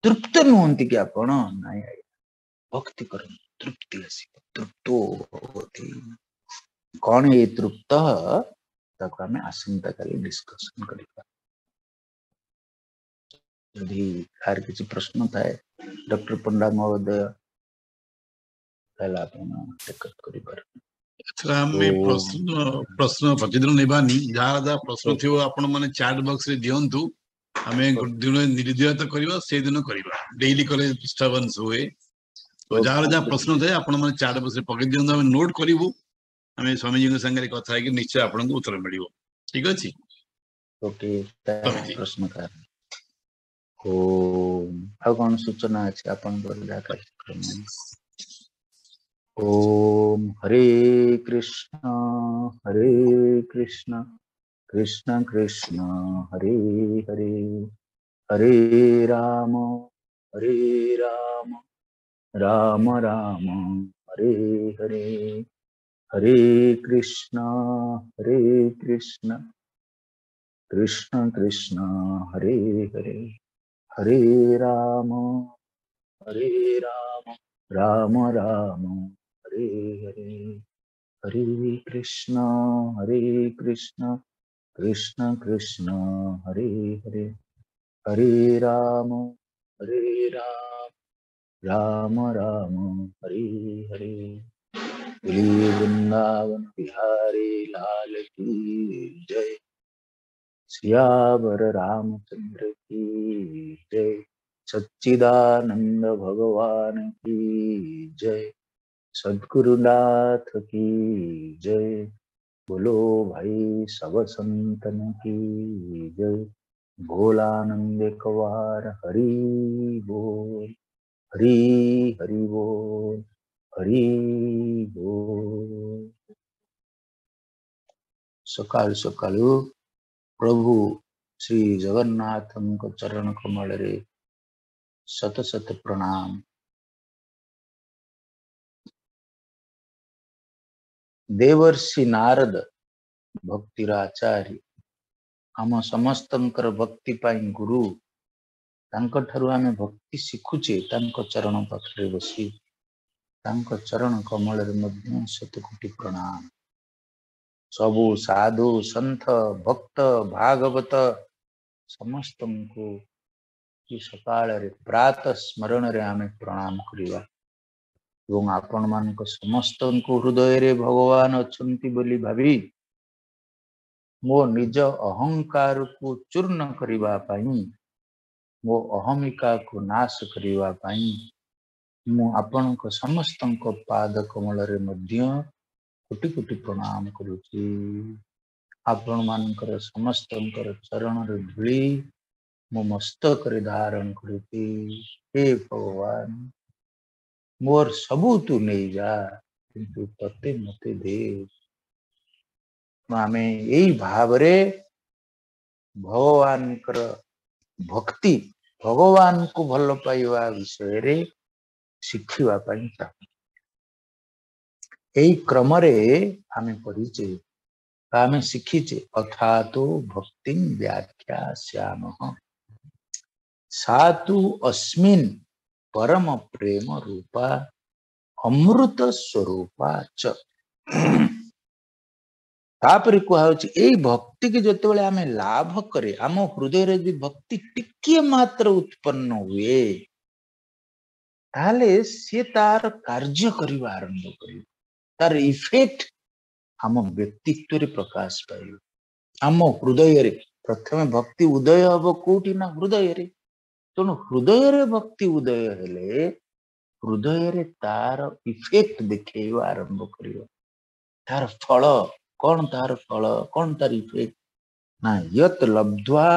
ତୃପ୍ତ ନୁହନ୍ତି କି ଆପଣ? ନାଇଁ ଆଜ୍ଞା, ଭକ୍ତି କରନ୍ତୁ, ତୃପ୍ତି ଆସିବ। ତୃପ୍ତ ଭବତି। କଣ ଏ ତୃପ୍ତ? ତାକୁ ଆମେ ଆସନ୍ତାକାଲି ଡିସ୍କସନ କରିବା। ଯଦି କାହାର କିଛି ପ୍ରଶ୍ନ ଥାଏ, ଡକ୍ଟର ପଣ୍ଡା ମହୋଦୟ, ତାହେଲେ ଆପଣ ଟେକଅପ୍ କରିପାରିବେ। ଏଥର ଆମେ ପ୍ରଶ୍ନ ପ୍ରତିଦିନ ନେବାନି। ଯାହା ଯାହା ପ୍ରଶ୍ନ ଥିବ ଆପଣ ମାନେ ଚାଟ ବକ୍ସ ରେ ଦିଅନ୍ତୁ। ଆମେ ଗୋଟେ ଦିନ ନିର୍ଦ୍ଧାରିତ କରିବା, ସେଇଦିନ କରିବା। ଡେଇଲି କଲେ ଡିଷ୍ଟର୍ବାନ୍ସ ହୁଏ। ତ ଯାହାର ଯାହା ପ୍ରଶ୍ନ ଥାଏ ଆପଣ ମାନେ ଚାଟ ବକ୍ସ ରେ ପକେଇ ଦିଅନ୍ତୁ, ଆମେ ନୋଟ କରିବୁ। ଆମେ ସ୍ୱାମୀଜୀଙ୍କ ସାଙ୍ଗରେ କଥା ହେଇକି ନିଶ୍ଚୟ ଆପଣଙ୍କୁ ଉତ୍ତର ମିଳିବ। ଠିକ ଅଛି? ଓକେ। ସ୍ୱାମୀଜୀ। ପ୍ରଶ୍ନ କାହାର? ଓମ୍। ଆଉ କଣ ସୂଚନା ଅଛି ଆପଣଙ୍କର ଯାହା କାର୍ଯ୍ୟକ୍ରମ? ଓମ୍ ହରେ କୃଷ୍ଣ ହରେ କୃଷ୍ଣ କୃଷ୍ଣ କୃଷ୍ଣ ହରେ ହରେ, ହରେ ରାମ ହରେ ରାମ ରାମ ରାମ ହରେ ହରେ, ହରେ କୃଷ୍ଣ ହରେ କୃଷ୍ଣ କୃଷ୍ଣ କୃଷ୍ଣ ହରେ ହରେ, ହରେ ରାମ ହରେ ରାମ ରାମ ରାମ ହରେ ହରେ, ହରେ କୃଷ୍ଣ ହରେ କୃଷ୍ଣ କୃଷ୍ଣ କୃଷ୍ଣ ହରେ ହରେ, ହରେ ରାମ ହରେ ରାମ ରାମ ରାମ ହରେ ହରେ। श्री वृंदावन बिहारी लाल की जय, सियावर रामचंद्र की जय, सच्चिदानंद भगवान की जय, सद्गुरुनाथ की जय, बोलो भाई सब संतन की जय, भोलानंद कवार हरि बोल, हरि हरि बोल, हरि बोल। ସକାଳୁ ସକାଳୁ ପ୍ରଭୁ ଶ୍ରୀ ଜଗନ୍ନାଥଙ୍କ ଚରଣ କମଳରେ ଶତ ଶତ ପ୍ରଣାମ। ଦେବର୍ଷି ନାରଦ ଭକ୍ତିର ଆଚାର୍ଯ୍ୟ, ଆମ ସମସ୍ତଙ୍କର ଭକ୍ତି ପାଇଁ ଗୁରୁ। ତାଙ୍କଠାରୁ ଆମେ ଭକ୍ତି ଶିଖୁଛେ। ତାଙ୍କ ଚରଣ ପାଖରେ ବସି ତାଙ୍କ ଚରଣ କମଳରେ ମଧ୍ୟ ଶତକୋଟି ପ୍ରଣାମ। ସବୁ ସାଧୁ ସନ୍ଥ ଭକ୍ତ ଭାଗବତ ସମସ୍ତଙ୍କୁ ସକାଳରେ ପ୍ରାତଃ ସ୍ମରଣରେ ଆମେ ପ୍ରଣାମ କରିବା ଏବଂ ଆପଣମାନଙ୍କ ସମସ୍ତଙ୍କୁ ହୃଦୟରେ ଭଗବାନ ଅଛନ୍ତି ବୋଲି ଭାବି ମୋ ନିଜ ଅହଙ୍କାରକୁ ଚୂର୍ଣ୍ଣ କରିବା ପାଇଁ, ମୋ ଅହମିକାକୁ ନାଶ କରିବା ପାଇଁ ମୁଁ ଆପଣଙ୍କ ସମସ୍ତଙ୍କ ପାଦ କମଳରେ ମଧ୍ୟ କୋଟି କୋଟି ପ୍ରଣାମ କରୁଛି। ଆପଣମାନଙ୍କର ସମସ୍ତଙ୍କର ଚରଣର ଧୂଳି ମୋ ମସ୍ତକରେ ଧାରଣ କରୁଛି। ହେ ଭଗବାନ, ମୋର ସବୁ ତୁ ନେଇଯା, କିନ୍ତୁ ତତେ ମତେ ଦେ। ଆମେ ଏଇ ଭାବରେ ଭଗବାନଙ୍କର ଭକ୍ତି, ଭଗବାନଙ୍କୁ ଭଲ ପାଇବା ବିଷୟରେ ଶିଖିବା ପାଇଁ ଚାହୁଁ। ଏଇ କ୍ରମରେ ଆମେ ପଢିଛେ ବା ଆମେ ଶିଖିଛେ, ଅଥାତୋ ଭକ୍ତି ବ୍ୟାଖ୍ୟା ଶ୍ୟାମଃ ସାତୁ ଅସ୍ମିନ୍ ପରମ ପ୍ରେମ ରୂପା ଅମୃତ ସ୍ୱରୂପା ଚ। ତାପରେ କୁହାହଉଛି ଏଇ ଭକ୍ତିକି ଯେତେବେଳେ ଆମେ ଲାଭ କରେ, ଆମ ହୃଦୟରେ ଯଦି ଭକ୍ତି ଟିକିଏ ମାତ୍ର ଉତ୍ପନ୍ନ ହୁଏ, ତାହେଲେ ସିଏ ତାର କାର୍ଯ୍ୟ କରିବା ଆରମ୍ଭ କରିବ। ତାର ଇଫେକ୍ଟ ଆମ ବ୍ୟକ୍ତିତ୍ୱରେ ପ୍ରକାଶ ପାଇବ, ଆମ ହୃଦୟରେ। ପ୍ରଥମେ ଭକ୍ତି ଉଦୟ ହବ କୋଉଠି ନା ହୃଦୟରେ। ତେଣୁ ହୃଦୟରେ ଭକ୍ତି ଉଦୟ ହେଲେ ହୃଦୟରେ ତାର ଇଫେକ୍ଟ ଦେଖେଇବା ଆରମ୍ଭ କରିବ। ତାର ଫଳ କଣ ତାର ଫଳ, କଣ ତାର ଇଫେକ୍ଟ? ନା ୟତ ଲବ୍ଧ୍ୱା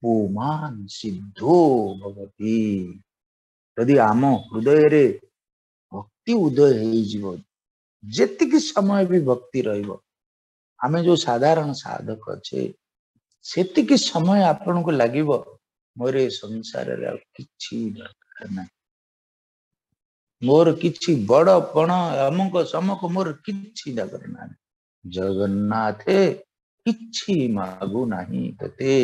ପୁମାନ୍ ସିଦ୍ଧୋ ଭବତି। ଯଦି ଆମ ହୃଦୟରେ ଭକ୍ତି ଉଦୟ ହେଇଯିବ, ଯେତିକି ସମୟ ବି ଭକ୍ତି ରହିବ, ଆମେ ଯୋଉ ସାଧାରଣ ସାଧକ ଅଛେ, ସେତିକି ସମୟ ଆପଣଙ୍କୁ ଲାଗିବ ମୋର ଏ ସଂସାରରେ ଆଉ କିଛି ଦରକାର ନାହିଁ, ମୋର କିଛି ବଡ ପଣ ଅମୁକ ସମକ ମୋର କିଛି ଦରକାର ନାହିଁ। ଜଗନ୍ନାଥେ କିଛି ମାଗୁ ନାହିଁ ତତେ,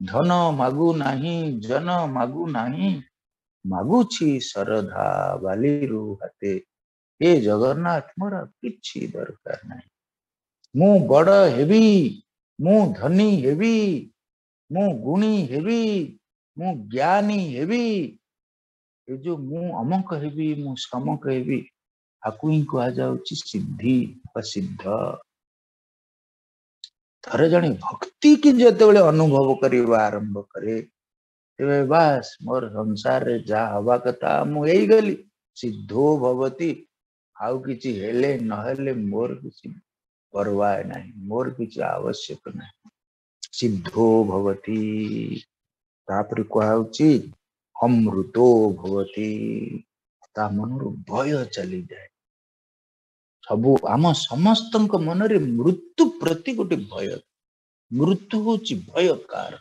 ଧନ ମାଗୁ ନାହିଁ, ଜନ ମାଗୁ ନାହିଁ, ମାଗୁଛି ଶରଧା ବାଲିରୁ ହାତେ। ହେ ଜଗନ୍ନାଥ, ମୋର କିଛି ଦରକାର ନାହିଁ। ମୁଁ ବଡ ହେବି, ମୁଁ ଧନୀ ହେବି, ମୁଁ ଗୁଣୀ ହେବି, ମୁଁ ଜ୍ଞାନୀ ହେବି, ଏ ଯୋଉ ମୁଁ ଅମକ ହେବି, ମୁଁ ସମକ ହେବି, ଆକୁ ହିଁ କୁହାଯାଉଛି ସିଦ୍ଧି ବା ସିଦ୍ଧ। ଥରେ ଜଣେ ଭକ୍ତି କି ଯେତେବେଳେ ଅନୁଭବ କରିବା ଆରମ୍ଭ କରେ, ତେବେ ବାସ୍ ମୋର ସଂସାରରେ ଯାହା ହବା କଥା ମୁଁ ହେଇଗଲି, ସିଦ୍ଧୋ ଭବତି। ଆଉ କିଛି ହେଲେ ନହେଲେ ମୋର କିଛି ପରବା ନାହିଁ, ମୋର କିଛି ଆବଶ୍ୟକ ନାହିଁ। ସିଦ୍ଧୋ ଭବତି। ତାପରେ କୁହାହଉଛି ଅମୃତୋ ଭବତି। ତା ମନରୁ ଭୟ ଚାଲିଯାଏ। ସବୁ ଆମ ସମସ୍ତଙ୍କ ମନରେ ମୃତ୍ୟୁ ପ୍ରତି ଗୋଟେ ଭୟ। ମୃତ୍ୟୁ ହଉଛି ଭୟକାର।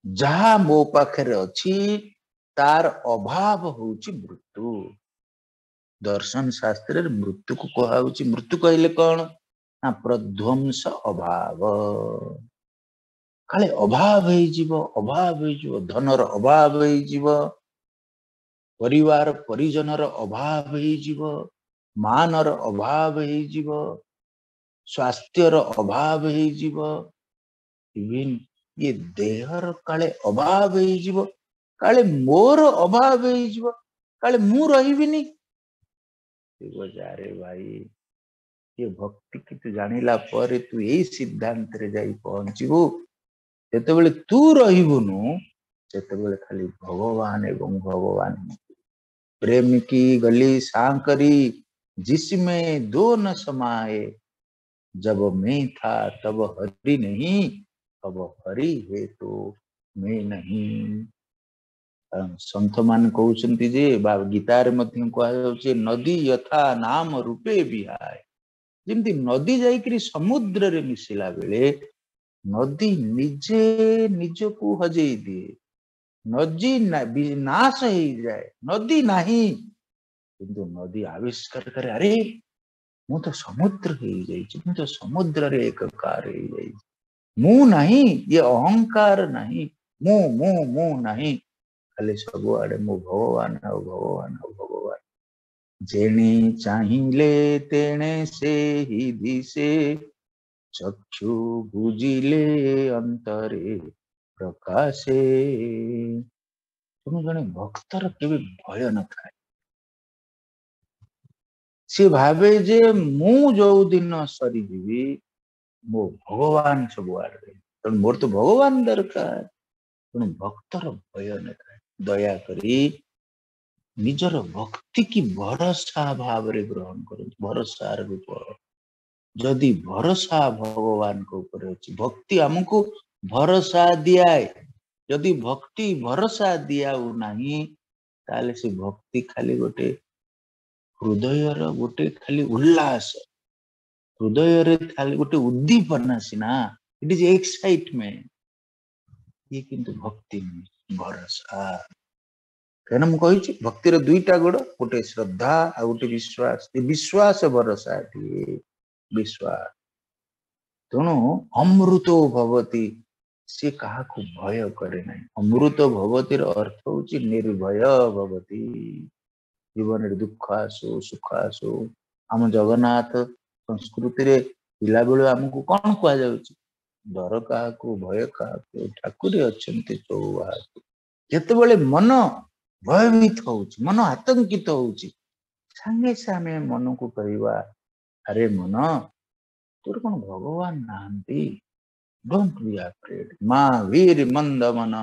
ଯାହା ମୋ ପାଖରେ ଅଛି ତାର ଅଭାବ ହଉଛି ମୃତ୍ୟୁ। ଦର୍ଶନ ଶାସ୍ତ୍ରରେ ମୃତ୍ୟୁକୁ କୁହାହଉଛି, ମୃତ୍ୟୁ କହିଲେ କଣ ନା ପ୍ରଧ୍ୱଂସ ଅଭାବ। କାଳେ ଅଭାବ ହେଇଯିବ, ଅଭାବ ହେଇଯିବ, ଧନର ଅଭାବ ହେଇଯିବ, ପରିବାର ପରିଜନର ଅଭାବ ହେଇଯିବ, ମାନର ଅଭାବ ହେଇଯିବ, ସ୍ୱାସ୍ଥ୍ୟର ଅଭାବ ହେଇଯିବ, ଇଭିନ୍ ଇଏ ଦେହର କାଳେ ଅଭାବ ହେଇଯିବ, କାଳେ ମୋର ଅଭାବ ହେଇଯିବ, କାଳେ ମୁଁ ରହିବିନି। ଆରେ ଭାଇ, ଇଏ ଭକ୍ତି କି ତୁ ଜାଣିଲା ପରେ ତୁ ଏଇ ସିଦ୍ଧାନ୍ତରେ ଯାଇ ପହଞ୍ଚିବୁ। ଯେତେବେଳେ ତୁ ରହିବୁନୁ, ସେତେବେଳେ ଖାଲି ଭଗବାନ ଏବଂ ଭଗବାନ। ପ୍ରେମ କି ଗଲି ସାଙ୍କରି ଜିସମେ ଦୋ ନ ସମାଏ, ଜବ ମେ ଥା ତବ ହରି ନହିଁ, ତବ ହରି ହେ ତୋ ମେ ନହିଁ। ସନ୍ଥ ମାନେ କହୁଛନ୍ତି ଯେ, ବା ଗୀତାରେ ମଧ୍ୟ କୁହାଯାଉଛି, ନଦୀ ଯଥା ନାମ ରୂପେ ବିହାଏ। ଯେମିତି ନଦୀ ଯାଇକିରି ସମୁଦ୍ରରେ ମିଶିଲା ବେଳେ ନଦୀ ନିଜେ ନିଜକୁ ହଜେଇ ଦିଏ, ନଦୀ ନାଶ ହେଇଯାଏ, ନଦୀ ନାହିଁ, କିନ୍ତୁ ନଦୀ ଆବିଷ୍କାର କରେ, ଆରେ ମୁଁ ତ ସମୁଦ୍ର ହେଇଯାଇଛି, ମୁଁ ତ ସମୁଦ୍ରରେ ଏକକାର ହେଇଯାଇଛି, ମୁଁ ନାହିଁ, ଇଏ ଅହଙ୍କାର ନାହିଁ, ମୁଁ ମୁଁ ମୁଁ ନାହିଁ, ଖାଲି ସବୁଆଡେ ମୁଁ ଭଗବାନ ଆଉ ଭଗବାନ ଆଉ ଭଗବାନ। ଜେଣେ ଚାହିଁଲେ ତେଣେ ସେହି ଦିଶେ, ଚକ୍ଷୁ ବୁଜିଲେ ଅନ୍ତରେ ପ୍ରକାଶେ। ତେଣୁ ଜଣେ ଭକ୍ତର କେବେ ଭୟ ନଥାଏ। ସେ ଭାବେ ଯେ ମୁଁ ଯୋଉ ଦିନ ସରିଯିବି, ମୋ ଭଗବାନ ସବୁଆଡେ, ତେଣୁ ମୋର ତ ଭଗବାନ ଦରକାର। ତେଣୁ ଭକ୍ତର ଭୟ ନଥାଏ। ଦୟାକରି ନିଜର ଭକ୍ତି କି ଭରସା ଭାବରେ ଗ୍ରହଣ କରନ୍ତୁ। ଭରସାର ରୂପ ଯଦି ଭରସା ଭଗବାନଙ୍କ ଉପରେ ଅଛି, ଭକ୍ତି ଆମକୁ ଭରସା ଦିଆଏ। ଯଦି ଭକ୍ତି ଭରସା ଦିଆଉ ନାହିଁ, ତାହେଲେ ସେ ଭକ୍ତି ଖାଲି ଗୋଟେ ହୃଦୟର ଗୋଟେ ଖାଲି ଉଲ୍ଲାସ, ହୃଦୟରେ ଖାଲି ଗୋଟେ ଉଦ୍ଦୀପନା ସିନା, ଇଟ is excitement, ଇଏ କିନ୍ତୁ ଭକ୍ତି ନୁହେଁ, ଭରସା। କାହିଁକିନା ମୁଁ କହିଛି ଭକ୍ତିର ଦୁଇଟା ଗୋଡ, ଗୋଟେ ଶ୍ରଦ୍ଧା ଆଉ ଗୋଟେ ବିଶ୍ୱାସ। ଏ ବିଶ୍ୱାସ ଭରସା ଟିଏ ବିଶ୍ୱାସ। ତେଣୁ ଅମୃତ ଭବତି, ସେ କାହାକୁ ଭୟ କରେ ନାହିଁ। ଅମୃତ ଭବତିର ଅର୍ଥ ହଉଛି ନିର୍ଭୟ ଭବତି। ଜୀବନରେ ଦୁଃଖ ଆସୁ ସୁଖ ଆସୁ, ଆମ ଜଗନ୍ନାଥ ସଂସ୍କୃତିରେ ପିଲାବେଳୁ ଆମକୁ କଣ କୁହାଯାଉଛି? ଡର କାହାକୁ, ଭୟ କାହାକୁ, ଠାକୁରେ ଅଛନ୍ତି ଚଉବାହାକୁ। ଯେତେବେଳେ ମନ ଭୟଭୀତ ହଉଛି, ମନ ଆତଙ୍କିତ ହଉଛି, ସାଙ୍ଗେ ସାଙ୍ଗେ ଆମେ ମନକୁ କହିବା, ଆରେ ମନ, ତୋର କଣ ଭଗବାନ ନାହାନ୍ତି? Don't be afraid. ମା ବୀର ମନ୍ଦ ମନ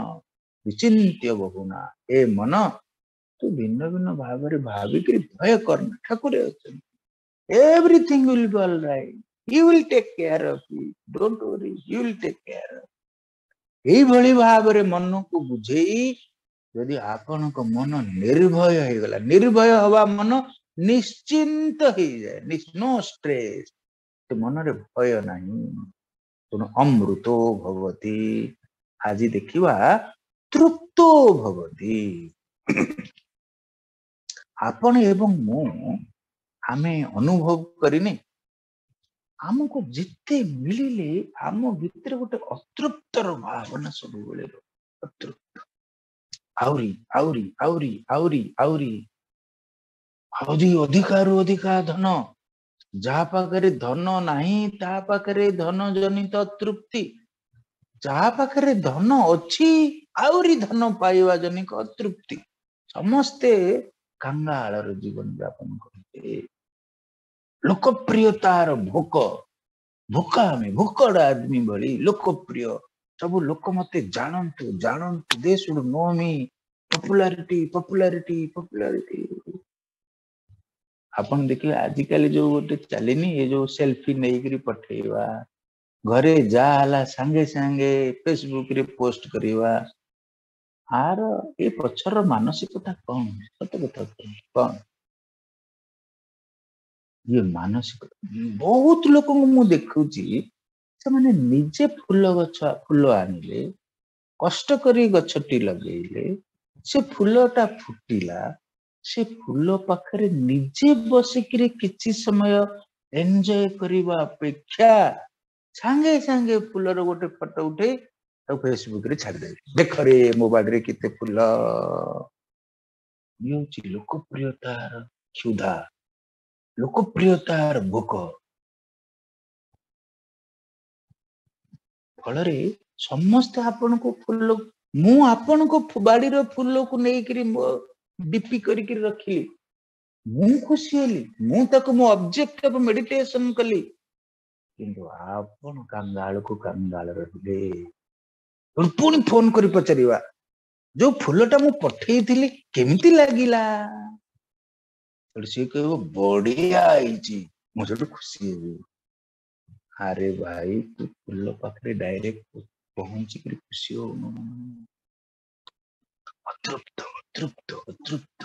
ବିଚିନ୍ତ୍ୟ ବହୁନା। ଏ ମନ, ତୁ ତୁ ଭିନ୍ନ ଭିନ୍ନ ଭାବରେ ଭାବିକିରି ଭୟ କରନା, ଠାକୁରେ ଅଛନ୍ତି। Everything will be all right. He will take care of you. Don't worry, he will take care of. ଏଇଭଳି ଭାବରେ ମନକୁ ବୁଝେଇ ଯଦି ଆପଣଙ୍କ ମନ ନିର୍ଭୟ ହେଇଗଲା, ନିର୍ଭୟ ହବା ମନ ନିଶ୍ଚିନ୍ତ ହେଇଯାଏ, ନୋ ଷ୍ଟ୍ରେସ୍, ମନରେ ଭୟ ନାହିଁ। ତେଣୁ ଅମୃତୋ ଭବତି। ଆଜି ଦେଖିବା ତୃପ୍ତୋ ଭବତି। ଆପଣ ଏବଂ ମୁଁ ଆମେ ଅନୁଭବ କରିନେ, ଆମକୁ ଯେତେ ମିଳିଲେ ଆମ ଭିତରେ ଗୋଟେ ଅତୃପ୍ତର ଭାବନା ସବୁବେଳେ ରହେ। ଅତୃପ୍ତ, ଆହୁରି ଆହୁରି ଆହୁରି ଆହୁରି ଆହୁରି ଆହୁରି ଅଧିକାରୁ ଅଧିକା ଧନ। ଯାହା ପାଖରେ ଧନ ନାହିଁ ତା ପାଖରେ ଧନ ଜନିତ ଅତୃପ୍ତି, ଯାହା ପାଖରେ ଧନ ଅଛି ଆହୁରି ଧନ ପାଇବା ଜନିତ ଅତୃପ୍ତି। ସମସ୍ତେ କାଙ୍ଗାଳର ଜୀବନ ଯାପନ କରନ୍ତି। ଲୋକପ୍ରିୟତାର ଭୋକ, ଭୋକ, ଆମେ ଭୋକଡ ଆଦମୀ ଭଳି ଲୋକପ୍ରିୟ, ସବୁ ଲୋକ ମତେ ଜାଣନ୍ତୁ ଜାଣନ୍ତୁ, they should know me, popularity popularity popularity. ଆପଣ ଦେଖିବେ ଆଜିକାଲି ଯୋଉ ଗୋଟେ ଚାଲିନି, ଏ ଯୋଉ ସେଲଫି ନେଇକିରି ପଠେଇବା, ଘରେ ଯାହା ହେଲା ସାଙ୍ଗେ ସାଙ୍ଗେ ଫେସବୁକ ରେ ପୋଷ୍ଟ କରିବା, ଆର ଏ ପଛର ମାନସିକତା କଣ? ସତ କଥା କଣ ଇଏ ମାନସିକତା? ବହୁତ ଲୋକଙ୍କୁ ମୁଁ ଦେଖୁଛି ସେମାନେ ନିଜେ ଫୁଲ ଗଛ, ଫୁଲ ଆଣିଲେ, କଷ୍ଟ କରି ଗଛଟି ଲଗେଇଲେ, ସେ ଫୁଲଟା ଫୁଟିଲା, ସେ ଫୁଲ ପାଖରେ ନିଜେ ବସିକିରି କିଛି ସମୟ ଏନ୍ଜୟ କରିବା ଅପେକ୍ଷା ସାଙ୍ଗେ ସାଙ୍ଗେ ଫୁଲର ଗୋଟେ ଫଟୋ ଉଠେଇ ତାକୁ ଫେସବୁକ ରେ ଛାଡ଼ିଦେବେ, ଦେଖରେ ମୋ ବାଡିରେ କେତେ ଫୁଲ। ଇଏ ହଉଛି ଲୋକପ୍ରିୟତାର କ୍ଷୁଧା, ଲୋକପ୍ରିୟତାର ଭୋକ। ଫଳରେ ସମସ୍ତେ ଆପଣଙ୍କୁ ଫୁଲ, ମୁଁ ଆପଣଙ୍କ ବାଡିର ଫୁଲକୁ ନେଇକିରି ମୋ ଡିପି କରିକିରି ରଖିଲି, ମୁଁ ଖୁସି ହେଲି, ମୁଁ ତାକୁ ମୋ ଅବଜେକ୍ଟ ଅଫ ମେଡିଟେସନ କଲି, କିନ୍ତୁ ଆପଣ କାଙ୍ଗାଳକୁ କାଙ୍ଗାଳ ରହିଲେ। ପୁଣି ଫୋନ କରି ପଚାରିବା, ଯୋଉ ଫୁଲଟା ମୁଁ ପଠେଇଥିଲି କେମିତି ଲାଗିଲା? ସେଠୁ ସିଏ କହିବ ବଢିଆ ହେଇଛି, ମୁଁ ସେଠୁ ଖୁସି ହେବି। ଆରେ ଭାଇ, ତୁ ଫୁଲ ପାଖରେ ଡାଇରେକ୍ଟ ପହଞ୍ଚିକିରି ଖୁସି ହଉନୁ। ଅତୃପ୍ତ ଅତୃପ୍ତ ଅତୃପ୍ତ।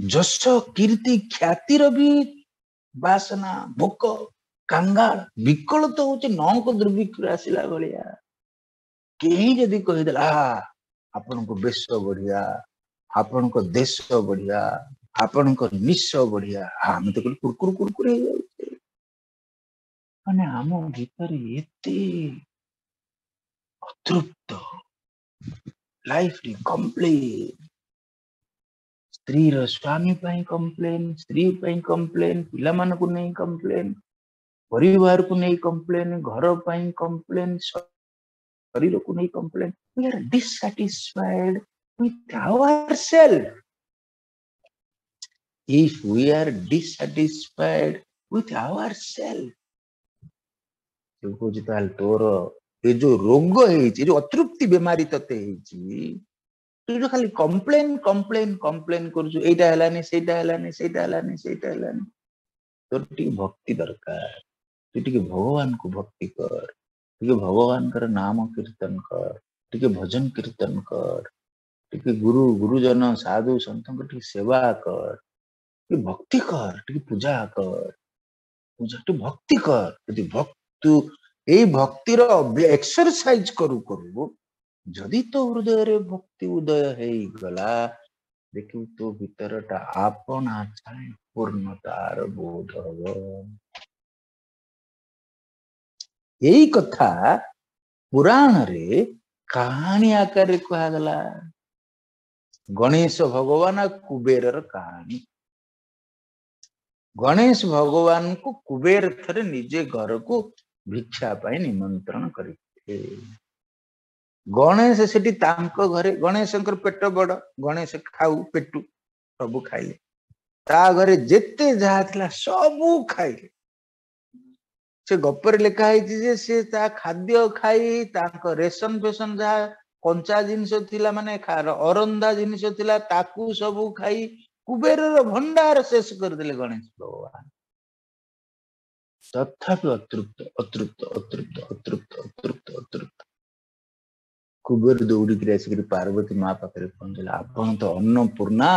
ଯଶ କୀର୍ତ୍ତି ଖ୍ୟାତିର ବି ବାସନା, ଭୋକ, କାଙ୍ଗାଳ, ବିକଳ ତ ହଉଛି ନଅଙ୍କ ଦୁର୍ଭିକ୍ଷ ଆସିଲା ଭଳିଆ। କେହି ଯଦି କହିଦେଲା ଆପଣଙ୍କ ବେଶ ବଢିଆ, ଆପଣଙ୍କ ଦେଶ ବଢିଆ, ଆପଣଙ୍କ ନିଶ ବଢିଆ, ଆମେ ତ କହିଲୁ କୁରକୁର କୁରକୁର ହେଇଯାଉଛେ। ମାନେ ଆମ ଭିତରେ ଏତେ ଅତୃପ୍ତ, ଲାଇଫରେ କମ୍ପ୍ଲେନ, ସ୍ତ୍ରୀର ସ୍ୱାମୀ ପାଇଁ କମ୍ପ୍ଲେନ, ସ୍ତ୍ରୀ ପାଇଁ କମ୍ପ୍ଲେନ, ପିଲାମାନଙ୍କୁ ନେଇ କମ୍ପ୍ଲେନ, ପରିବାରକୁ ନେଇ କମ୍ପ୍ଲେନ, ଘର ପାଇଁ କମ୍ପ୍ଲେନ, ଶରୀରକୁ ନେଇ complain. We are dissatisfied with ourselves. If we are dissatisfied with ourselves, ସେ କହୁଛି ତାହେଲେ ତୋର ଏ ଯୋଉ ରୋଗ ହେଇଛି, ଏ ଯୋଉ ଅତୃପ୍ତି ବେମାରୀ ତତେ ହେଇଛି, ତୁ ଯୋଉ ଖାଲି କମ୍ପ୍ଲେନ କମ୍ପ୍ଲେନ କମ୍ପ୍ଲେନ କରୁଛୁ, ଏଇଟା ହେଲାନି, ସେଇଟା ହେଲାନି, ସେଇଟା ହେଲାନି, ସେଇଟା ହେଲାନି, ତୋର ଟିକେ ଭକ୍ତି ଦରକାର। ତୁ ଟିକେ ଭଗବାନଙ୍କୁ ଭକ୍ତି କର, ଟିକେ ଭଗବାନଙ୍କର ନାମ କୀର୍ତ୍ତନ କର, ଟିକେ ଭଜନ କୀର୍ତ୍ତନ କର, ଟିକେ ଗୁରୁ ଗୁରୁଜନ ସାଧୁ ସନ୍ଥଙ୍କ ଟିକେ ସେବା କର, ଟିକେ ଭକ୍ତି କର, ଟିକେ ପୂଜା କର, ପୂଜା ଟିକେ ଭକ୍ତି କର। ଯଦି ଭକ୍ତୁ ଏଇ ଭକ୍ତିର ଏକ୍ସରସାଇଜ କରୁ କରୁ ଯଦି ତୋ ହୃଦୟରେ ଭକ୍ତି ଉଦୟ ହେଇଗଲା, ଦେଖିବୁ ତୋ ଭିତରଟା ଆପଣା ଛାଏଁ ପୂର୍ଣ୍ଣତାର ବୋଧ ହବ। ଏଇ କଥା ପୁରାଣରେ କାହାଣୀ ଆକାରରେ କୁହାଗଲା। ଗଣେଶ ଭଗବାନ ଆଉ କୁବେରର କାହାଣୀ। ଗଣେଶ ଭଗବାନଙ୍କୁ କୁବେର ଥରେ ନିଜେ ଘରକୁ ଭିକ୍ଷା ପାଇଁ ନିମନ୍ତ୍ରଣ କରିଥିଲେ। ଗଣେଶ ସେଠି ତାଙ୍କ ଘରେ, ଗଣେଶଙ୍କର ପେଟ ବଡ, ଗଣେଶ ଖାଉ ପେଟୁ ସବୁ ଖାଇଲେ, ତା ଘରେ ଯେତେ ଯାହା ଥିଲା ସବୁ ଖାଇଲେ। ସେ ଗପରେ ଲେଖା ହେଇଛି ଯେ ସେ ତା ଖାଦ୍ୟ ଖାଇ ତାଙ୍କ ରେସନ ଫେସନ ଯାହା କଞ୍ଚା ଜିନିଷ ଥିଲା, ମାନେ ଅରନ୍ଧା ଜିନିଷ ଥିଲା, ତାକୁ ସବୁ ଖାଇ କୁବେରର ଭଣ୍ଡାର ଶେଷ କରିଦେଲେ ଗଣେଶ ଭଗବାନ। ତଥାପି ଅତୃପ୍ତ ଅତୃପ୍ତ ଅତୃପ୍ତ ଅତୃପ୍ତ ଅତୃପ୍ତ ଅତୃପ୍ତ। କୁବେର ଦୌଡ଼ିକିରି ଆସିକିରି ପାର୍ବତୀ ମା ପାଖରେ ପହଞ୍ଚିଲା, ଆପଣ ତ ଅନ୍ନପୂର୍ଣ୍ଣା,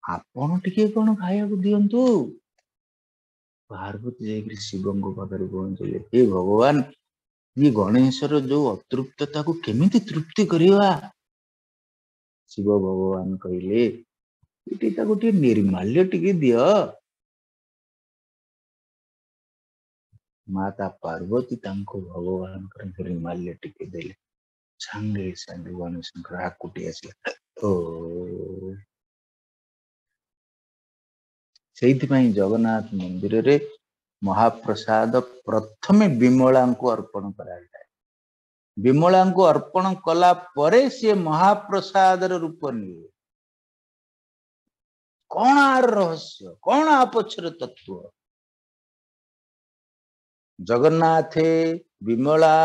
ଆପଣ ଟିକେ କଣ ଖାଇବାକୁ ଦିଅନ୍ତୁ। ପାର୍ବତୀ ଯାଇକିରି ଶିବଙ୍କ ପାଖରେ ପହଞ୍ଚିଲେ, ହେ ଭଗବାନ, ଇଏ ଗଣେଶର ଯୋଉ ଅତୃପ୍ତତାକୁ କେମିତି ତୃପ୍ତି କରିବା? ଶିବ ଭଗବାନ କହିଲେ, ଏଠି ତାକୁ ଟିକେ ନିର୍ମାଲ୍ୟ ଟିକେ ଦିଅ। ମାତା ପାର୍ବତୀ ତାଙ୍କୁ ଭଗବାନଙ୍କର ନିର୍ମାଲ୍ୟ ଟିକେ ଦେଲେ। ସାଙ୍ଗେ ସାଙ୍ଗେ ଗଣେଶଙ୍କର ଆକୁଟି ଆସିଲା। ଓ ସେଇଥିପାଇଁ ଜଗନ୍ନାଥ ମନ୍ଦିରରେ ମହାପ୍ରସାଦ ପ୍ରଥମେ ବିମଳାଙ୍କୁ ଅର୍ପଣ କରାଯାଏ। ବିମଳାଙ୍କୁ ଅର୍ପଣ କଲା ପରେ ସିଏ ମହାପ୍ରସାଦର ରୂପ ନିଏ। କଣ ଆର ରହସ୍ୟ, କଣ ଆ ପଛର ତତ୍ତ୍ୱ? ଜଗନ୍ନାଥେ, ବିମଳା,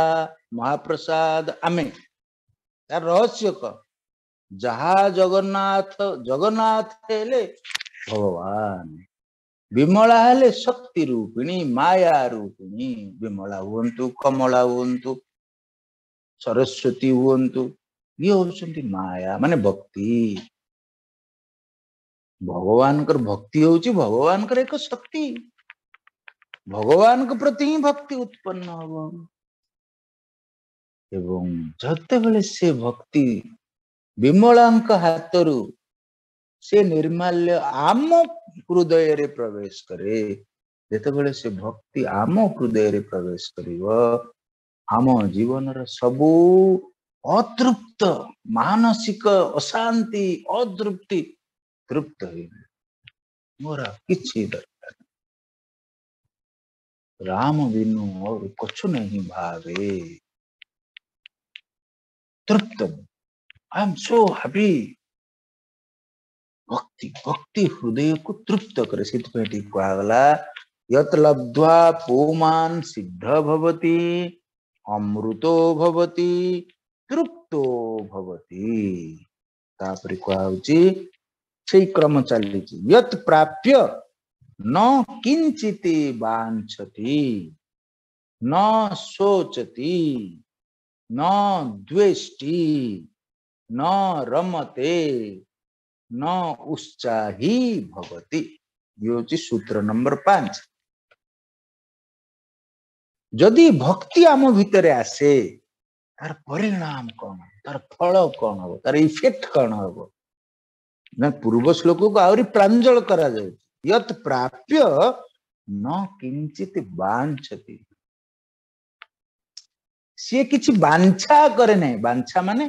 ମହାପ୍ରସାଦ, ଆମେ, ତାର ରହସ୍ୟ କଣ? ଯାହା ଜଗନ୍ନାଥ, ଜଗନ୍ନାଥ ହେଲେ ଭଗବାନ, ବିମଳା ହେଲେ ଶକ୍ତି ରୂପିଣୀ, ମାୟା ରୂପିଣୀ। ବିମଳା ହୁଅନ୍ତୁ, କମଳା ହୁଅନ୍ତୁ, ସରସ୍ୱତୀ ହୁଅନ୍ତୁ, ଇଏ ହଉଛନ୍ତି ମାୟା, ମାନେ ଭକ୍ତି। ଭଗବାନଙ୍କର ଭକ୍ତି ହଉଛି ଭଗବାନଙ୍କର ଏକ ଶକ୍ତି। ଭଗବାନଙ୍କ ପ୍ରତି ହିଁ ଭକ୍ତି ଉତ୍ପନ୍ନ ହବ। ଏବଂ ଯେତେବେଳେ ସେ ଭକ୍ତି ବିମଳାଙ୍କ ହାତରୁ ସେ ନିର୍ମାଲ୍ୟ ଆମ ହୃଦୟରେ ପ୍ରବେଶ କରେ, ଯେତେବେଳେ ସେ ଭକ୍ତି ଆମ ହୃଦୟରେ ପ୍ରବେଶ କରିବ, ଆମ ଜୀବନର ସବୁ ଅତୃପ୍ତ ମାନସିକ ଅଶାନ୍ତି, ଅତୃପ୍ତି ତୃପ୍ତ ହେଇଯିବ। ମୋର କିଛି ଦରକାର, ରାମ ବିନୁ और କଛୁ ନାହିଁ ଭାବେ। ତୃପ୍ତ, I am so happy. ଭକ୍ତି, ଭକ୍ତି ହୃଦୟକୁ ତୃପ୍ତ କରେ। ସେଥିପାଇଁ ଏଠି କୁହାଗଲା, ୟତ୍ ଲବ୍ଧ୍ୱା ପୁମାନ୍ ସିଦ୍ଧ ଭବତି, ଅମୃତୋ ଭବତି, ତୃପ୍ତୋ ଭବତି। ତାପରେ କୁହାହଉଛି, ସେଇ କ୍ରମ ଚାଲିଛି, ୟତ୍ ପ୍ରାପ୍ୟ ନ କିଞ୍ଚିତି ବାଞ୍ଛତି, ନ ଶୋଚତି, ନ ଦ୍ୱେଷ୍ଟି, ନ ରମତେ, ନ ଉତ୍ସାହୀ ଭବତି। ଇଏ ହଉଛି ସୂତ୍ର ନମ୍ବର 5। ଯଦି ଭକ୍ତି ଆମ ଭିତରେ ଆସେ, ତାର ପରିଣାମ କଣ, ତାର ଫଳ କଣ ହବ, ତାର ଇଫେକ୍ଟ କଣ ହବ? ନା ପୂର୍ବ ଶ୍ଲୋକକୁ ଆହୁରି ପ୍ରାଞ୍ଜଳ କରାଯାଉଛି। ୟତ୍ ପ୍ରାପ୍ୟ ନ କିଞ୍ଚିତ ବାଞ୍ଛତି, ସିଏ କିଛି ବାଞ୍ଛା କରେ ନାହିଁ। ବାଞ୍ଛା ମାନେ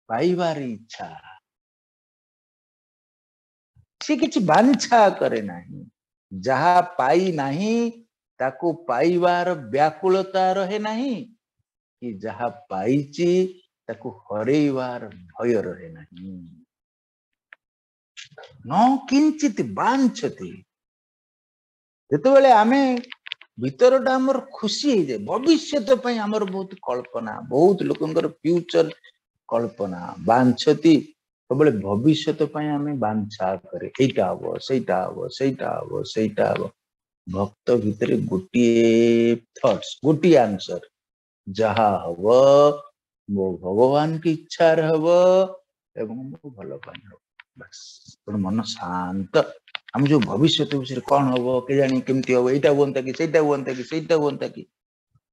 ପାଇବାର ଇଚ୍ଛା। ସିଏ କିଛି ବାଞ୍ଛା କରେ ନାହିଁ। ଯାହା ପାଇ ନାହିଁ ତାକୁ ପାଇବାର ବ୍ୟାକୁଳତା ରହେ ନାହିଁ, କି ଯାହା ପାଇଛି ତାକୁ ହରେଇବାର ଭୟ ରହେ ନାହିଁ। ନ କିଞ୍ଚିତ ବାଞ୍ଛତି, ଯେତେବେଳେ ଆମେ ଭିତରଟା ଆମର ଖୁସି ହେଇଯାଏ, ଭବିଷ୍ୟତ ପାଇଁ ଆମର ବହୁତ କଳ୍ପନା, ବହୁତ ଲୋକଙ୍କର ଫ୍ୟୁଚର କଳ୍ପନା। ବାଞ୍ଛତି, ସବୁବେଳେ ଭବିଷ୍ୟତ ପାଇଁ ଆମେ ବାଞ୍ଛା କରେ, ଏଇଟା ହବ, ସେଇଟା ହବ, ସେଇଟା ହବ, ସେଇଟା ହବ। ଭକ୍ତ ଭିତରେ ଗୋଟିଏ ଥଟ୍ସ, ଗୋଟିଏ ଆନ୍ସର, ଯାହା ହବ ମୋ ଭଗବାନଙ୍କ ଇଚ୍ଛାରେ ହବ ଏବଂ ମୋ ଭଲ ପାଇଁ ହବ। ବାସ୍, ତେଣୁ ମନ ଶାନ୍ତ। ଆମେ ଯୋଉ ଭବିଷ୍ୟତ ବିଷୟରେ କଣ ହବ କେଜାଣି, କେମିତି ହବ, ଏଇଟା ହୁଅନ୍ତା କି, ସେଇଟା ହୁଅନ୍ତା କି, ସେଇଟା ହୁଅନ୍ତା କି,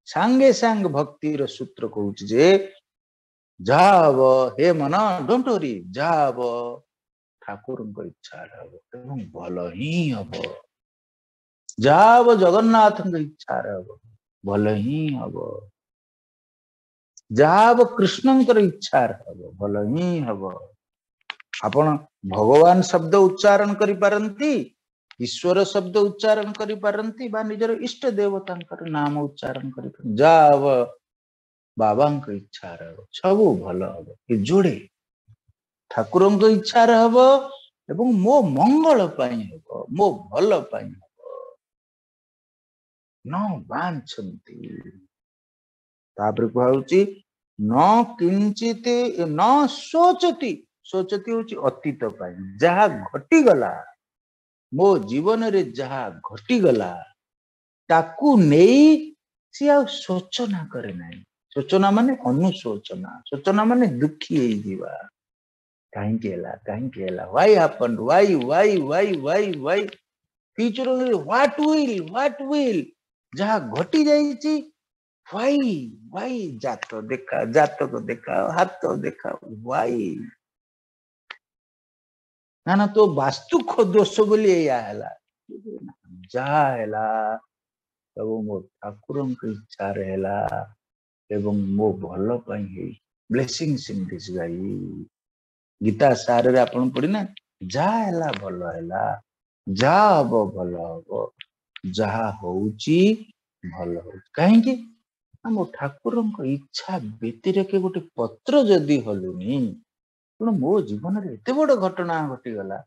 ସାଙ୍ଗେ ସାଙ୍ଗେ ଭକ୍ତିର ସୂତ୍ର କହୁଛି ଯେ ଯାହା ହବ ହେ ମନ, don't worry, ଯାହା ହବ ଠାକୁରଙ୍କ ଇଚ୍ଛାରେ ହବ ଏବଂ ଭଲ ହିଁ ହବ। ଯାହା ହବ ଜଗନ୍ନାଥଙ୍କ ଇଚ୍ଛାରେ ହବ, ଭଲ ହିଁ ହବ। ଯାହା ହବ କୃଷ୍ଣଙ୍କର ଇଚ୍ଛାରେ ହବ, ଭଲ ହିଁ ହବ। ଆପଣ ଭଗବାନ ଶବ୍ଦ ଉଚ୍ଚାରଣ କରିପାରନ୍ତି, ଈଶ୍ୱର ଶବ୍ଦ ଉଚ୍ଚାରଣ କରିପାରନ୍ତି, ବା ନିଜର ଇଷ୍ଟ ଦେବତାଙ୍କର ନାମ ଉଚ୍ଚାରଣ କରିପାରନ୍ତି। ଯାହା ହବ ବାବାଙ୍କ ଇଚ୍ଛାରେ ହବ, ସବୁ ଭଲ ହବ। ଏ ଯୋଡ଼େ ଠାକୁରଙ୍କ ଇଚ୍ଛାରେ ହବ ଏବଂ ମୋ ମଙ୍ଗଳ ପାଇଁ ହବ, ମୋ ଭଲ ପାଇଁ ହବ। ନ ବାଞ୍ଛନ୍ତି। ତାପରେ କୁହାହଉଛି ନ କିଞ୍ଚିତ ନ ଶୋଚତି। ଶୋଚତି ହଉଛି ଅତୀତ ପାଇଁ, ଯାହା ଘଟିଗଲା ମୋ ଜୀବନରେ, ଯାହା ଘଟିଗଲା ତାକୁ ନେଇ ସିଏ ଆଉ ଶୋଚନା କରେ ନାହିଁ। ଶୋଚନା ମାନେ ଅନୁଶୋଚନା, ଶୋଚନା ମାନେ ଦୁଃଖୀ ହେଇଯିବା। କାହିଁକି ହେଲା, କାହିଁକି ହେଲା, why happened, why why why why why, future what will, what will, ଯାହା ଘଟି ଯାଇଛି why why, ଜାତ ଦେଖା, ଜାତକ ଦେଖା, ହାତ ଦେଖା, why। ନା ନା ତୋ ବାସ୍ତୁ ଦୋଷ ବୋଲି ଏଇଆ ହେଲା। ଯାହା ହେଲା ସବୁ ମୋ ଠାକୁରଙ୍କ ଇଚ୍ଛାରେ ହେଲା ଏବଂ ମୋ ଭଲ ପାଇଁ ହେଇ। Blessings in disguise. Gita ସାରରେ ଆପଣ ପଢିନା, ଯାହା ହେଲା ଭଲ ହେଲା, ଯାହା ହବ ଭଲ ହବ, ଯାହା ହଉଛି ଭଲ ହଉଛି। କାହିଁକି ନା ମୋ ଠାକୁରଙ୍କ ଇଚ୍ଛା ବ୍ୟତିରେକେ ଗୋଟେ ପତ୍ର ଯଦି ହଲୁନି, ତେଣୁ ମୋ ଜୀବନରେ ଏତେ ବଡ ଘଟଣା ଘଟିଗଲା,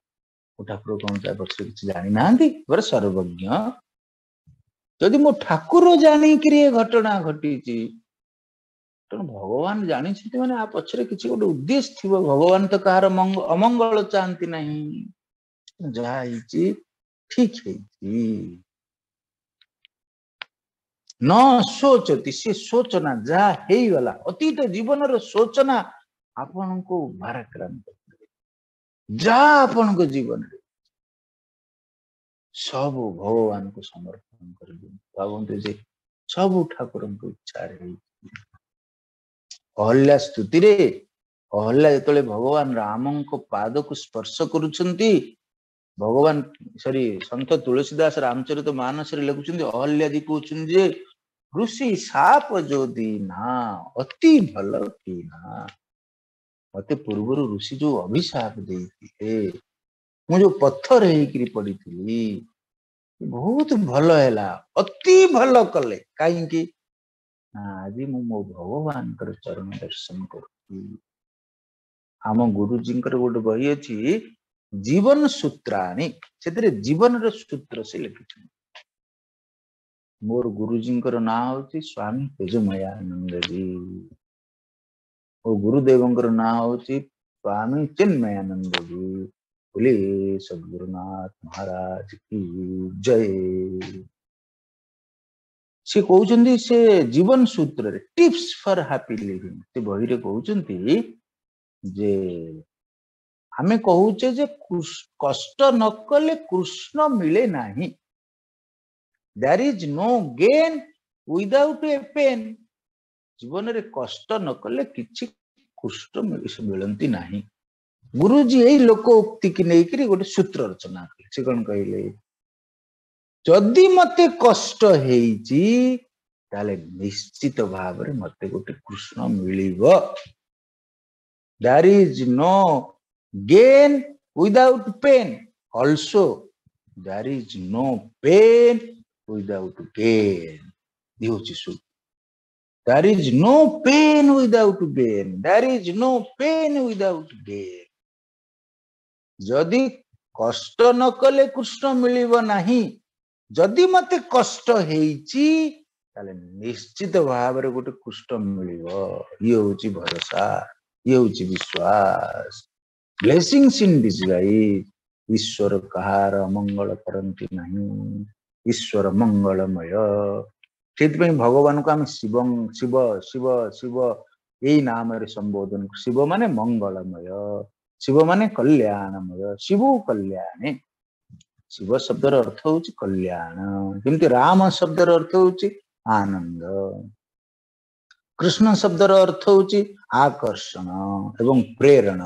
ମୋ ଠାକୁର କଣ ତା ପଛରେ କିଛି ଜାଣିନାହାନ୍ତି? ପରେ ସର୍ବଜ୍ଞ। ଯଦି ମୋ ଠାକୁର ଜାଣିକିରି ଏ ଘଟଣା ଘଟିଛି, ତେଣୁ ଭଗବାନ ଜାଣିଛନ୍ତି ମାନେ ଆ ପଛରେ କିଛି ଗୋଟେ ଉଦ୍ଦେଶ୍ୟ ଥିବ। ଭଗବାନ ତ କାହାର ଅମଙ୍ଗଳ ଚାହାନ୍ତି ନାହିଁ। ଯାହା ହେଇଛି ଠିକ ହେଇଛି। ନ ଶୋଚତି, ସେ ଶୋଚନା ଯାହା ହେଇଗଲା ଅତୀତ ଜୀବନର ଶୋଚନା ଆପଣଙ୍କୁ ଭାରାକ୍ରାନ୍ତ କରେ। ଯାହା ଆପଣଙ୍କ ଜୀବନରେ ସବୁ ଭଗବାନଙ୍କୁ ସମର୍ପଣ କରିଦିଅନ୍ତୁ। ଭାବନ୍ତୁ ଯେ ସବୁ ଠାକୁରଙ୍କ ଇଚ୍ଛାରେ ହେଇଛି। ଅହଲ୍ୟା ସ୍ତୁତିରେ ଅହଲ୍ୟା ଯେତେବେଳେ ଭଗବାନ ରାମଙ୍କ ପାଦକୁ ସ୍ପର୍ଶ କରୁଛନ୍ତି, ଭଗବାନ ସରି ସନ୍ଥ ତୁଳସୀ ଦାସ ରାମଚରିତ ମାନସରେ ଲେଖୁଛନ୍ତି, ଅହଲ୍ୟାଜୀ କହୁଛନ୍ତି ଯେ ଋଷି ସାପ ଯଦି ନା ଅତି ଭଲ କି ନା, ମତେ ପୂର୍ବରୁ ଋଷି ଯୋଉ ଅଭିଶାପ ଦେଇଥିଲେ, ମୁଁ ଯୋଉ ପଥର ହେଇକିରି ପଡିଥିଲି, ବହୁତ ଭଲ ହେଲା, ଅତି ଭଲ କଲେ। କାହିଁକି ନା ଆଜି ମୁଁ ମୋ ଭଗବାନଙ୍କର ଚରଣ ଦର୍ଶନ କରୁଛି। ଆମ ଗୁରୁଜୀଙ୍କର ଗୋଟେ ବହି ଅଛି ଜୀବନ ସୂତ୍ରାଣୀ, ସେଥିରେ ଜୀବନର ସୂତ୍ର ସେ ଲେଖିଛନ୍ତି। ମୋର ଗୁରୁଜୀଙ୍କର ନାଁ ହଉଛି ସ୍ୱାମୀ ତେଜମୟାନନ୍ଦଜୀ, ମୋ ଗୁରୁଦେବଙ୍କର ନାଁ ହଉଛି ସ୍ୱାମୀ ଚିନ୍ମୟାନନ୍ଦଜୀ। ବୋଲେ ସଦ୍ଗୁରୁନାଥ ମହାରାଜ କି ଜୟ। ସେ କହୁଛନ୍ତି ସେ ଜୀବନ ସୂତ୍ରରେ ଟିପ୍ସ ଫର ହାପି ଲିଭିଂ, ସେ ବହିରେ କହୁଛନ୍ତି ଯେ ଆମେ କହୁଛେ ଯେ କଷ୍ଟ ନ କଲେ କୃଷ୍ଣ ମିଳେ ନାହିଁ। There is no gain without a pain. ଜୀବନରେ କଷ୍ଟ ନ କଲେ କିଛି କୃଷ୍ଣ ମିଳନ୍ତି ନାହିଁ। ଗୁରୁଜୀ ଏଇ ଲୋକ ଉକ୍ତିକି ନେଇକିରି ଗୋଟେ ସୂତ୍ର ରଚନା କଲେ। ସେ କଣ କହିଲେ, ଯଦି ମତେ କଷ୍ଟ ହେଇଛି ତାହେଲେ ନିଶ୍ଚିତ ଭାବରେ ମତେ ଗୋଟେ କୃଷ୍ଣ ମିଳିବ। There is no gain without pain. Also, there is no pain without gain. ଇଏ ହଉଛି ସୂତ୍ର। There is no pain without gain. There is no pain without gain. ଯଦି କଷ୍ଟ ନ କଲେ କୃଷ୍ଣ ମିଳିବ ନାହିଁ, ଯଦି ମତେ କଷ୍ଟ ହେଇଛି ତାହେଲେ ନିଶ୍ଚିତ ଭାବରେ ଗୋଟେ କୃଷ୍ଣ ମିଳିବ। ଇଏ ହଉଛି ଭରସା, ଇଏ ହଉଛି ବିଶ୍ୱାସ। Blessings in disguise. ଈଶ୍ୱର କାହାର ଅମଙ୍ଗଳ କରନ୍ତି ନାହିଁ, ଈଶ୍ୱର ମଙ୍ଗଳମୟ। ସେଇଥିପାଇଁ ଭଗବାନଙ୍କୁ ଆମେ ଶିବ ଶିବ ଶିବ ଶିବ ଏଇ ନାମରେ ସମ୍ବୋଧନ କରୁ। ଶିବ ମାନେ ମଙ୍ଗଳମୟ, ଶିବ ମାନେ କଲ୍ୟାଣମୟ, ଶିବ କଲ୍ୟାଣେ। ଶିବ ଶବ୍ଦର ଅର୍ଥ ହଉଛି କଲ୍ୟାଣ, ଯେମିତି ରାମ ଶବ୍ଦର ଅର୍ଥ ହଉଛି ଆନନ୍ଦ, କୃଷ୍ଣ ଶବ୍ଦର ଅର୍ଥ ହଉଛି ଆକର୍ଷଣ ଏବଂ ପ୍ରେରଣ।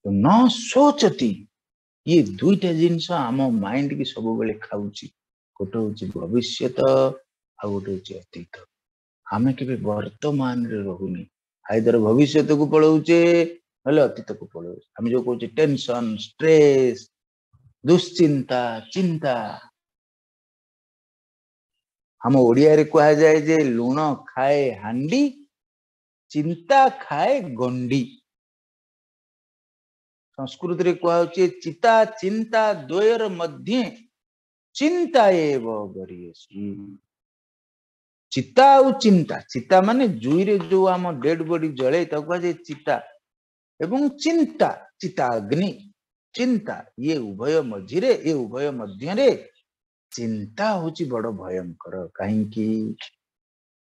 ନ ଶୋଚତି, ଇଏ ଦୁଇଟା ଜିନିଷ ଆମ ମାଇଣ୍ଡ କି ସବୁବେଳେ ଖାଉଛି। ଗୋଟେ ହଉଛି ଭବିଷ୍ୟତ, ଆଉ ଗୋଟେ ହଉଛି ଅତୀତ। ଆମେ କେବେ ବର୍ତ୍ତମାନରେ ରହୁନି, ଆଇଦର ଭବିଷ୍ୟତକୁ ପଳଉଛେ ନହେଲେ ଅତୀତକୁ ପଳଉଛେ। ଆମେ ଯୋଉ କହୁଛେ ଟେନସନ, ଷ୍ଟ୍ରେସ, ଦୁଶ୍ଚିନ୍ତା, ଚିନ୍ତା। ଆମ ଓଡିଆରେ କୁହାଯାଏ ଯେ ଲୁଣ ଖାଏ ହାଣ୍ଡି, ଚିନ୍ତା ଖାଏ ଗଣ୍ଡି। ସଂସ୍କୃତରେ କୁହାହଉଛି ଚିତା ଚିନ୍ତା ଦ୍ୱୟର ମଧ୍ୟେ ଚିନ୍ତା ଏବ ଗରୀୟସୀ। ଚିତା ଆଉ ଚିନ୍ତା, ଚିତା ମାନେ ଜୁଇରେ ଯୋଉ ଆମ ଡେଡ ବଡି ଜଳେ ତାକୁ କୁହାଯାଏ ଚିତା, ଏବଂ ଚିନ୍ତା, ଚିତା ଅଗ୍ନି, ଚିନ୍ତା, ଇଏ ଉଭୟ ମଝିରେ, ଏ ଉଭୟ ମଧ୍ୟରେ ଚିନ୍ତା ହଉଛି ବଡ ଭୟଙ୍କର। କାହିଁକି?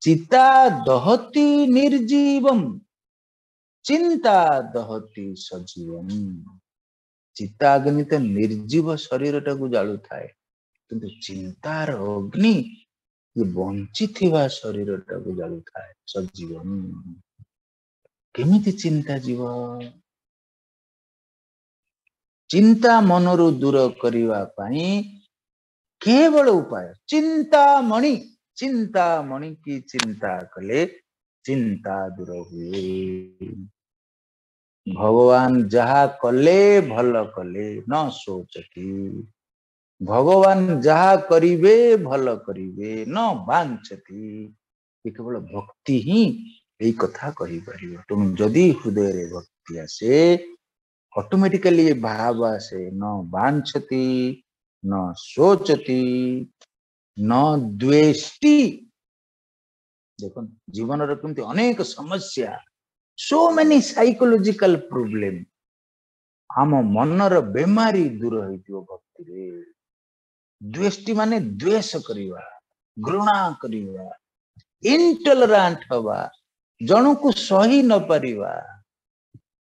ଚିତା ଦହତି ନିର୍ଜୀବମ, ଚିନ୍ତା ଦହତି ସଜୀବମ। ଚିତା ଅଗ୍ନି ତ ନିର୍ଜୀବ ଶରୀରଟାକୁ ଜାଳୁଥାଏ, କିନ୍ତୁ ଚିନ୍ତାର ଅଗ୍ନି ଇଏ ବଞ୍ଚିଥିବା ଶରୀରଟାକୁ ଜାଳୁଥାଏ, ସଜୀବନ। କେମିତି ଚିନ୍ତା ଯିବ? ଚିନ୍ତା ମନରୁ ଦୂର କରିବା ପାଇଁ କେବଳ ଉପାୟ ଚିନ୍ତାମଣି। ଚିନ୍ତାମଣି କି ଚିନ୍ତା କଲେ ଚିନ୍ତା ଦୂର ହୁଏ। ଭଗବାନ ଯାହା କଲେ ଭଲ କଲେ, ନ ଶୋଚତି। ଭଗବାନ ଯାହା କରିବେ ଭଲ କରିବେ, ନ ବାଞ୍ଚତି। ଏ କେବଳ ଭକ୍ତି ହିଁ ଏଇ କଥା କହିପାରିବ। ତେଣୁ ଯଦି ହୃଦୟରେ ଭକ୍ତି ଆସେ, ଅଟୋମେଟିକାଲି ଏ ଭାବ ଆସେ, ନ ବାଞ୍ଚତି, ନ ଶୋଚତି, ନ ଦ୍ୱେଷ୍ଟି। ଦେଖନ୍ତୁ ଜୀବନର କେମିତି ଅନେକ ସମସ୍ୟା, ସୋ ମେନି ସାଇକୋଲୋଜିକାଲ ପ୍ରୋବ୍ଲେମ, ଆମ ମନର ବେମାରୀ ଦୂର ହେଇଯିବ ଭକ୍ତିରେ। ଦ୍ୱେଷ୍ଟି ମାନେ ଦ୍ୱେଷ କରିବା, ଘୃଣା କରିବା, ଇନଟଲରାଣ୍ଟ ହବା, ଜଣକୁ ସହି ନ ପାରିବା,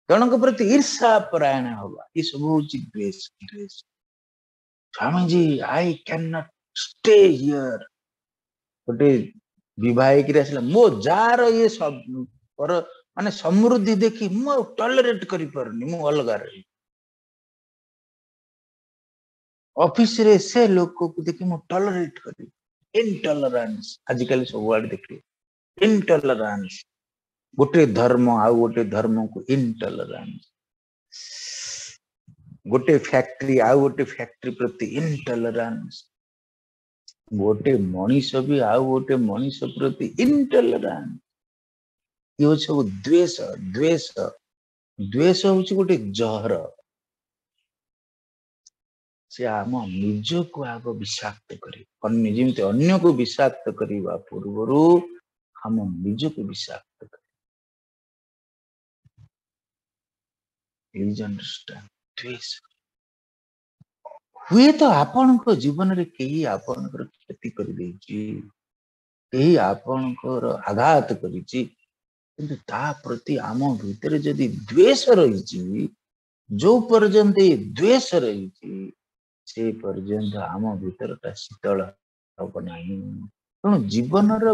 ଜଣଙ୍କ ପ୍ରତି ଈର୍ଷା ପରାୟଣ ହବା, ଏସବୁ ହଉଛି ଦ୍ୱେଷ। ଦ୍ୱେଷ। Swamiji, I can not stay here. ଗୋଟେ ବିବାହ ହେଇକିରି ଆସିଲା, ମୋ ଯାର ଇଏ ପର ମାନେ ସମୃଦ୍ଧି ଦେଖି ମୁଁ ଆଉ ଟଲରେଟ କରିପାରୁନି, ମୁଁ ଅଲଗା ରହିବି। ଅଫିସରେ ସେ ଲୋକକୁ ଦେଖି ମୁଁ ଟଲରେଟ କରିବି। ଇନଟଲରାନ୍ସ ଆଜିକାଲି ସବୁଆଡେ ଦେଖିବେ, ଇନଟଲରାନ୍ସ। ଗୋଟେ ଧର୍ମ ଆଉ ଗୋଟେ ଧର୍ମକୁ ଇନଟଲରାନ୍ସ, ଗୋଟେ ଫ୍ୟାକ୍ଟ୍ରି ଆଉ ଗୋଟେ ଫ୍ୟାକ୍ଟ୍ରି ପ୍ରତି ଇନଟଲରାନ୍ସ, ଗୋଟେ ମଣିଷ ବି ଆଉ ଗୋଟେ ମଣିଷ ପ୍ରତି ଇନଟଲରାନ୍ସ। ଇଏ ହଉଛି ସବୁ ଦ୍ୱେଷ। ଦ୍ୱେଷ, ଦ୍ୱେଷ ହଉଛି ଗୋଟେ ଜହର। ସେ ଆମ ନିଜକୁ ଆଗ ବିଷାକ୍ତ କରିବ। ଅନ୍ୟ ଯେମିତି ଅନ୍ୟକୁ ବିଷାକ୍ତ କରିବା ପୂର୍ବରୁ ଆମ ନିଜକୁ ବିଷାକ୍ତ କରିବ। Please understand, ଦ୍ୱେଷ। ହୁଏତ ଆପଣଙ୍କ ଜୀବନରେ କେହି ଆପଣଙ୍କର କ୍ଷତି କରିଦେଇଛି, କେହି ଆପଣଙ୍କର ଆଘାତ କରିଛି, କିନ୍ତୁ ତା ପ୍ରତି ଆମ ଭିତରେ ଯଦି ଦ୍ୱେଷ ରହିଛି, ଯୋଉ ପର୍ଯ୍ୟନ୍ତ ଏ ଦ୍ୱେଷ ରହିଛି ସେ ପର୍ଯ୍ୟନ୍ତ ଆମ ଭିତରଟା ଶୀତଳ ହବ ନାହିଁ। ତେଣୁ ଜୀବନର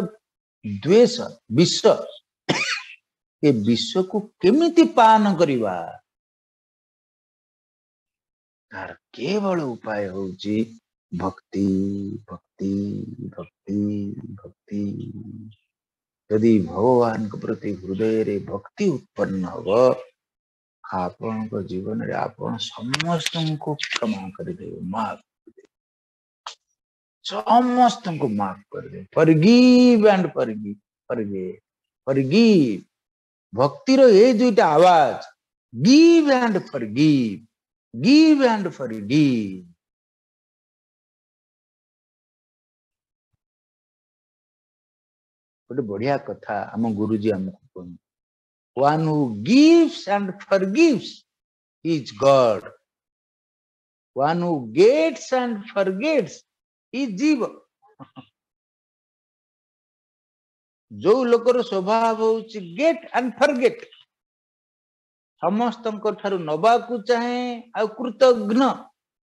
ଦ୍ୱେଷ, ବିଷ, ଏ ବିଷକୁ କେମିତି ପାନ କରିବା, ତାର କେବଳ ଉପାୟ ହଉଛି ଭକ୍ତି, ଭକ୍ତି, ଭକ୍ତି, ଭକ୍ତି। ଯଦି ଭଗବାନଙ୍କ ପ୍ରତି ହୃଦୟରେ ଭକ୍ତି ଉତ୍ପନ୍ନ ହବ, ଆପଣଙ୍କ ଜୀବନରେ ଆପଣ ସମସ୍ତଙ୍କୁ କ୍ଷମା କରିଦେବେ, ମାଫ କରିଦେବେ, ସମସ୍ତଙ୍କୁ ମାଫ କରିଦେବେ। Forgive and forgive, forgive, forgive। ଭକ୍ତିର ଏଇ ଦୁଇଟା Awaaz, give and forgive, give and forgive। ଗୋଟେ ବଢିଆ କଥା ଆମ ଗୁରୁଜୀ ଆମକୁ କୁହନ୍ତି, one who gives and forgives is God, one who gets and forgets is ଜୀବ। ଯୋଉ ଲୋକର ସ୍ୱଭାବ ହଉଛି ଗେଟ୍ ଆଣ୍ଡ ଫରଗେଟ୍, ସମସ୍ତଙ୍କ ଠାରୁ ନବାକୁ ଚାହେଁ ଆଉ କୃତଘ୍ନ,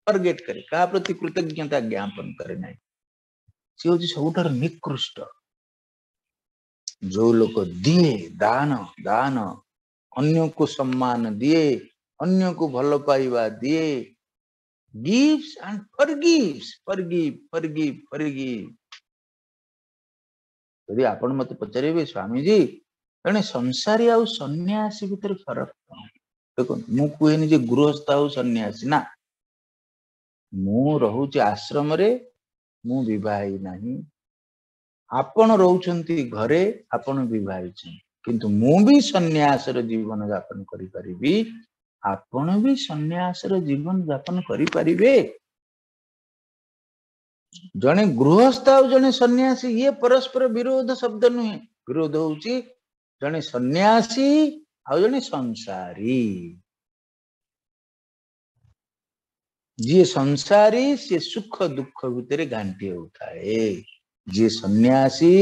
ଫରଗେଟ୍ କରେ, କାହା ପ୍ରତି କୃତଜ୍ଞତା ଜ୍ଞାପନ କରେ ନାହିଁ, ସେ ହଉଛି ସବୁଠାରୁ ନିକୃଷ୍ଟ। ଯୋଉ ଲୋକ ଦିଏ ଦାନ, ଦାନ, ଅନ୍ୟକୁ ସମ୍ମାନ ଦିଏ, ଅନ୍ୟକୁ ଭଲ ପାଇବା ଦିଏ, gives and forgives, forgive, forgive, forgive। ଯଦି ଆପଣ ମତେ ପଚାରିବେ, ସ୍ୱାମୀଜୀ ଜଣେ ସଂସାରୀ ଆଉ ସନ୍ନ୍ୟାସୀ ଭିତରେ ଫରକ କଣ? ଦେଖନ୍ତୁ, ମୁଁ କୁହେନି ଯେ ଗୃହସ୍ଥ ଆଉ ସନ୍ନ୍ୟାସୀ, ନା, ମୁଁ ରହୁଛି ଆଶ୍ରମରେ, ମୁଁ ବିବାହ ନାହିଁ। ଆପଣ ରହୁଛନ୍ତି ଘରେ, ଆପଣ ବିବାହ ହେଇଛନ୍ତି, କିନ୍ତୁ ମୁଁ ବି ସନ୍ନ୍ୟାସର ଜୀବନ ଯାପନ କରିପାରିବି, ଆପଣ ବି ସନ୍ନ୍ୟାସର ଜୀବନ ଯାପନ କରିପାରିବେ। ଜଣେ ଗୃହସ୍ଥ ଆଉ ଜଣେ ସନ୍ନ୍ୟାସୀ ଇଏ ପରସ୍ପର ବିରୋଧ ଶବ୍ଦ ନୁହେଁ। ବିରୋଧ ହଉଛି ଜଣେ ସନ୍ନ୍ୟାସୀ ଆଉ ଜଣେ ସଂସାରୀ। ଯିଏ ସଂସାରୀ ସିଏ ସୁଖ ଦୁଃଖ ଭିତରେ ଘାଣ୍ଟି ହେଉଥାଏ, ଯିଏ ସନ୍ନ୍ୟାସୀ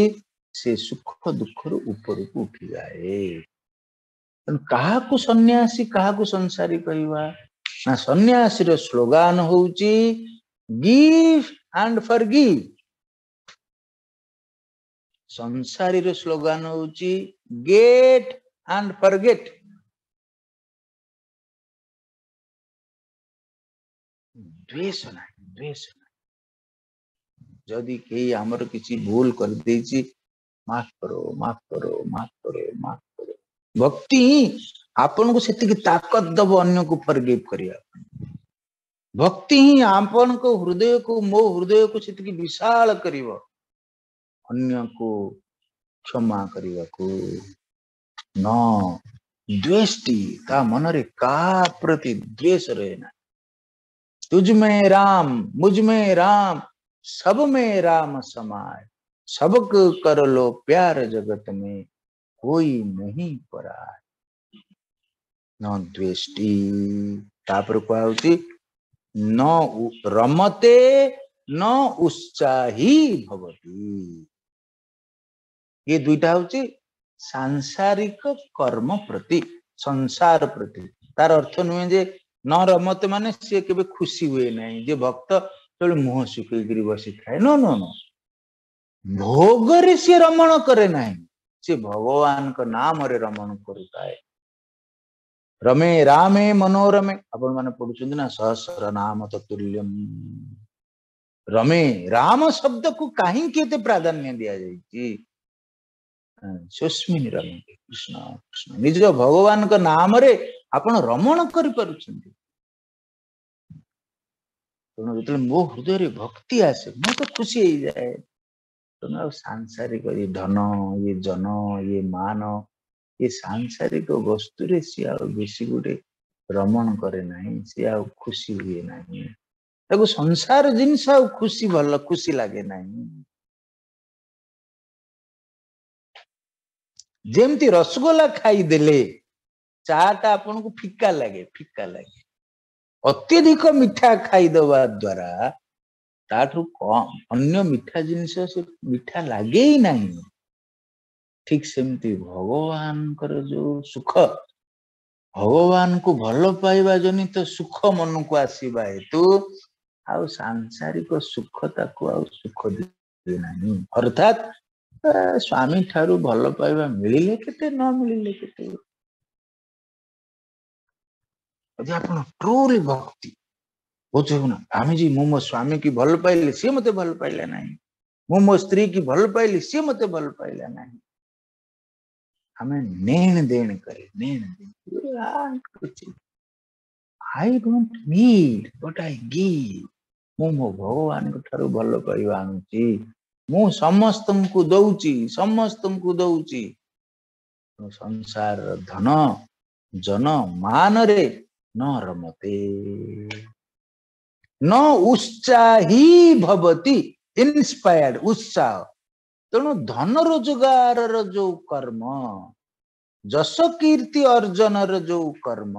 ସେ ସୁଖ ଦୁଃଖରୁ ଉପରକୁ ଉଠିଯାଏ। ତେଣୁ କାହାକୁ ସନ୍ନ୍ୟାସୀ କାହାକୁ ସଂସାରୀ କହିବା ନା, ସନ୍ନ୍ୟାସୀର ସ୍ଲୋଗାନ ହଉଛି ଗିଭ୍ ଆଣ୍ଡ ଫରଗିଭ୍। ସଂସାରୀର ସ୍ଲୋଗାନ ହଉଛି ଗେଟ୍ ଆଣ୍ଡ ଫରଗେଟ୍। ଦ୍ୱେଷ ନାହିଁ, ଦ୍ୱେଷ ନାହିଁ। ଯଦି କେହି ଆମର କିଛି ଭୁଲ କରିଦେଇଛି, ମାଫ କରୋ, ମାଫ କରୋ, ମାଫ କରୋ, ମାଫ କରୋ। ଭକ୍ତି ହିଁ ଆପଣଙ୍କୁ ସେତିକି ତାକତ ଦବ ଅନ୍ୟକୁ ଫରଗିଭ୍ କରିବା ପାଇଁ। ଭକ୍ତି ହିଁ ଆପଣଙ୍କ ହୃଦୟକୁ, ମୋ ହୃଦୟକୁ ସେତିକି ବିଶାଳ କରିବ ଅନ୍ୟକୁ କ୍ଷମା କରିବାକୁ। ନ ଦ୍ୱେଷ୍ଟି, ତା ମନରେ କାହା ପ୍ରତି ଦ୍ୱେଷ ରହେ ନା। ତୁଝ ମେ ରାମ, ମୁଝ ମେ ରାମ, ସବ ମେ ରାମ ସମାୟ, ସବକୁ କର ଲୋ ପ୍ୟାର ଜଗତ ମେ କୋଇ ନହିଁ ପରାୟ। ନ ଦ୍ୱେଷ୍ଟି। ତାପରେ କୁହାହଉଛି ନ ରମତେ ନ ଉତ୍ସାହୀ ଭବତି। ଏ ଦୁଇଟା ହଉଛି ସାଂସାରିକ କର୍ମ ପ୍ରତି, ସଂସାର ପ୍ରତି। ତାର ଅର୍ଥ ନୁହେଁ ଯେ ନ ରମତେ ମାନେ ସିଏ କେବେ ଖୁସି ହୁଏ ନାହିଁ, ଯେ ଭକ୍ତ କେବଳ ମୁହଁ ଶୁଖେଇକିରି ବସିଥାଏ। ନ, ନ, ନ, ଭୋଗରେ ସିଏ ରମଣ କରେ ନାହିଁ, ସିଏ ଭଗବାନଙ୍କ ନାମରେ ରମଣ କରୁଥାଏ। ରମେ ରାମେ ମନୋରମେ, ଆପଣ ମାନେ ପଢୁଛନ୍ତି ନା ସହସ୍ର ନାମ ତତୁଲ୍ୟମ। ରମେ ରାମ ଶବ୍ଦକୁ କାହିଁକି ଏତେ ପ୍ରାଧାନ୍ୟ ଦିଆଯାଇଛି? ସୁସ୍ମିନ ରମେ, କୃଷ୍ଣ କୃଷ୍ଣ, ନିଜ ଭଗବାନଙ୍କ ନାମରେ ଆପଣ ରମଣ କରିପାରୁଛନ୍ତି। ତେଣୁ ଯେତେବେଳେ ମୋ ହୃଦୟରେ ଭକ୍ତି ଆସେ, ମୁଁ ତ ଖୁସି ହେଇଯାଏ। ତେଣୁ ଆଉ ସାଂସାରିକ ଏ ଧନ, ଇଏ ଜନ, ଇଏ ମାନ, ଏ ସାଂସାରିକ ବସ୍ତୁରେ ସିଏ ଆଉ ବେଶୀ ଗୋଟେ ରମଣ କରେ ନାହିଁ, ସିଏ ଆଉ ଖୁସି ହୁଏ ନାହିଁ। ତାକୁ ସଂସାର ଜିନିଷ ଆଉ ଖୁସି ଭଲ ଖୁସି ଲାଗେ ନାହିଁ। ଯେମିତି ରସଗୋଲା ଖାଇଦେଲେ ଚା ଟା ଆପଣଙ୍କୁ ଫିକା ଲାଗେ, ଫିକା ଲାଗେ। ଅତ୍ୟଧିକ ମିଠା ଖାଇଦବା ଦ୍ଵାରା ତାଠୁ କମ ଅନ୍ୟ ମିଠା ଜିନିଷ ସେ ମିଠା ଲାଗେ ହିଁ ନାହିଁ। ଠିକ ସେମିତି ଭଗବାନଙ୍କର ଯୋଉ ସୁଖ, ଭଗବାନଙ୍କୁ ଭଲ ପାଇବା ଜନିତ ସୁଖ ମନକୁ ଆସିବା ହେତୁ ଆଉ ସାଂସାରିକ ସୁଖ ତାକୁ ଆଉ ସୁଖ ଦିଏ ନାହିଁ। ଅର୍ଥାତ୍ ସ୍ୱାମୀ ଠାରୁ ଭଲ ପାଇବା ମିଳିଲେ କେତେ, ନ ମିଳିଲେ କେତେ। ଯଦି ଆପଣ ଟ୍ରୁଲି ଭକ୍ତି ବୁଝିବୁ ନା, ସ୍ୱାମୀଜୀ ମୁଁ ମୋ ସ୍ୱାମୀ କି ଭଲ ପାଇଲି, ସିଏ ମତେ ଭଲ ପାଇଲା ନାହିଁ, ମୁଁ ମୋ ସ୍ତ୍ରୀ କି ଭଲ ପାଇଲି, ସିଏ ମତେ ଭଲ ପାଇଲା ନାହିଁ, ଆମେ ନେଣ ଦେଣ କରେ, ନେଣ ଦେଣ। I don't need but I give. ମୁଁ ମୋ ଭଗବାନଙ୍କ ଠାରୁ ଭଲ ପାଇବା ଆଣୁଛି, ମୁଁ ସମସ୍ତଙ୍କୁ ଦଉଛି, ସମସ୍ତଙ୍କୁ ଦଉଛି। ସଂସାରର ଧନ ଜନ ମାନରେ ନ ରମତେ, ନ ଉତ୍ସାହୀ ଭବତି, ଇନ୍ସପାୟାର୍ଡ ଉତ୍ସାହ। ତେଣୁ ଧନ ରୋଜଗାରର ଯୋଉ କର୍ମ, ଯଶ କୀର୍ତ୍ତି ଅର୍ଜନର ଯୋଉ କର୍ମ,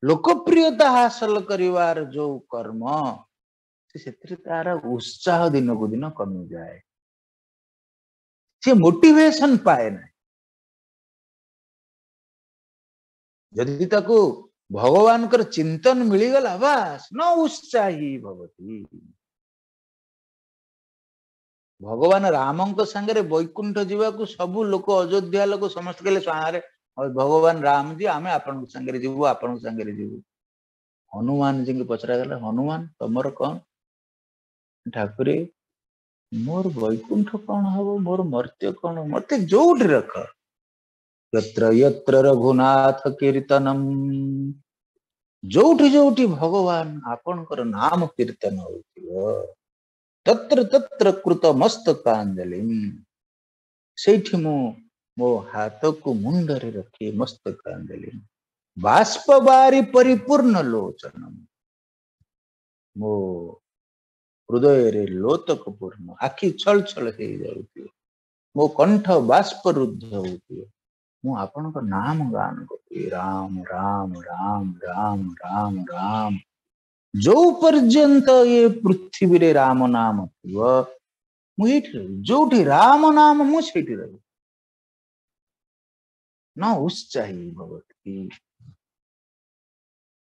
ଲୋକପ୍ରିୟତା ହାସଲ କରିବାର ଯୋଉ କର୍ମ, ସେଥିରେ ତାର ଉତ୍ସାହ ଦିନକୁ ଦିନ କମିଯାଏ, ସେ ମୋଟିଭେସନ ପାଏ ନାହିଁ। ଯଦି ତାକୁ ଭଗବାନଙ୍କର ଚିନ୍ତନ ମିଳିଗଲା, ବାସ୍, ନ ଉତ୍ସାହୀ ଭବତି। ଭଗବାନ ରାମଙ୍କ ସାଙ୍ଗରେ ବୈକୁଣ୍ଠ ଯିବାକୁ ସବୁ ଲୋକ, ଅଯୋଧ୍ୟା ଲୋକ ସମସ୍ତେ କହିଲେ, ସାରେ ଭଗବାନ ରାମଜୀ ଆମେ ଆପଣଙ୍କ ସାଙ୍ଗରେ ଯିବୁ, ଆପଣଙ୍କ ସାଙ୍ଗରେ ଯିବୁ। ହନୁମାନଜୀଙ୍କୁ ପଚରାଗଲା, ହନୁମାନ ତମର କଣ? ଠାକୁରେ ମୋର ବୈକୁଣ୍ଠ କଣ ହବ, ମୋର ମର୍ତ୍ତ୍ୟ କଣ, ମତେ ଯୋଉଠି ରଖ। ଯତ୍ର ଯତ୍ର ରଘୁନାଥ କୀର୍ତ୍ତନମ୍, ଯୋଉଠି ଯୋଉଠି ଭଗବାନ ଆପଣଙ୍କର ନାମ କୀର୍ତ୍ତନ ହଉଥିବ, ତତ୍ର ତତ୍ର କୃତ ମସ୍ତକାଞ୍ଜଳିମ୍, ସେଇଠି ମୁଁ ମୋ ହାତକୁ ମୁଣ୍ଡରେ ରଖି ମସ୍ତକାଞ୍ଜଳି, ବାଷ୍ପବାରି ପରିପୂର୍ଣ୍ଣ ଲୋଚନମ୍, ମୋ ହୃଦୟରେ ଲୋତକ ପୂର୍ଣ୍ଣ, ଆଖି ଛଳ ଛଳ ହେଇଯାଉଥିବ, ମୋ କଣ୍ଠ ବାଷ୍ପରୁଦ୍ଧ ହଉଥିବ, ମୁଁ ଆପଣଙ୍କ ନାମ ଗାନ କରୁଥିବି, ରାମ ରାମ ରାମ ରାମ ରାମ ରାମ। ଯୋଉ ପର୍ଯ୍ୟନ୍ତ ଏ ପୃଥିବୀରେ ରାମ ନାମ ଥିବ ମୁଁ ଏଇଠି ରହିବି, ଯୋଉଠି ରାମ ନାମ ମୁଁ ସେଇଠି ରହିବି। ନ ଉତ୍ସାହୀ ଭବତି।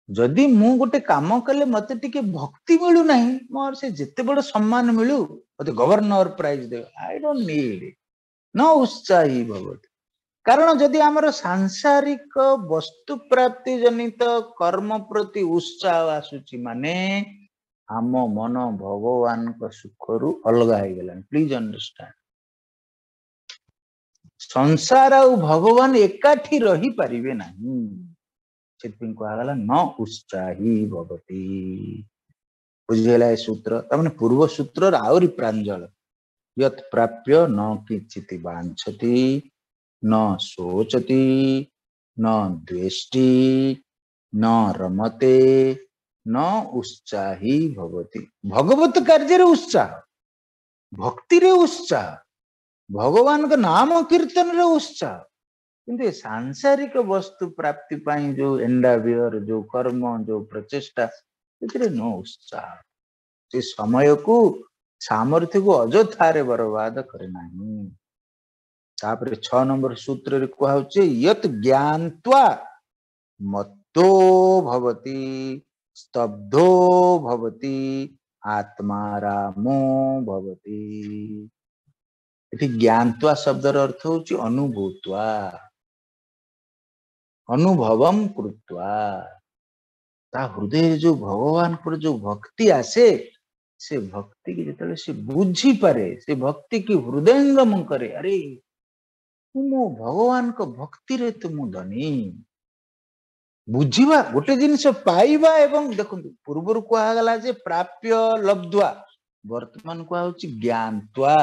ଯଦି ମୁଁ ଗୋଟେ କାମ କଲେ ମତେ ଟିକେ ଭକ୍ତି ମିଳୁନାହିଁ, ମୋର ସେ ଯେତେ ବଡ ସମ୍ମାନ ମିଳୁ, ମତେ ଗଭର୍ଣ୍ଣର ପ୍ରାଇଜ ଦେବେ, I don't need ଇଟ୍। ନ ଉତ୍ସାହୀ ଭବତି। କାରଣ ଯଦି ଆମର ସାଂସାରିକ ବସ୍ତୁ ପ୍ରାପ୍ତି ଜନିତ କର୍ମ ପ୍ରତି ଉତ୍ସାହ ଆସୁଛି, ମାନେ ଆମ ମନ ଭଗବାନଙ୍କ ସୁଖରୁ ଅଲଗା ହେଇଗଲାଣି। ପ୍ଲିଜ ଅଣ୍ଡରଷ୍ଟାଣ୍ଡ, ସଂସାର ଆଉ ଭଗବାନ ଏକାଠି ରହିପାରିବେ ନାହିଁ। ସେଥିପାଇଁ କୁହାଗଲା ନ ଉତ୍ସାହୀ ଭବତି। ବୁଝିହେଲା ଏ ସୂତ୍ର? ତାମାନେ ପୂର୍ବ ସୂତ୍ରର ଆହୁରି ପ୍ରାଞ୍ଜଳ। ୟତ୍ ପ୍ରାପ୍ୟ ନ କିଞ୍ଚିତ ବାଞ୍ଛତି, ନ ଶୋଚତି, ନ ଦ୍ୱେଷ୍ଟି, ନ ରମତେ, ନ ଉତ୍ସାହୀ ଭବତି। ଭଗବତ କାର୍ଯ୍ୟରେ ଉତ୍ସାହ, ଭକ୍ତିରେ ଉତ୍ସାହ, ଭଗବାନଙ୍କ ନାମ କୀର୍ତ୍ତନରେ ଉତ୍ସାହ, କିନ୍ତୁ ଏ ସାଂସାରିକ ବସ୍ତୁ ପ୍ରାପ୍ତି ପାଇଁ ଯୋଉ ଏଣ୍ଡାଭିୟର, ଯୋଉ କର୍ମ, ଯୋଉ ପ୍ରଚେଷ୍ଟା, ସେଥିରେ ନ ଉତ୍ସାହ। ସେ ସମୟକୁ, ସାମର୍ଥ୍ୟକୁ ଅଯଥାରେ ବରବାଦ କରେ ନାହିଁ। ତାପରେ 6 ନମ୍ବର ସୂତ୍ରରେ କୁହାହଉଛି ୟତ୍ ଜ୍ଞାତ୍ୱା ମତ୍ତୋ ଭବତି ସ୍ତବ୍ଧୋ ଭବତି ଆତ୍ମା ରାମୋ ଭବତି। ଏଠି ଜ୍ଞାତ୍ୱା ଶବ୍ଦର ଅର୍ଥ ହଉଛି ଅନୁଭୂତ୍ୱା, ଅନୁଭବಂ କୃତ୍ୱା। ତା ହୃଦୟରେ ଯୋଉ ଭଗବାନଙ୍କର ଯୋଉ ଭକ୍ତି ଆସେ, ସେ ଭକ୍ତିକି ଯେତେବେଳେ ସେ ବୁଝିପାରେ, ସେ ଭକ୍ତିକି ହୃଦୟଙ୍ଗମ କରେ, ଆରେ ମୁଁ ମୋ ଭଗବାନଙ୍କ ଭକ୍ତିରେ ତ ମୁଁ ଧନୀ। ବୁଝିବା ଗୋଟେ ଜିନିଷ ପାଇବା, ଏବଂ ଦେଖନ୍ତୁ ପୂର୍ବରୁ କୁହାଗଲା ଯେ ପ୍ରାପ୍ୟ ଲବ୍ଧ୍ୱା, ବର୍ତ୍ତମାନ କୁହାହଉଛି ଜ୍ଞାତ୍ୱା।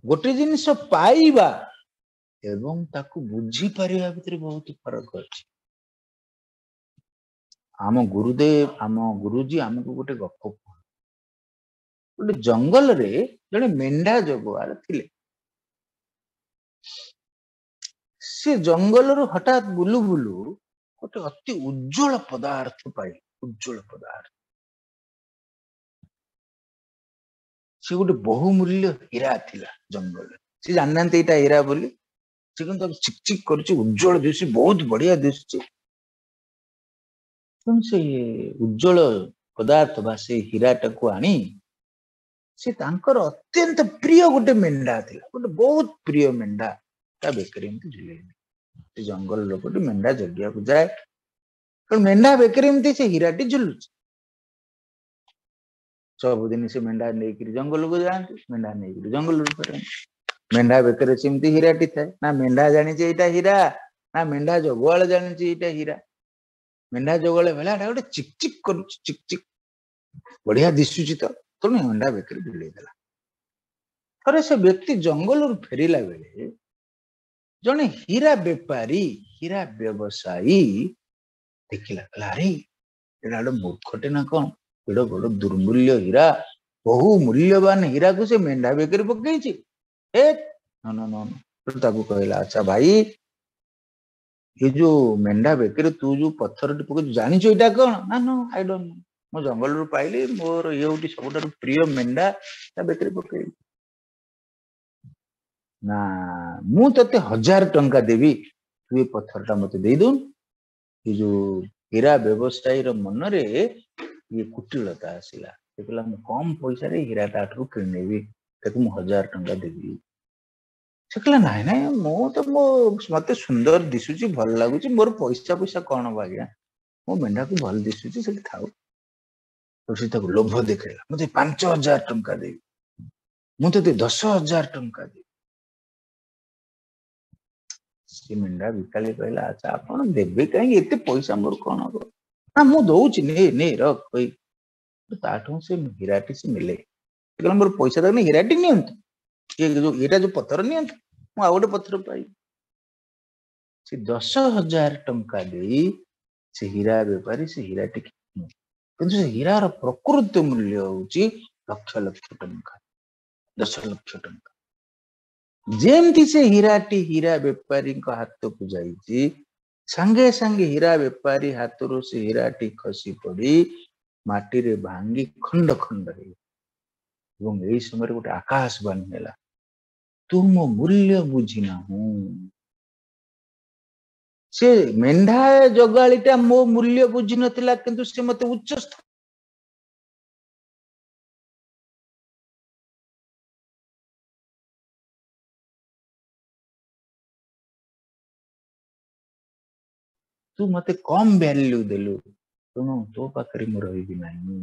ଗୋଟେ ଜିନିଷ ପାଇବା ଏବଂ ତାକୁ ବୁଝିପାରିବା ଭିତରେ ବହୁତ ଫରକ ଅଛି। ଆମ ଗୁରୁଦେବ, ଆମ ଗୁରୁଜୀ ଆମକୁ ଗୋଟେ ଗପ କୁହନ୍ତି। ଗୋଟେ ଜଙ୍ଗଲରେ ଜଣେ ମେଣ୍ଢା ଜଗୁଆଳ ଥିଲେ। ସେ ଜଙ୍ଗଲରୁ ହଠାତ୍ ବୁଲୁ ବୁଲୁ ଗୋଟେ ଅତି ଉଜ୍ଜଳ ପଦାର୍ଥ ପାଇଲେ। ଉଜ୍ଜଳ ପଦାର୍ଥ, ସେ ଗୋଟେ ବହୁମୂଲ୍ୟ ହୀରା ଥିଲା ଜଙ୍ଗଲରେ। ସେ ଜାଣିନାହାନ୍ତି ଏଇଟା ହୀରା ବୋଲି, ସେ କିନ୍ତୁ ତାକୁ ଚିକ୍ ଚିକ୍ କରୁଛି, ଉଜ୍ଜଳ ଦିଶୁଛି, ବହୁତ ବଢିଆ ଦିଶୁଛି। ତେଣୁ ସେ ଉଜ୍ଜଳ ପଦାର୍ଥ ବା ସେ ହୀରାଟାକୁ ଆଣି ସେ ତାଙ୍କର ଅତ୍ୟନ୍ତ ପ୍ରିୟ ଗୋଟେ ମେଣ୍ଢା ଥିଲା, ଗୋଟେ ବହୁତ ପ୍ରିୟ ମେଣ୍ଢା, ତା ବେକରେ ଏମିତି ଝୁଲେଇଲେ। ସେ ଜଙ୍ଗଲ ଲୋକଟି ମେଣ୍ଢା ଜଗିବାକୁ ଯାଏ, କାରଣ ମେଣ୍ଢା ବେକରେ ଏମିତି ସେ ହୀରାଟି ଝୁଲୁଛି। ସବୁଦିନ ସେ ମେଣ୍ଢା ନେଇକିରି ଜଙ୍ଗଲକୁ ଯାଆନ୍ତି, ମେଣ୍ଢା ନେଇକିରି ଜଙ୍ଗଲରୁ ଫେରନ୍ତି। ମେଣ୍ଢା ବେକରେ ସେମିତି ହୀରାଟି ଥାଏ। ନା ମେଣ୍ଢା ଜାଣିଛି ଏଇଟା ହୀରା, ନା ମେଣ୍ଢା ଜଗୁଆଳ ଜାଣିଛି ଏଇଟା ହୀରା। ମେଣ୍ଢା ଜଗୁଆଳ କହିଲା ଏଇଟା ଗୋଟେ ଚିକ୍ ଚିକ୍ କରୁଛି, ଚିକ୍ ଚିକ୍ ବଢିଆ ଦିଶୁଛି ତ, ତେଣୁ ମେଣ୍ଢା ବେକରେ ଝୁଲେଇ ଦେଲା। ଥରେ ସେ ବ୍ୟକ୍ତି ଜଙ୍ଗଲରୁ ଫେରିଲା ବେଳେ ଜଣେ ହୀରା ବେପାରୀ, ହୀରା ବ୍ୟବସାୟୀ ଦେଖିଲା, କହିଲା ଆରେ ଏଇଟା ଗୋଟେ ମୂର୍ଖଟେ ନା କଣ, ଏଇଟା ବଡ ଦୁର୍ମୂଲ୍ୟ ହୀରା, ବହୁ ମୂଲ୍ୟବାନ ହୀରାକୁ ସେ ମେଣ୍ଢା ବେକରେ ପକେଇଛି। ଏ ନ, ନ, ନ, ନ। ତାକୁ କହିଲା ଆଚ୍ଛା ଭାଇ, ଏ ଯୋଉ ମେଣ୍ଢା ବେକରେ ତୁ ଯୋଉ ପଥରଟି ପକେଇଛୁ, ଜାଣିଛୁ ଏଇଟା କଣ? ନା, ନ, I don't no, ମୁଁ ଜଙ୍ଗଲରୁ ପାଇଲି, ମୋର ଇଏ ହଉଛି ସବୁଠାରୁ ପ୍ରିୟ ମେଣ୍ଢା, ତା ବେକରେ ପକେଇଲି। ନା ମୁଁ ତତେ 1000 ଟଙ୍କା ଦେବି, ତୁ ଏ ପଥରଟା ମତେ ଦେଇଦଉନୁ। ଏ ଯୋଉ ହୀରା ବ୍ୟବସାୟୀର ମନରେ ଇଏ କୁଟିଳତା ଆସିଲା। ସେ କହିଲା ମୁଁ କମ ପଇସାରେ ହୀରା ତାଠୁ କିଣିନେବି, ତାକୁ ମୁଁ 1000 ଟଙ୍କା ଦେବି। ସେ କହିଲା ନାଇଁ ନାଇଁ, ମୁଁ ତ ମୋ ମତେ ସୁନ୍ଦର ଦିଶୁଛି, ଭଲ ଲାଗୁଛି, ମୋର ପଇସା ପଇସା କଣ ହବ ଆଜ୍ଞା, ମୋ ମେଣ୍ଢାକୁ ଭଲ ଦିଶୁଛି, ସେଠି ଥାଉ। ତ ସେ ତାକୁ ଲୋଭ ଦେଖେଇଲା, ମୁଁ ତତେ 5000 ଟଙ୍କା ଦେବି, ମୁଁ ତତେ 10,000 ଟଙ୍କା ଦେବି। ସେ ମେଣ୍ଢା ବିକାଳି କହିଲା ଆଚ୍ଛା ଆପଣ ଦେବେ କାହିଁକି, ଏତେ ପଇସା ମୋର କଣ ହବ? ନା ମୁଁ ଦଉଛି, ନେ ନେ ରଖ କହି। ତାଠୁ ସେ ହୀରାଟି ସେ ନେଲେ। ସେ କହିଲା ମୋର ପଇସା ଦରକାର, ହୀରାଟି ନିଅନ୍ତୁ, ଏଇଟା ଯୋଉ ପଥର ନିଅନ୍ତୁ, ମୁଁ ଆଉ ଗୋଟେ ପଥର ପାଇବି। ସେ 10,000 ଟଙ୍କା ଦେଇ ସେ ହୀରା ବେପାରୀ ସେ ହୀରାଟି କିଣିଲେ। କିନ୍ତୁ ସେ ହୀରାର ପ୍ରକୃତ ମୂଲ୍ୟ ହଉଛି ଲକ୍ଷ ଲକ୍ଷ ଟଙ୍କା, 10 ଲକ୍ଷ ଟଙ୍କା। ଯେମିତି ସେ ହୀରାଟି ହୀରା ବେପାରୀଙ୍କ ହାତକୁ ଯାଇଛି, ସାଙ୍ଗେ ସାଙ୍ଗେ ହୀରା ବେପାରୀ ହାତରୁ ସେ ହୀରାଟି ଖସି ପଡି ମାଟିରେ ଭାଙ୍ଗି ଖଣ୍ଡ ଖଣ୍ଡ ହେଇଗଲା। ଏବଂ ଏଇ ସମୟରେ ଗୋଟେ ଆକାଶବାଣୀ ହେଲା, ତୁ ମୋ ମୂଲ୍ୟ ବୁଝି ନାହୁଁ। ସେ ମେଣ୍ଢା ଜଗାଳିଟା ମୋ ମୂଲ୍ୟ ବୁଝି ନଥିଲା, କିନ୍ତୁ ସେ ମତେ ଉଚ୍ଚ ତୁ ମତେ କମ ଭ୍ୟାଲ୍ୟୁ ଦେଲୁ, ତେଣୁ ତୋ ପାଖରେ ମୁଁ ରହିବି ନାହିଁ।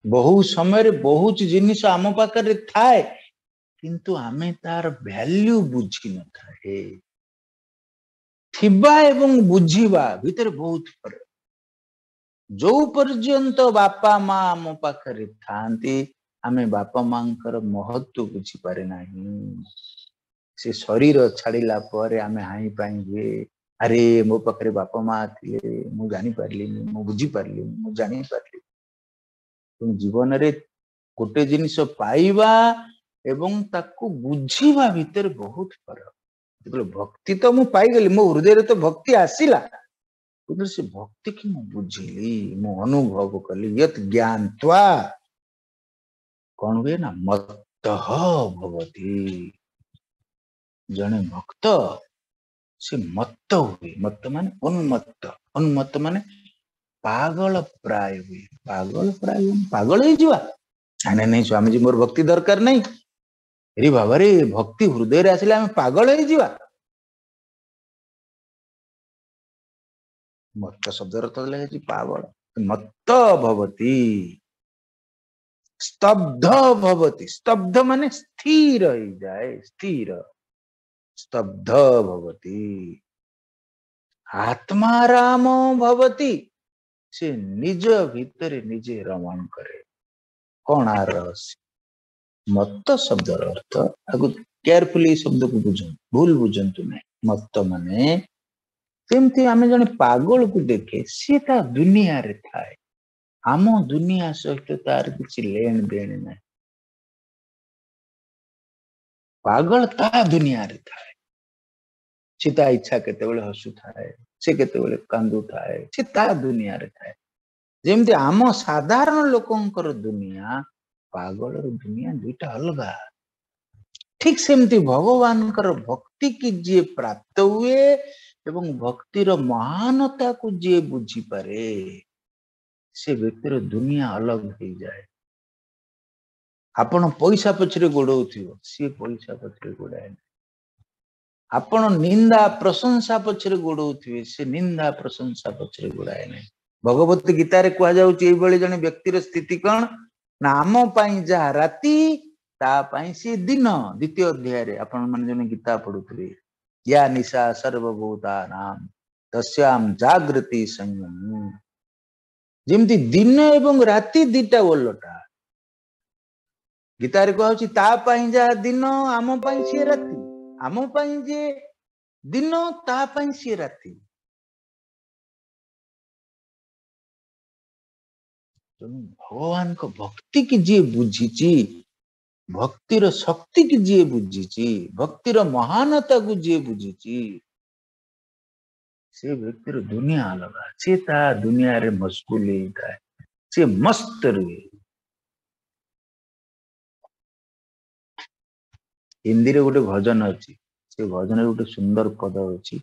ବହୁ ସମୟରେ ବହୁତ ଜିନିଷ ଆମ ପାଖରେ ଥାଏ, କିନ୍ତୁ ଆମେ ତାର ଭ୍ୟାଲ୍ୟୁ ବୁଝି ନଥାଏ। ଥିବା ଏବଂ ବୁଝିବା ଭିତରେ ବହୁତ ଫରକ। ଯୋଉ ପର୍ଯ୍ୟନ୍ତ ବାପା ମା ଆମ ପାଖରେ ଥାଆନ୍ତି, ଆମେ ବାପା ମାଙ୍କର ମହତ୍ଵ ବୁଝିପାରେ ନାହିଁ। ସେ ଶରୀର ଛାଡ଼ିଲା ପରେ ଆମେ ହାଇଁ ପାଇଁ ହୁଏ, ଆରେ ମୋ ପାଖରେ ବାପା ମା ଥିଲେ, ମୁଁ ଜାଣିପାରିଲିନି, ମୁଁ ବୁଝିପାରିଲିନି, ମୁଁ ଜାଣିପାରିଲିନି। ତେଣୁ ଜୀବନରେ ଗୋଟେ ଜିନିଷ ପାଇବା ଏବଂ ତାକୁ ବୁଝିବା ଭିତରେ ବହୁତ ଫରକ। ଯେତେବେଳେ ଭକ୍ତି ତ ମୁଁ ପାଇଗଲି, ମୋ ହୃଦୟରେ ତ ଭକ୍ତି ଆସିଲା, କିନ୍ତୁ ସେ ଭକ୍ତିକି ମୁଁ ବୁଝିଲି, ମୁଁ ଅନୁଭବ କଲି। ୟତ୍ ଜ୍ଞାତ୍ୱା କଣ ହୁଏ ନା ମତ୍ତଃ ଭବତି। ଜଣେ ଭକ୍ତ ସେ ମତ୍ତ ହୁଏ। ମତ୍ତ ମାନେ ଉନ୍ମତ୍ତ, ଉନ୍ମତ୍ତ ମାନେ ପାଗଳ ପ୍ରାୟ ହୁଏ। ପାଗଳ ପ୍ରାୟ ମାନେ ପାଗଳ ହେଇଯିବା। ନାଇଁ ନାଇଁ ନାଇଁ ସ୍ୱାମୀଜୀ ମୋର ଭକ୍ତି ଦରକାର ନାହିଁ। ଆରେ ବାବାରେ, ଭକ୍ତି ହୃଦୟରେ ଆସିଲେ ଆମେ ପାଗଳ ହେଇଯିବା। ମତ୍ତ ଶବ୍ଦର ଅର୍ଥ ଲେଖା ପାଗଳ। ମତ୍ତ ଭବତି, ସ୍ତବ୍ଧ ଭବତି। ସ୍ତବ୍ଧ ମାନେ ସ୍ଥିର ହେଇଯାଏ, ସ୍ଥିର। ସ୍ତବ୍ଧ ଭବତି। ଆତ୍ମାରାମ ଭବତି, ସେ ନିଜ ଭିତରେ ନିଜେ ରମଣ କରେ। କଣ ଆର ରହସ୍ୟ? ମତ୍ତ ଶବ୍ଦର ଅର୍ଥ, ଆକୁ କେୟାରଫୁଲି ଏଇ ଶବ୍ଦକୁ ବୁଝନ୍ତୁ, ଭୁଲ ବୁଝନ୍ତୁ ନାହିଁ। ମତ୍ତ ମାନେ ଯେମିତି ଆମେ ଜଣେ ପାଗଳକୁ ଦେଖେ, ସିଏ ତା ଦୁନିଆରେ ଥାଏ, ଆମ ଦୁନିଆ ସହିତ ତାର କିଛି ଲେଣ ଦେଣ ନାହିଁ। ପାଗଳ ତା ଦୁନିଆରେ ଥାଏ, ସେ ତା ଇଚ୍ଛା କେତେବେଳେ ହସୁଥାଏ, ସେ କେତେବେଳେ କାନ୍ଦୁଥାଏ, ସେ ତା ଦୁନିଆରେ ଥାଏ। ଯେମିତି ଆମ ସାଧାରଣ ଲୋକଙ୍କର ଦୁନିଆ, ପାଗଳର ଦୁନିଆ ଦୁଇଟା ଅଲଗା। ଠିକ ସେମିତି ଭଗବାନଙ୍କର ଭକ୍ତି କି ଯିଏ ପ୍ରାପ୍ତ ହୁଏ ଏବଂ ଭକ୍ତିର ମହାନତାକୁ ଯିଏ ବୁଝିପାରେ, ସେ ବ୍ୟକ୍ତିର ଦୁନିଆ ଅଲଗ ହେଇଯାଏ। ଆପଣ ପଇସା ପଛରେ ଗୋଡଉଥିବ, ସିଏ ପଇସା ପଛରେ ଗୋଡାଏ ନାହିଁ। ଆପଣ ନିନ୍ଦା ପ୍ରଶଂସା ପଛରେ ଗୋଡଉଥିବେ, ସେ ନିନ୍ଦା ପ୍ରଶଂସା ପଛରେ ଗୋଡାଏ ନାହିଁ। ଭଗବତ ଗୀତାରେ କୁହାଯାଉଛି ଏଇଭଳି ଜଣେ ବ୍ୟକ୍ତିର ସ୍ଥିତି କଣ ନା, ଆମ ପାଇଁ ଯାହା ରାତି ତା ପାଇଁ ସିଏ ଦିନ। ଦ୍ୱିତୀୟ ଅଧ୍ୟାୟରେ ଆପଣ ମାନେ ଜଣେ ଗୀତା ପଢୁଥିବେ, ୟା ନିଶା ସର୍ବଭୂତାନାଂ ତସ୍ୟାಂ ଜାଗୃତି ସଂୟମୀ। ଯେମିତି ଦିନ ଏବଂ ରାତି ଦିଟା ଓଲଟା, ଗୀତାରେ କୁହାଯାଉଛି ତା ପାଇଁ ଯାହା ଦିନ ଆମ ପାଇଁ ସିଏ ରାତି, ଆମ ପାଇଁ ଯେ ଦିନ ତା ପାଇଁ ସିଏ ରାତି। ତେଣୁ ଭଗବାନଙ୍କ ଭକ୍ତି କି ଯିଏ ବୁଝିଛି, ଭକ୍ତିର ଶକ୍ତି କି ଯିଏ ବୁଝିଛି, ଭକ୍ତିର ମହାନତାକୁ ଯିଏ ବୁଝିଛି, ସେ ବ୍ୟକ୍ତିର ଦୁନିଆ ଅଲଗା। ସେ ତା ଦୁନିଆରେ ମସଗୁଲ ହେଇଥାଏ, ସେ ମସ୍ତ ରୁହେ। ହିନ୍ଦୀରେ ଗୋଟେ ଭଜନ ଅଛି, ସେ ଭଜନରେ ଗୋଟେ ସୁନ୍ଦର ପଦ ଅଛି,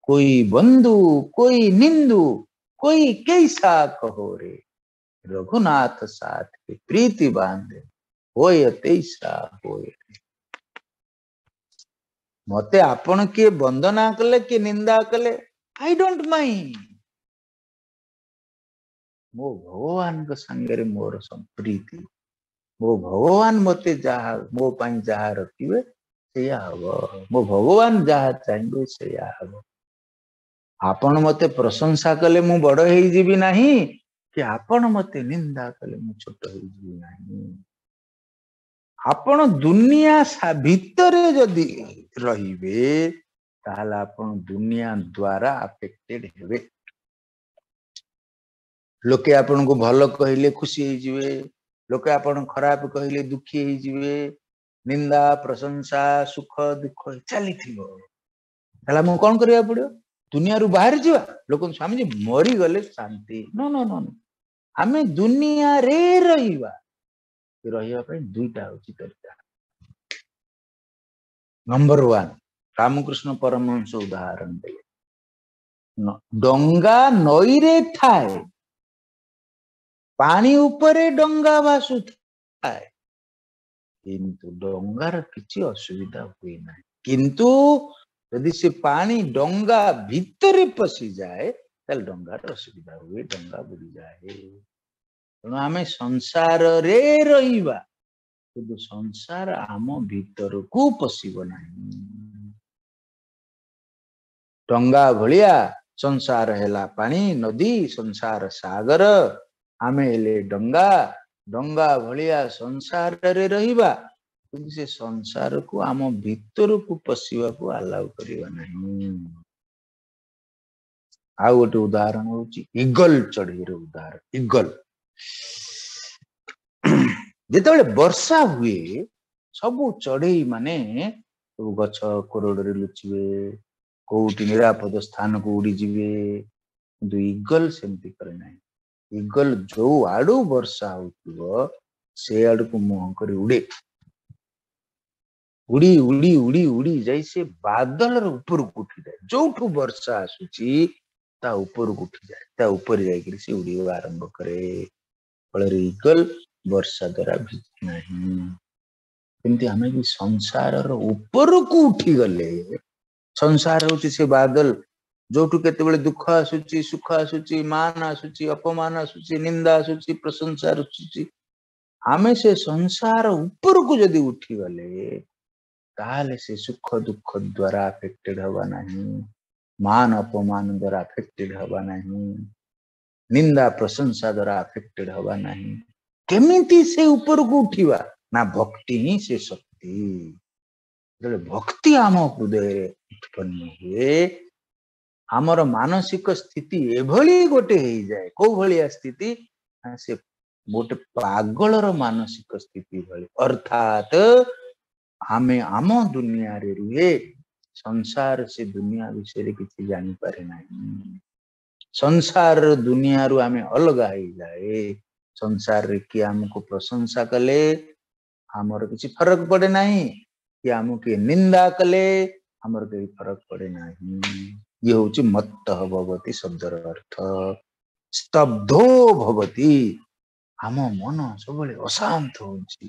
କୋଇ ବନ୍ଧୁ କୋଇ ନିନ୍ଦୁ କୋଇ କେଇସା କହୋ ରେ, ରଘୁନାଥ ସାଥ କେ ପ୍ରୀତି ବାନ୍ଧେ ହୋୟ ତେଇସା ହୋୟ। ମତେ ଆପଣ କିଏ ବନ୍ଦନା କଲେ କିଏ ନିନ୍ଦା କଲେ, I don't mind. ମୋ ଭଗବାନଙ୍କ ସାଙ୍ଗରେ ମୋର ସମ୍ପ୍ରୀତି, ମୋ ଭଗବାନ ମତେ ଯାହା, ମୋ ପାଇଁ ଯାହା ରଖିବେ ସେଇଆ ହବ, ମୋ ଭଗବାନ ଯାହା ଚାହିଁବେ ସେଇଆ ହବ। ଆପଣ ମତେ ପ୍ରଶଂସା କଲେ ମୁଁ ବଡ ହେଇଯିବି ନାହିଁ, କି ଆପଣ ମତେ ନିନ୍ଦା କଲେ ମୁଁ ଛୋଟ ହେଇଯିବି ନାହିଁ। ଆପଣ ଦୁନିଆ ଭିତରେ ଯଦି ରହିବେ, ତାହେଲେ ଆପଣ ଦୁନିଆ ଦ୍ଵାରା ଆଫେକ୍ଟେଡ ହେବେ। ଲୋକେ ଆପଣଙ୍କୁ ଭଲ କହିଲେ ଖୁସି ହେଇଯିବେ, ଲୋକେ ଆପଣ ଖରାପ କହିଲେ ଦୁଃଖୀ ହେଇଯିବେ, ନିନ୍ଦା ପ୍ରଶଂସା ସୁଖ ଦୁଃଖ ଚାଲିଥିବ। ତାହେଲେ ଆମକୁ କଣ କରିବାକୁ ପଡିବ? ଦୁନିଆରୁ ବାହାରି ଯିବା? ଲୋକ ସ୍ୱାମୀଜୀ ମରିଗଲେ ଶାନ୍ତି। ନ ନ ନ, ଆମେ ଦୁନିଆରେ ରହିବା। ରହିବା ପାଇଁ ଦୁଇଟା ହଉଛି ତରିକା। ନମ୍ବର 1, ରାମକୃଷ୍ଣ ପରମହଂସ ଉଦାହରଣ ଦେଲେ। ଡଙ୍ଗା ନଈରେ ଥାଏ, ପାଣି ଉପରେ ଡଙ୍ଗା ଭାସୁଥାଏ, କିନ୍ତୁ ଡଙ୍ଗାର କିଛି ଅସୁବିଧା ହୁଏ ନାହିଁ। କିନ୍ତୁ ଯଦି ସେ ପାଣି ଡଙ୍ଗା ଭିତରେ ପଶିଯାଏ ତାହେଲେ ଡଙ୍ଗାର ଅସୁବିଧା ହୁଏ, ଡଙ୍ଗା ବୁଡ଼ିଯାଏ। ତେଣୁ ଆମେ ସଂସାରରେ ରହିବା, କିନ୍ତୁ ସଂସାର ଆମ ଭିତରକୁ ପଶିବ ନାହିଁ। ଡଙ୍ଗା ଭଳିଆ ସଂସାର ହେଲା ପାଣି, ନଦୀ, ସଂସାର ସାଗର, ଆମେ ହେଲେ ଡଙ୍ଗା। ଡଙ୍ଗା ଭଳିଆ ସଂସାରରେ ରହିବା, କିନ୍ତୁ ସେ ସଂସାରକୁ ଆମ ଭିତରକୁ ପଶିବାକୁ ଆଲାଉ କରିବା ନାହିଁ। ଆଉ ଗୋଟେ ଉଦାହରଣ ହଉଛି ଇଗଲ ଚଢେଇର ଉଦାହରଣ। ଇଗଲ ଯେତେବେଳେ ବର୍ଷା ହୁଏ ସବୁ ଚଢେଇ ମାନେ ସବୁ ଗଛ କୋରଡରେ ଲୁଚିବେ, କୋଉଠି ନିରାପଦ ସ୍ଥାନକୁ ଉଡିଯିବେ। କିନ୍ତୁ ଇଗଲ ସେମିତି କରେ ନାହିଁ। ଇଗଲ ଯୋଉ ଆଡୁ ବର୍ଷା ହଉଥିବ ସେ ଆଡକୁ ମୁହଁ କରି ଉଡେ, ଉଡି ଉଡି ଉଡି ଉଡି ଯାଇ ସେ ବାଦଲର ଉପରକୁ ଉଠିଯାଏ। ଯୋଉଠୁ ବର୍ଷା ଆସୁଛି ତା ଉପରକୁ ଉଠିଯାଏ, ତା ଉପରେ ଯାଇକିରି ସେ ଉଡିବା ଆରମ୍ଭ କରେ। ଫଳରେ ଇଗଲ ବର୍ଷା ଦ୍ୱାରା ଭିଜେ ନାହିଁ। ଏମିତି ଆମେ ବି ସଂସାରର ଉପରକୁ ଉଠିଗଲେ, ସଂସାର ହଉଛି ସେ ବାଦଲ ଯୋଉଠୁ କେତେବେଳେ ଦୁଃଖ ଆସୁଛି, ସୁଖ ଆସୁଛି, ମାନ ଆସୁଛି, ଅପମାନ ଆସୁଛି, ନିନ୍ଦା ଆସୁଛି, ପ୍ରଶଂସା ଆସୁଛି, ଆମେ ସେ ସଂସାର ଉପରକୁ ଯଦି ଉଠିଗଲେ ତାହେଲେ ସେ ସୁଖ ଦୁଃଖ ଦ୍ୱାରା ଆଫେକ୍ଟେଡ ହବା ନାହିଁ, ମାନ ଅପମାନ ଦ୍ୱାରା ଆଫେକ୍ଟେଡ ହବା ନାହିଁ, ନିନ୍ଦା ପ୍ରଶଂସା ଦ୍ୱାରା ଆଫେକ୍ଟେଡ ହବା ନାହିଁ। କେମିତି ସେ ଉପରକୁ ଉଠିବା? ନା ଭକ୍ତି ହିଁ ସେ ଶକ୍ତି। ଯେତେବେଳେ ଭକ୍ତି ଆମ ହୃଦୟରେ ଉତ୍ପନ୍ନ ହୁଏ, ଆମର ମାନସିକ ସ୍ଥିତି ଏଭଳି ଗୋଟେ ହେଇଯାଏ। କୋଉ ଭଳିଆ ସ୍ଥିତି? ନା ସେ ଗୋଟେ ପାଗଳର ମାନସିକ ସ୍ଥିତି ଭଳି। ଅର୍ଥାତ ଆମେ ଆମ ଦୁନିଆରେ ରୁହେ, ସଂସାର ସେ ଦୁନିଆ ବିଷୟରେ କିଛି ଜାଣିପାରେ ନାହିଁ। ସଂସାରର ଦୁନିଆରୁ ଆମେ ଅଲଗା ହେଇଯାଏ। ସଂସାରରେ କିଏ ଆମକୁ ପ୍ରଶଂସା କଲେ ଆମର କିଛି ଫରକ ପଡେ ନାହିଁ, କିଏ ଆମକୁ କିଏ ନିନ୍ଦା କଲେ ଆମର କେହି ଫରକ ପଡେ ନାହିଁ। ଇଏ ହଉଛି ମତ୍ତ ଭବତି ଶବ୍ଦର ଅର୍ଥ। ସ୍ତବ୍ଧୋ ଭବତି, ଆମ ମନ ସବୁବେଳେ ଅଶାନ୍ତ ହଉଛି,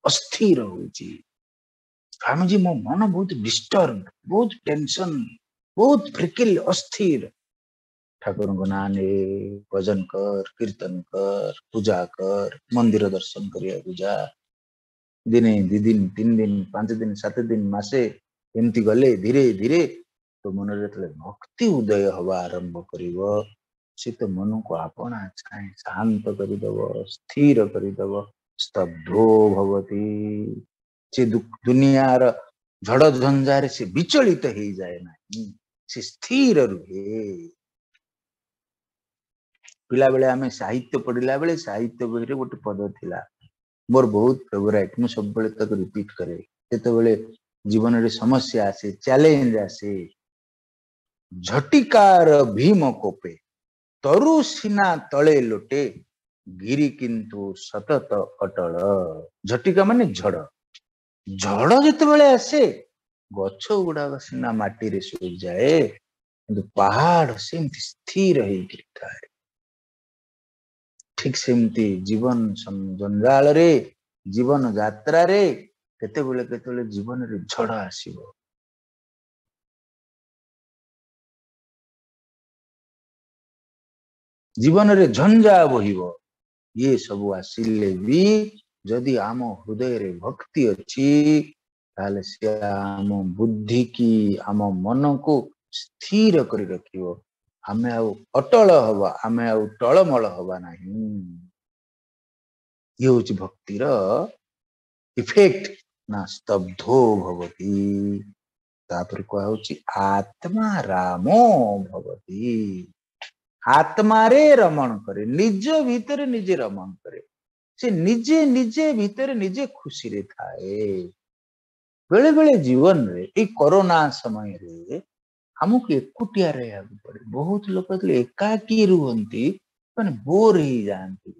ଅସ୍ଥିର ହଉଛି। ସ୍ୱାମୀଜୀ ମୋ ମନ ବହୁତ ଡିଷ୍ଟର୍ବ, ବହୁତ ଟେନସନ, ବହୁତ ଫ୍ରିକିଲ, ଅସ୍ଥିର। ଠାକୁରଙ୍କ ନାଁ ନେ, ଭଜନ କର, କୀର୍ତ୍ତନ କର, ପୂଜା କର, ମନ୍ଦିର ଦର୍ଶନ କରିବାକୁ ଯା। ଦିନେ, 2 ଦିନ, 3 ଦିନ, 5 ଦିନ, 7 ଦିନ, ମାସେ ଏମିତି ଗଲେ ଧୀରେ ଧୀରେ ତୋ ମନରେ ଯେତେବେଳେ ଭକ୍ତି ଉଦୟ ହବା ଆରମ୍ଭ କରିବ, ସେ ତ ମନକୁ ଆପଣା ଛାଏଁ ଶାନ୍ତ କରିଦବ, ସ୍ଥିର କରିଦବ। ସ୍ତବ୍ଧୋ ଭବତି, ସେ ଦୁନିଆର ଝଡ଼ ଝଞ୍ଜାରେ ସେ ବିଚଳିତ ହେଇଯାଏ ନାହିଁ, ସେ ସ୍ଥିର ରୁହେ। ପିଲାବେଳେ ଆମେ ସାହିତ୍ୟ ପଢିଲା ବେଳେ ସାହିତ୍ୟ ବହିରେ ଗୋଟେ ପଦ ଥିଲା ମୋର ବହୁତ ଫେଭରାଇଟ, ମୁଁ ସବୁବେଳେ ତାକୁ ରିପିଟ କରେ। ଯେତେବେଳେ ଜୀବନରେ ସମସ୍ୟା ଆସେ, ଚ୍ୟାଲେଞ୍ଜ ଆସେ, ଝଟିକାର ଭୀମ କୋପେ ତରୁ ସିନା ତଳେ ଲୋଟେ, ଗିରି କିନ୍ତୁ ସତତ ଅଟଳ। ଝଟିକା ମାନେ ଝଡ଼। ଝଡ଼ ଯେତେବେଳେ ଆସେ ଗଛ ଗୁଡାକ ସିନା ମାଟିରେ ଶୋଇଯାଏ, କିନ୍ତୁ ପାହାଡ ସେମିତି ସ୍ଥିର ହେଇକି ଥାଏ। ଠିକ ସେମିତି ଜୀବନ ଜଞ୍ଜାଳରେ, ଜୀବନ ଯାତ୍ରାରେ କେତେବେଳେ କେତେବେଳେ ଜୀବନରେ ଝଡ଼ ଆସିବ। ଜୀବନରେ ଝଞ୍ଜା ବହିବ। ଇଏ ସବୁ ଆସିଲେ ବି ଯଦି ଆମ ହୃଦୟରେ ଭକ୍ତି ଅଛି, ତାହେଲେ ସେ ଆମ ବୁଦ୍ଧି କି ଆମ ମନକୁ ସ୍ଥିର କରି ରଖିବ। ଆମେ ଆଉ ଅଟଳ ହବା, ଆମେ ଆଉ ଟଳମଳ ହବା ନାହିଁ। ଇଏ ହଉଛି ଭକ୍ତିର ଇଫେକ୍ଟ। ନା ସ୍ତବ୍ଧୋ ଭବତି। ତାପରେ କୁହା ହଉଛି ଆତ୍ମା ରାମୋ ଭବତି। ଆତ୍ମାରେ ରମଣ କରେ, ନିଜ ଭିତରେ ନିଜେ ରମଣ କରେ, ସେ ନିଜେ ନିଜେ ଭିତରେ ନିଜେ ଖୁସିରେ ଥାଏ। ବେଳେ ବେଳେ ଜୀବନରେ ଏଇ କରୋନା ସମୟରେ ଆମକୁ ଏକୁଟିଆ ରହିବାକୁ ପଡେ। ବହୁତ ଲୋକ ଯେତେବେଳେ ଏକାକୀ ରୁହନ୍ତି ମାନେ ବୋର ହେଇଯାଆନ୍ତି।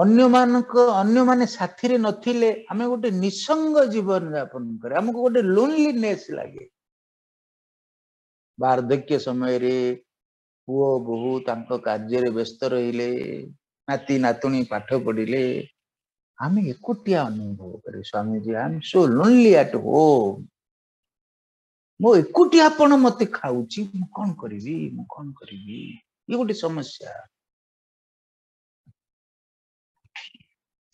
ଅନ୍ୟମାନେ ସାଥିରେ ନଥିଲେ ଆମେ ଗୋଟେ ନିସଙ୍ଗ ଜୀବନ ଯାପନ କରେ, ଆମକୁ ଗୋଟେ ଲୋନଲିନେସ୍ ଲାଗେ। ବାର୍ଦ୍ଧକ୍ୟ ସମୟରେ ପୁଅ ବୋହୂ ତାଙ୍କ କାର୍ଯ୍ୟରେ ବ୍ୟସ୍ତ ରହିଲେ, ନାତି ନାତୁଣୀ ପାଠ ପଢିଲେ, ଆମେ ଏକୁଟିଆ ଅନୁଭବ କରେ। Swamiji, I am so lonely at home, ମୋ ଏକୁଟିଆପଣ ମତେ ଖାଉଛି, ମୁଁ କଣ କରିବି, ମୁଁ କଣ କରିବି? ଇଏ ଗୋଟେ ସମସ୍ୟା।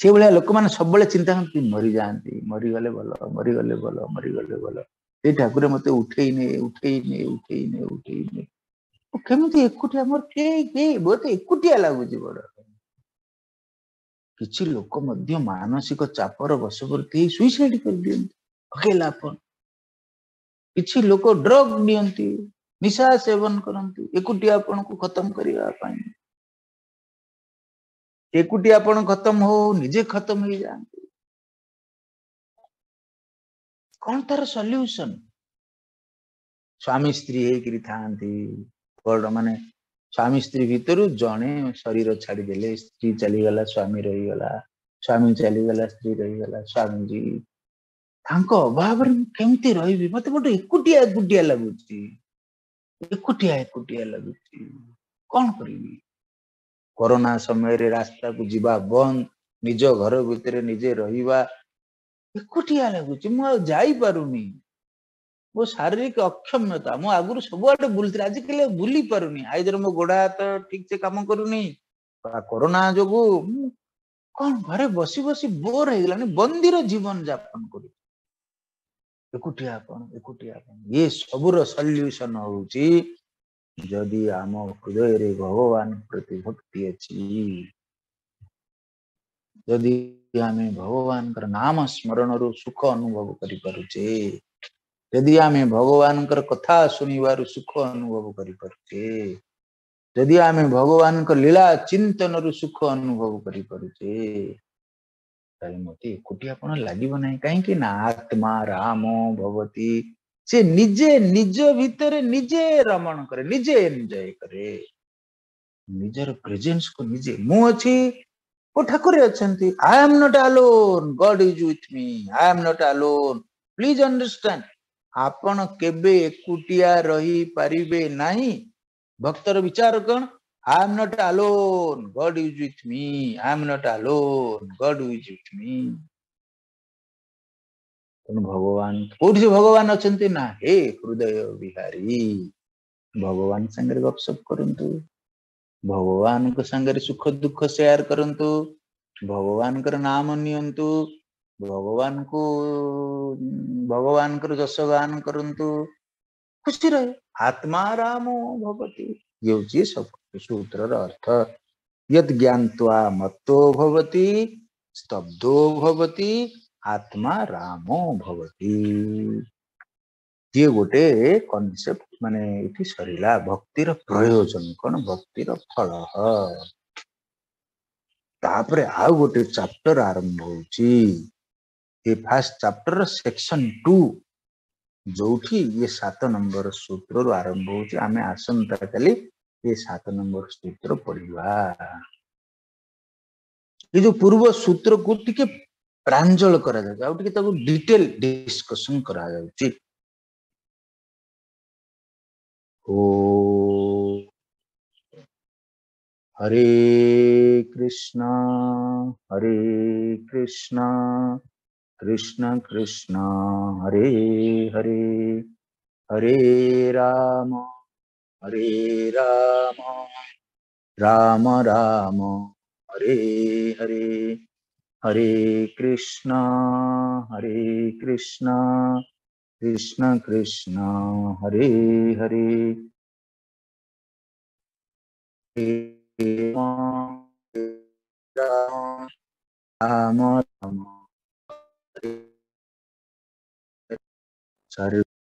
ସେଇଭଳିଆ ଲୋକମାନେ ସବୁବେଳେ ଚିନ୍ତା କରନ୍ତି ମରିଯାଆନ୍ତି, ମରିଗଲେ ଭଲ, ମରିଗଲେ ଭଲ, ମରିଗଲେ ଭଲ, ଏଇ ଠାକୁର ମତେ ଉଠେଇ ନେ, ଉଠେଇ ନେ, ଉଠେଇ ନେ, ଉଠେଇ ନେ, ମୁଁ କେମିତି ଏକୁଟିଆ, ମୋର କେହି କେହି, ବହୁତ ଏକୁଟିଆ ଲାଗୁଛି ବଡ। କିଛି ଲୋକ ମଧ୍ୟ ମାନସିକ ଚାପର ବଶବର୍ତ୍ତୀ ହେଇ ସୁଇସାଇଡ କରିଦିଅନ୍ତି, ଅକେଲାପଣ। କିଛି ଲୋକ ଡ୍ରଗ ନିଅନ୍ତି, ନିଶା ସେବନ କରନ୍ତି ଏକୁଟିଆପଣକୁ ଖତମ କରିବା ପାଇଁ। ଏକୁଟିଆପଣ ଖତମ ହଉ, ନିଜେ ଖତମ ହେଇଯାଆନ୍ତି। କଣ ତାର ସଲ୍ୟୁସନ? ସ୍ୱାମୀ ସ୍ତ୍ରୀ ହେଇକିରି ଥାଆନ୍ତି, ବଡ ମାନେ ସ୍ୱାମୀ ସ୍ତ୍ରୀ ଭିତରୁ ଜଣେ ଶରୀର ଛାଡିଦେଲେ, ସ୍ତ୍ରୀ ଚାଲିଗଲା, ସ୍ୱାମୀ ରହିଗଲା, ସ୍ୱାମୀ ଚାଲିଗଲା, ସ୍ତ୍ରୀ ରହିଗଲା। ସ୍ୱାମୀଜୀ ତାଙ୍କ ଅଭାବରେ ମୁଁ କେମିତି ରହିବି, ମତେ ଗୋଟେ ଏକୁଟିଆ ଏକୁଟିଆ ଲାଗୁଛି, ଏକୁଟିଆ ଏକୁଟିଆ ଲାଗୁଛି, କଣ କରିବି? କରୋନା ସମୟରେ ରାସ୍ତାକୁ ଯିବା ବନ୍ଦ, ନିଜ ଘର ଭିତରେ ନିଜେ ରହିବା, ଏକୁଟିଆ ଲାଗୁଛି, ମୁଁ ଆଉ ଯାଇପାରୁନି, ମୋ ଶାରୀରିକ ଅକ୍ଷମତା, ମୁଁ ଆଗରୁ ସବୁଆଡେ ବୁଲୁଥିଲି, ଆଜିକାଲି ଆଉ ବୁଲି ପାରୁନି, ଆଇଦର ମୋ ଗୋଡ ହାତ ଠିକ ସେ କାମ କରୁନି ବା କରୋନା ଯୋଗୁ ମୁଁ କଣ ଘରେ ବସି ବସି ବୋର ହେଇଗଲାଣି, ବନ୍ଦିର ଜୀବନ ଯାପନ କରୁଛି, ଏକୁଟିଆ ଆପଣ, ଏକୁଟିଆ ଆପଣ। ଇଏ ସବୁର ସଲ୍ୟୁସନ ହଉଛି ଯଦି ଆମ ହୃଦୟରେ ଭଗବାନ ପ୍ରତି ଭକ୍ତି ଅଛି, ଯଦି ଆମେ ଭଗବାନଙ୍କର ନାମ ସ୍ମରଣରୁ ସୁଖ ଅନୁଭବ କରିପାରୁଛେ, ଯଦି ଆମେ ଭଗବାନଙ୍କର କଥା ଶୁଣିବାରୁ ସୁଖ ଅନୁଭବ କରିପାରୁଛେ, ଯଦି ଆମେ ଭଗବାନଙ୍କ ଲୀଳା ଚିନ୍ତନରୁ ସୁଖ ଅନୁଭବ କରିପାରୁଛେ, ତାହେଲେ ମତେ ଏକୁଟିଆ ଆପଣ ଲାଗିବ ନାହିଁ। କାହିଁକି ନା ଆତ୍ମା ରାମ ଭବତି, ସେ ନିଜେ ନିଜ ଭିତରେ ନିଜେ ରମଣ କରେ, ନିଜେ ଏନ୍ଜୟ କରେ, ନିଜର ପ୍ରେଜେନ୍ସକୁ ନିଜେ, ମୁଁ ଅଛି, ଓ ଠାକୁରେ ଅଛନ୍ତି, I am not alone, God is with me, I am not alone, please understand. ଆପଣ କେବେ ଏକୁଟିଆ ରହିପାରିବେ ନାହିଁ। ଭକ୍ତର ବିଚାର କଣ? I am not alone, God is with me, I am not alone, God is with me. ତେଣୁ ଭଗବାନ କୋଉଠି ସେ ଭଗବାନ ଅଛନ୍ତି ନା ହେ ହୃଦୟ ବିହାରୀ, ଭଗବାନ ସାଙ୍ଗରେ ଗପସପ କରନ୍ତୁ, ଭଗବାନଙ୍କ ସାଙ୍ଗରେ ସୁଖ ଦୁଃଖ ସେୟାର କରନ୍ତୁ, ଭଗବାନଙ୍କର ନାମ ନିଅନ୍ତୁ, ଭଗବାନଙ୍କର ଯଶଗାନ କରନ୍ତୁ, ଖୁସି ରହେ। ଆତ୍ମା ରାମ ଭବତି, ଇଏ ହଉଛି ସୂତ୍ରର ଅର୍ଥ। ୟଦ୍ ଜ୍ଞାତ୍ୱା ମତ୍ତୋ ଭବତି ସ୍ତବ୍ଧୋ ଭବତି ଆତ୍ମା ରାମୋ ଭବତି। ଇଏ ଗୋଟେ କନସେପ୍ଟ, ମାନେ ଏଠି ସରିଲା ଭକ୍ତିର ପ୍ରୟୋଜନ କଣ, ଭକ୍ତିର ଫଳ। ତାପରେ ଆଉ ଗୋଟେ ଚାପ୍ଟର ଆରମ୍ଭ ହଉଛି, ଏ ଫାର୍ଷ୍ଟ ଚାପ୍ଟର ସେକ୍ସନ 2, ଯୋଉଠି ଇଏ 7 ନମ୍ବର ସୂତ୍ରରୁ ଆରମ୍ଭ ହଉଛି। ଆମେ ଆସନ୍ତା କାଲି ଏ 7 ନମ୍ବର ସୂତ୍ର ପଢିବା। ଏ ଯୋଉ ପୂର୍ବ ସୂତ୍ରକୁ ଟିକେ ପ୍ରାଞ୍ଜଳ କରାଯାଉଛି, ଆଉ ଟିକେ ତାକୁ ଡିଟେଲ ଡିସ୍କସନ କରାଯାଉଛି। ଓ ହରେ କୃଷ୍ଣ ହରେ କୃଷ୍ଣ କୃଷ୍ଣ କୃଷ୍ଣ ହରେ ହରେ, ହରେ ରାମ ହରେ ରାମ ରାମ ରାମ ହରେ ହରେ, ହରେ କୃଷ୍ଣ ହରେ କୃଷ୍ଣ କୃଷ୍ଣ କୃଷ୍ଣ ହରେ ହରେ, ରାମ ରାମ ରାମ ହରେ।